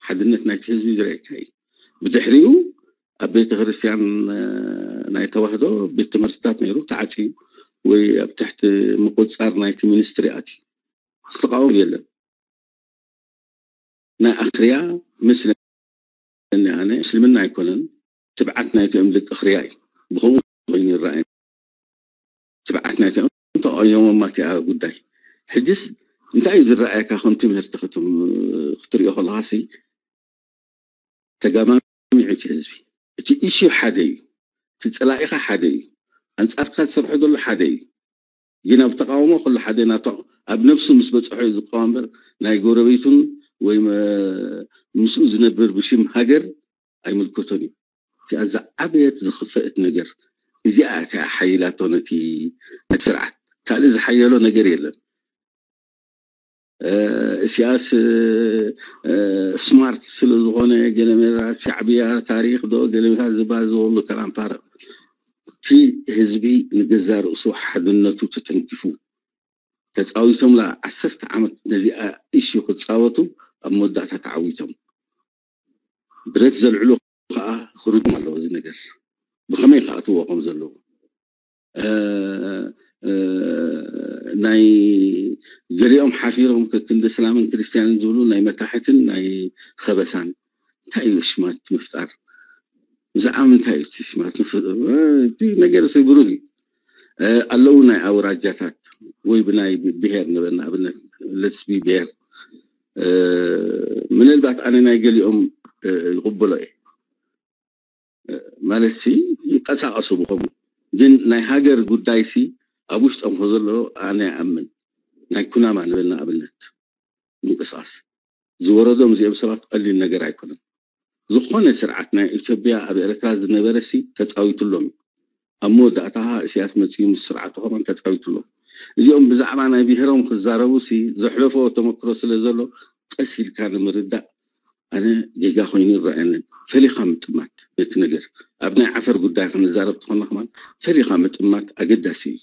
ሓድነት ናይቲ ህዝቢ ዝረእካ እዩ። ብድሕሪኡ ኣብ ቤተ ክርስቲያን ናይ ተዋህዶ ቤት ትምህርትታት ነይሩ ተዓፅዩ ወይ ኣብ ትሕቲ ምቁፅፃር ናይቲ ሚኒስትሪ ኣትዩ ዝተቃወም የለን። ናይ ኣኽርያ ምስለኒ ኣነ እስልምና ኣይኮነን፣ ትብዓት ናይቶም ደቂ ኣኽርያ እዩ። ብኸምኡ ኮይኑ ይረኣየኒ። ትብዓት ናይቶም ተቃውሞማ እቲኣ ጉዳይ። ሕጅስ እንታይ እዩ ዝረኣየካ? ከም ትምህርቲ ክትሪኦ ከለካ ሲ ተጋማሚዑ እቲ ህዝቢ። እቲ ኢሹ ሓደ እዩ። እቲ ፀላኢኻ ሓደ እዩ። ኣንፃርካ ዝሰርሖ ዘሎ ሓደ እዩ። ግን ኣብ ተቃውሞ ኩሉ ሓደ ናቶ ኣብ ነብሱ ምስ በፅሖ እዩ ዝቃወም እምበር ናይ ጎረቤቱን ወይ ምስኡ ዝነብር ብሽም ሃገር ኣይምልከቶን እዩ። እቲኣ ዝዓበየት ዝኽፈአት ነገር እዚኣ እቲኣ ሓይላቶ ነቲ ነቲ ስርዓት። ካልእ ዝሓየሎ ነገር የለን። እስያስ ስማርት ስለ ዝኾነ ገለመታት ሻዕብያ ታሪኽ ዶ ገለመታት ዝበሃል ዝወሉ ከላም ፋርቕ። እቲ ህዝቢ ንገዛ ርእሱ ሓድነቱ ተተንኪፉ ተፃዊቶምላ ዓሰርተ ዓመት ነዚኣ ኢሹ ክፃወቱ ኣብ መወዳእታ ተዓዊቶም። ብረት ዘልዕሉ ከዓ ክርድም ኣለዎ እዚ ነገር ብኸመይ ክኣትዎ ከም ዘለዎ። ናይ ገሊኦም ሓፊሮም ከክንዲ እስላምን ክርስትያንን ዝብሉ ናይ መታሕትን ናይ ኸበሳን እንታይ እዩ ሽማት ምፍጣር? ብዛዕባ ምንታይ እዩ እቲ ሽማት ምፍጣር? እቲ ነገር ሲ ብሩህ እዩ። ኣለዉ ናይ ኣውራጃታት ወይ ብናይ ብሄር ንበል ንኣብነት ለትስቢ ብሄር ምናልባት ኣነ ናይ ገሊኦም ይቕበሎ እየ ማለት ሲ ይንቀሳቐሱ ብኸምኡ ግን ናይ ሃገር ጉዳይ ሲ ኣብ ውሽጦም ከዘሎ ኣነ ይኣምን ናይ ኩናማ ንበል ንኣብነት ምንቅስቃስ ዝወረዶም እዚኦም ሰባት ቀሊል ነገር ኣይኮነን። ዝኾነ ስርዓት ናይ ኢትዮጵያ ኣብ ኤርትራ ዝነበረ ሲ ተፃዊትሎም እዩ። ኣብ መወዳእታ ከዓ እስያስ መፅኡ ምስ ስርዓቱ ከማን ተፃዊትሎም። እዚኦም ብዛዕባ ናይ ብሄሮም ክዛረቡ ሲ ዘሕለፈዎ ተመክሮ ስለ ዘሎ ቀስ ኢልካ ንምርዳእ ኣነ ጌጋ ኮይኑ ይረኣየንን። ፈሊኻ ምጥማት ነቲ ነገር ኣብ ናይ ዓፈር ጉዳይ ክንዛረብ ተኾና ከማን ፈሊኻ ምጥማት ኣገዳሲ እዩ።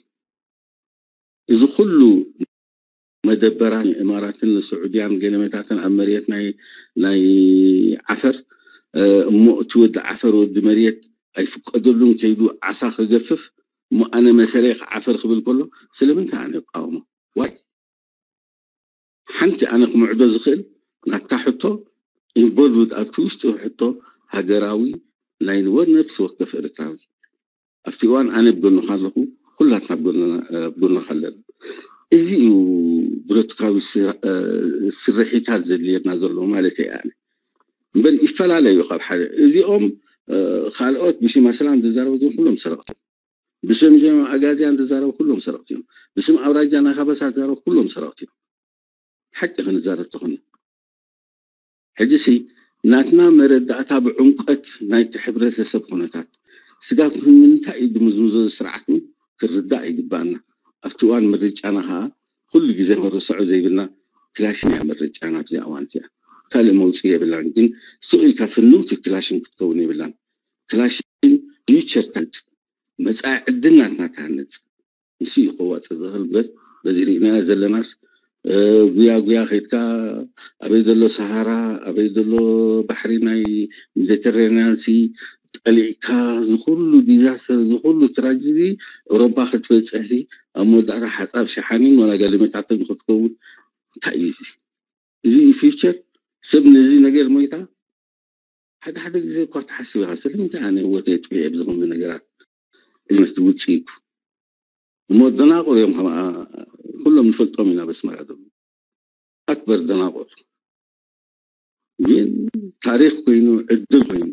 እዚ ኩሉ መደበራት ንእማራትን ንስዑድያን ገለመታትን ኣብ መሬት ናይ ናይ ዓፈር እሞ እቲ ወዲ ዓፈር ወዲ መሬት ኣይፍቀደሉን ከይዱ ዓሳ ክገፍፍ እሞ ኣነ መሰለይ ክዓፈር ክብል ከሎ ስለምንታይ ኣነ ይቃወሞ? ዋይ ሓንቲ ኣነ ክምዕዶ ዝኽእል ናትካ ሕቶ ኢንቮልቭድ ኣብቲ ውሽጢ ሕቶ ሃገራዊ ናይ ነፍሲ ወከፍ ኤርትራዊ ኣብቲ እዋን ኣነ ብጎንኻ ኣለኹ፣ ኩላትና ብጎንኻ ኣለና። እዚ እዩ ብረትካዊ ስርሒታት ዘድልየና ዘሎ ማለት እየ ኣነ። እምበር ይፈላለ እዩ ካብ ሓደ። እዚኦም ካልኦት ብሽም ኣስላም ዝዛረቡ እዚኦም ኩሎም ሰረቕቲ እዮም። ብስም ጀማ ኣጋዚያን ዝዛረቡ ኩሎም ሰረቕቲ እዮም። ብስም ኣውራጃ ናይ ካበሳ ዝዛረቡ ኩሎም ሰረቕቲ እዮም። ሓቂ ክንዛረብ ተኾነ ሕጂ ሲ ናትና መረዳእታ ብዕምቀት ናይቲ ሕብረተሰብ ኩነታት ስጋብ ንምንታይ እዩ ድምዝምዞ ስርዓት ክርዳእ ይግባኣና። ኣብቲ እዋን ምርጫና ከዓ ኩሉ ግዜ ክንርስዖ ዘይብልና ክላሽን እያ ምርጫና ኣብዚኣ እዋን እዚኣ ካልእ መውፅኢ የብላን። ግን ስቕ ኢልካ ፍንውቲ ክላሽን ክትከውን የብላን። ክላሽን ፊውቸር ተንፅ መፃኢ ዕድል ናትና ትሃንፅ ንሱ እዩ ከዋፅእ ዝኽእል እምበር በዚ ርኢናዮ ዘለናስ ጉያ ጉያ ከይድካ ኣበይ ዘሎ ሰሃራ ኣበይ ዘሎ ባሕሪ ናይ ሜዲተራንያን ሲ ጠሊእካ ዝኩሉ ዲዛስተር ዝኩሉ ትራጀዲ ኤውሮፓ ክትበፅሕ ሲ ኣብ መወዳእታ ሓፃብ ሸሓኒን ዋላ ጋሊመታትን ክትከውን እንታይ እዩ እዚ እዚ ፊውቸር ሰብ ነዚ ነገር ሞይታ ሓደ ሓደ ግዜ እኳ ትሓስብ ኢኻ ስለምንታይ ኣነ ህወተይ ጥፊኤ ብዝኾነ ነገራት ኢልመስ ውፅኢቱ እሞ ደናቑር እዮም ከማ ኩሎም ንፈልጦም ኢና በስመራ ዘሎ ኣክበር ደናቑር ግን ታሪኽ ኮይኑ ዕድል ኮይኑ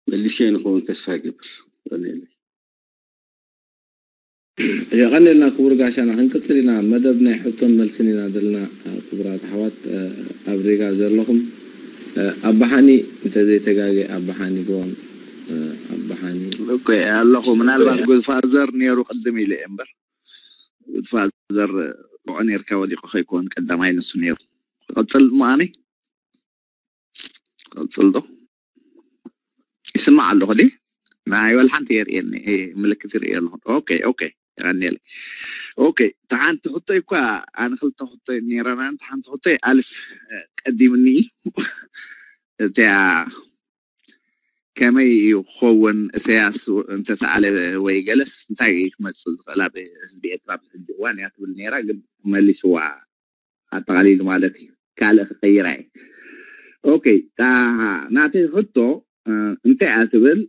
መልሼ ንኸውን ተስፋ ይገብር ቀኒለይ የቐንልና ክቡር ጋሻና ክንቅፅል ኢና መደብ ናይ ሕቶን መልስን ኢና ዘለና ክቡራት ኣሕዋት ኣብ ሪጋ ዘለኹም ኣባሓኒ እንተዘይተጋገ ኣባሓኒ ጎን ኣባሓኒ እኮ ኣለኹ ምናልባት ጉድፋዘር ነይሩ ቅድም ኢለ እየ እምበር ጉድፋዘር ብዖ ነርካ ወዲቑ ከይኮን ቀዳማይ ንሱ ነይሩ ክቐፅል ምኣኒ ክቐፅል ዶ ይስማዕ ኣለኹ ዲ ናይ ወላ ሓንቲ የርእየኒ ምልክት ይርእየ ኣለኹ። ኦኬ ኦኬ። የቐንየለይ። ኦኬ፣ ተሓንቲ ሕቶይ እኳ ኣነ ክልተ ሕቶይ ነይረና። ተሓንቲ ሕቶይ ኣልፍ ቀዲምኒ እዩ። እቲያ ከመይ እዩ ክኸውን? እሰያስ እንተተኣለ ወይ ገለስ እንታይ እዩ ክመፅእ ዝኽእል ኣብ ህዝቢ ኤርትራ ኣብዚ ሕጂ እዋን እያ ትብል ነይራ፣ ግን መሊስዋ ኣጠቓሊሉ ማለት እዩ። ካልእ ክቀይራ እየ። ኦኬ፣ ናተይ ሕቶ እንታይ እያ ትብል?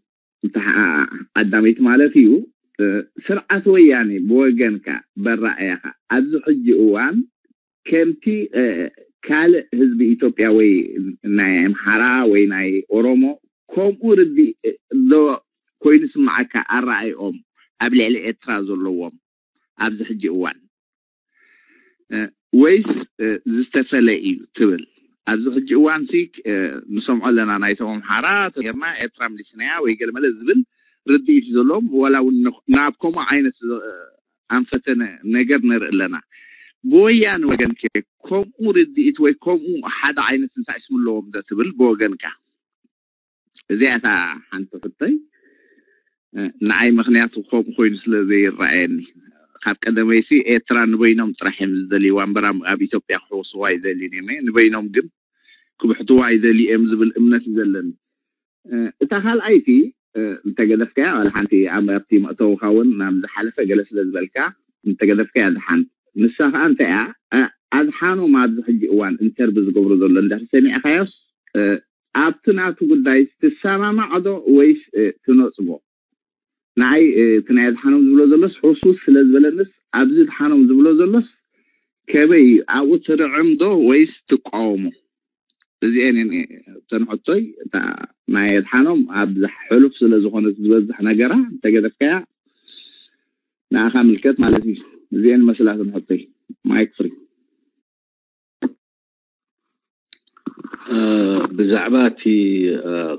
ቀዳመይቲ ማለት እዩ። ስርዓት ወያኔ ብወገንካ በራእያኻ ኣብዚ ሕጂ እዋን ከምቲ ካልእ ህዝቢ ኢትዮጵያ ወይ ናይ ኣምሓራ ወይ ናይ ኦሮሞ ከምኡ ርዲ ዶ ኮይኑ ስምዓካ ኣረኣይኦም ኣብ ልዕሊ ኤርትራ ዘለዎም ኣብዚ ሕጂ እዋን ወይስ ዝተፈለ እዩ ትብል? ኣብዚ ሕጂ እዋን ሲ ንሰምዖ ኣለና፣ ናይቶም ኣምሓራ ተርና ኤርትራ ምሊስናያ ወይ ገለመለ ዝብል ርድኢት ዘለዎም፣ ዋላ እውን ናብ ከምኡ ዓይነት ኣንፈተ ነገር ንርኢ ኣለና። ብወያነ ወገን ከ ከምኡ ርድኢት ወይ ከምኡ ሓደ ዓይነት እንታይ ስም ኣለዎም ዶ ትብል ብወገንካ? እዚኣ እታ ሓንቲ ሕቶይ ንዓይ፣ ምክንያቱ ከምኡ ኮይኑ ስለ ዘይረኣየኒ። ካብ ቀደመይሲ ኤርትራ ንበይኖም ጥራሕ እዮም ዝደልይዋ እምበር ኣብ ኢትዮጵያ ክሕወስዋ ኣይደልዩን እዮም። ንበይኖም ግን ክብሕትዋ ኣይደልዩ እዮም ዝብል እምነት እዩ ዘለኒ። እታ ካልኣይቲ እንተገደፍካያ ዋላ ሓንቲ ኣብቲ መእተውካ እውን ናብ ዝሓለፈ ገለ ስለ ዝበልካ እንተገደፍካያ ድሓን። ንሳ ከዓ እንታይ እያ? ኣድሓኖም ኣብዚ ሕጂ እዋን ኢንተርቪ ዝገብሮ ዘሎ እንድሕር ሰሚዕካዮስ ኣብቲ ናቱ ጉዳይ ትሰማማዕ ዶ ወይስ ትነፅጎ? ንዓይ እቲ ናይ ኣድሓኖም ዝብሎ ዘሎስ ሕሱስ ስለ ዝበለንስ ኣብዚ ኣድሓኖም ዝብሎ ዘሎስ ከመይ እዩ? ኣብኡ ትርዕም ዶ ወይስ ትቃወሞ? እዚአን እተን ሕቶይ። እታ ናይ ኣድሓኖም ኣብ ሕሉፍ ስለ ዝኾነት ዝበዝሕ ነገራ እንተገደፍካያ ንኣኻ ምልከት ማለት እዩ። እዚአን መስላትን ሕቶይ። ማይክ ፍሪ። ብዛዕባ እቲ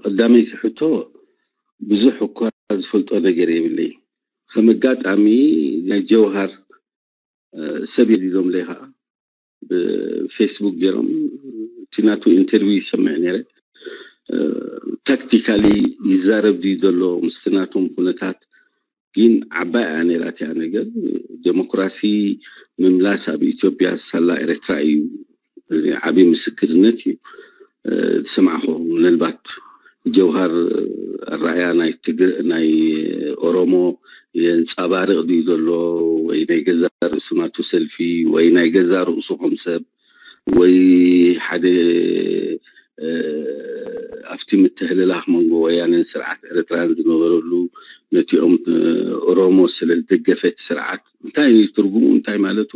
ቀዳመይቲ ሕቶ ብዙሕ እኳ ዝፈልጦ ነገር የብለይ። ከም ኣጋጣሚ ናይ ጀውሃር ሰብ የዲዞምለይ ከዓ ብፌስቡክ ገይሮም እቲ ናቱ ኢንተርቪው ይሰምዕ ነይረ። ታክቲካሊ ይዛረብ ድዩ ዘሎ ምስቲ ናቶም ኩነታት ግን ዓባይ እያ ነይራ እቲኣ ነገር። ዴሞክራሲ ምምላስ ኣብ ኢትዮጵያ ሳላ ኤርትራ እዩ። እዚ ዓብዪ ምስክርነት እዩ። ዝሰማዕኹ ምናልባት ጀውሃር ኣረኣያ ናይ ትግር ናይ ኦሮሞ የንፀባርቕ ድዩ ዘሎ ወይ ናይ ገዛ ርእሱ ናቱ ሰልፊ ወይ ናይ ገዛ ርእሱ ከም ሰብ ወይ ሓደ ኣብቲ ምትህልላኽ መንጎ ወያነን ስርዓት ኤርትራን ዝነበረሉ ነቲኦም ኦሮሞ ስለ ዝደገፈት ስርዓት እንታይ ትርጉሙ እንታይ ማለቱ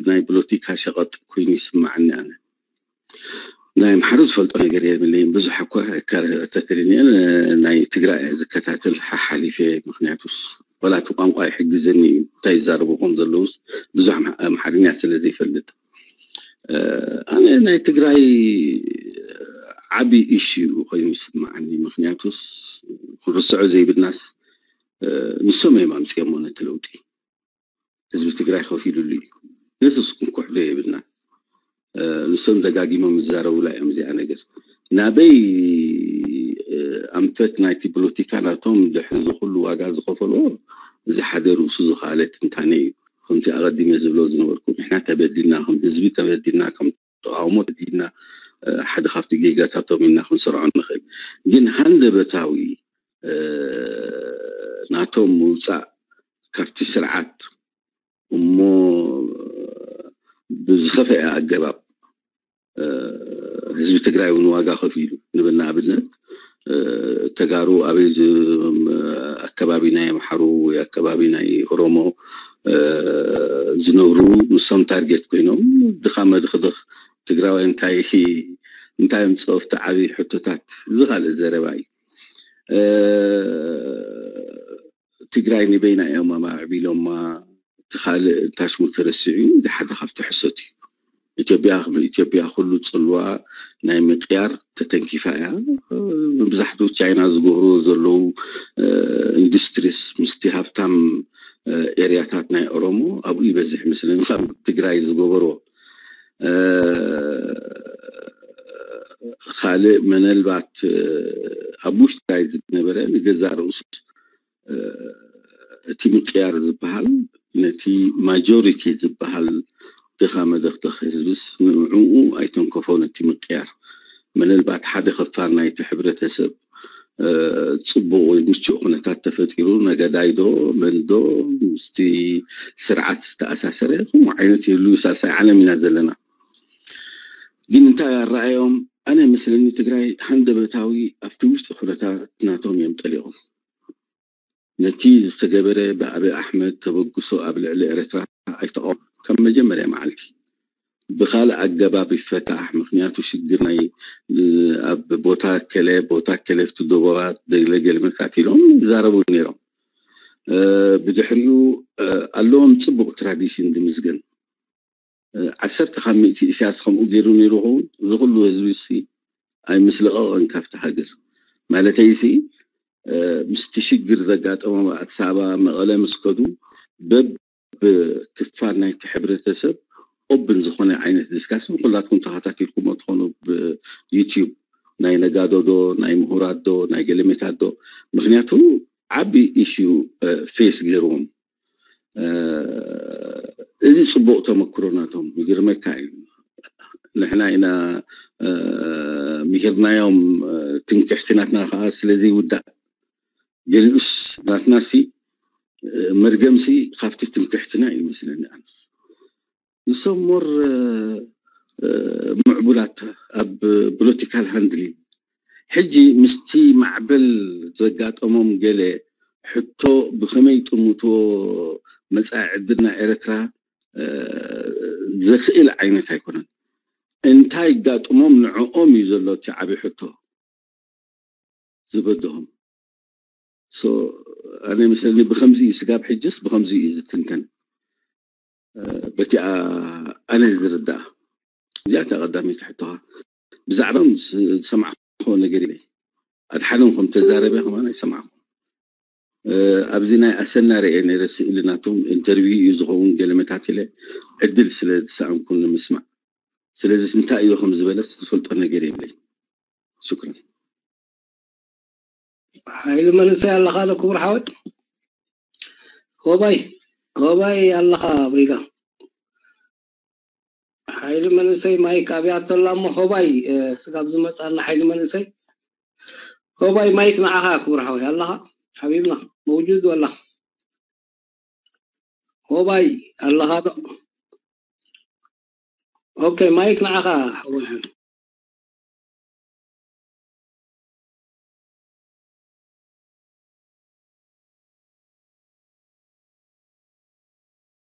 ናይ ፖለቲካ ሸቐጥ ኮይኑ ይስማዓኒ ኣነ። ናይ ኣምሓሩ ዝፈልጦ ነገር የብለይን። ብዙሕ እኳ ተክርኒኤል ናይ ትግራይ ዝከታተል ሓሓሊፈ ምክንያቱስ ወላ እቲ ቋንቋ ይሕግዘኒ እዩ እንታይ ይዛረቡ ከም ዘለውስ ብዙሕ ኣምሓርኛ ስለ ዘይፈልጥ ኣነ ናይ ትግራይ ዓቢ ኢሹ ኮይኑ ይስምዓኒ። ምክንያቱስ ክንርስዖ ዘይብልናስ ንሶም እዮም ኣምፅኦሞ ነቲ ለውጢ። ህዝቢ ትግራይ ከፊሉሉ እዩ። ንሱስ ክንኩሕዶ የብልና። ንሶም ደጋጊሞም ይዛረቡላ እዮም እዚኣ ነገር ናበይ ኣንፈት ናይቲ ፖለቲካ ናቶም ድሕሪ ዝኩሉ ዋጋ ዝኸፈልዎ እዚ ሓደ ርእሱ ዝኸኣለ ትንታነ እዩ። ከምቲ ኣቐዲመ ዝብሎ ዝነበርኩ ንሕና ተበዲልና ከም ህዝቢ ተበዲልና ከም ተቃውሞ ተበዲልና ሓደ ካብቲ ጌጋታቶም ኢና ክንሰርዖ ንኽእል። ግን ሃንደበታዊ ናቶም ምውፃእ ካብቲ ስርዓት እሞ ብዝኸፈአ ኣገባብ ህዝቢ ትግራይ እውን ዋጋ ከፊሉ ንብል ንኣብነት ተጋሩ ኣበይ ኣከባቢ ናይ ኣምሓሩ ወይ ኣከባቢ ናይ ኦሮሞ ዝነብሩ ንሶም ታርጌት ኮይኖም ድኻ መድኽድኽ ትግራዋይ እንታይ እንታይ ምፅኦፍቲ ዓብዪ ሕቶታት ዝኻልእ ዘረባ እዩ። ትግራይ ንበይና እዮም ኣማዕቢሎማ እቲ ካልእ ታሽሙ ተረሲዑ እዚ ሓደ ካብቲ ሕሶት እዩ። ኢትዮጵያ ከም ኢትዮጵያ ኩሉ ፅልዋ ናይ ምቅያር ተተንኪፋ እያ። መብዛሕትኡ ቻይና ዝገብርዎ ዘለዉ ኢንዱስትሪስ ምስቲ ሃብታም ኤርያታት ናይ ኦሮሞ ኣብኡ ይበዝሕ ይመስለኒ ካብ ትግራይ ዝገበርዎ ካልእ መነልባት ኣብ ውሽጢ ትግራይ ዝነበረ ንገዛእ ርእሱ እቲ ምቅያር ዝበሃል ነቲ ማጆሪቲ ዝበሃል ድኻ መደኽደኽ ህዝብስ ንዕኡ ኣይተንከፎ ነቲ ምቅያር። መነልባት ሓደ ክፋል ናይቲ ሕብረተሰብ ጽቡቕ ወይ ምቹእ ኩነታት ተፈጢሩ ነገዳይ ዶ መን ዶ ምስቲ ስርዓት ዝተኣሳሰረ ከምኡ ዓይነት ይህሉ ሳልሳይ ዓለም ኢና ዘለና። ግን እንታይ ኣረኣዮም? ኣነ መስለኒ ትግራይ ሃንደበታዊ ኣብቲ ውሽጢ ኩነታት ናቶም እዮም ጠሊቖም። ነቲ ዝተገበረ ብኣቢ ኣሕመድ ተበግሶ ኣብ ልዕሊ ኤርትራ ኣይተቃወም ካብ መጀመርያ መዓልቲ። ብካልእ ኣገባብ ይፈታሕ፣ ምክንያቱ ሽግር ናይ ኣብ ቦታ ከለ ቦታ ከለ ኣብቲ ዶቦባት ገለ ገለ መሳት ኢሎም ይዛረቡ ነይሮም። ብድሕሪኡ ኣለዎም ፅቡቅ ትራዲሽን ድምዝገን ዓሰርተ ካብ ሚእቲ ኢሳያስ ከምኡ ገይሩ ነይሩ ኸውን እዚ ኩሉ ህዝቢ ሲ ኣይምስለቐቐን ካብቲ ሃገር። ማለተይ ሲ ምስቲ ሽግር ዘጋጠሞም ኣዲስ ኣበባ መቐለ ምስ ከዱ በብ ክፋል ናይቲ ሕብረተሰብ ኦብን ዝኾነ ዓይነት ዲስካሽን ኩላትኩም ተኸታቲልኩሞ ትኾኑ ብዩቲዩብ ናይ ነጋዶ ዶ ናይ ምሁራት ዶ ናይ ገለሜታት ዶ ምክንያቱ ዓቢ ኢሹ ፌስ ገይርዎም እዚ ፅቡቅ ተመክሮ ናቶም ይግርመካ እዩ። ንሕና ኢና ምሂርናዮም ትምክሕቲ ናትና ከዓ ስለዚ ይውዳእ። ገሊኡስ ናትና ሲ መርገም ሲ ካብቲ ትምክሕትና እዩ መስለኒ። ኣነስ ንሶም ሞር ምዕቡላት ኣብ ፖለቲካል ሃንድሊንግ ሕጂ ምስቲ ማዕበል ዘጋጠሞም ገለ ሕቶ ብኸመይ ጥምትዎ መፃኢ ዕድልና ኤርትራ ዘኽእል ዓይነት ኣይኮነን። እንታይ ጋጥሞም ንዕኦም እዩ ዘሎ እቲ ዓብዪ ሕቶ ዝበድሆም። ኣነ መስለኒ ብከምዚ እዩ ስጋብ ሕጅስ ብከምዚ እዩ ዝትንተን። በቲኣ ኣነ ዝርዳእ እዚኣ እታ ቀዳመይቲ ሕቶኻ ብዛዕባ ዝሰማዕኮ ነገር ኢለ ኣድሓኖም ከም ተዛረበ ከማን ኣይሰማዕኩ። ኣብዚ ናይ ኣሰና ርአ ነረ ስእሊ ናቶም ኢንተርቪው እዩ ዝኸውን ገለመታት ኢለ ዕድል ስለ ዝሰኣንኩ ንምስማዕ። ስለዚ እንታይ እዩ ከም ዝበለስ ዝፈልጦ ነገር የብለይ። ሽክረን። ሓይሊ መንእሰይ ኣለኻ ዶ ክቡር ሓወይ? ሆባይ ሆባይ ኣለኻ ብሪጋ? ሓይሊ መንእሰይ ማይክ ኣብያቶ ኣላ እሞ ሆባይ ስጋብ ዝመፃና ሓይሊ መንእሰይ ሆባይ ማይክ ንዓኻ ክቡር ሓወይ ኣለኻ ሓቢብና መውጁድ ወላ ሆባይ ኣለኻ ዶ? ኦኬ ማይክ ንዓኻ ሓወይ።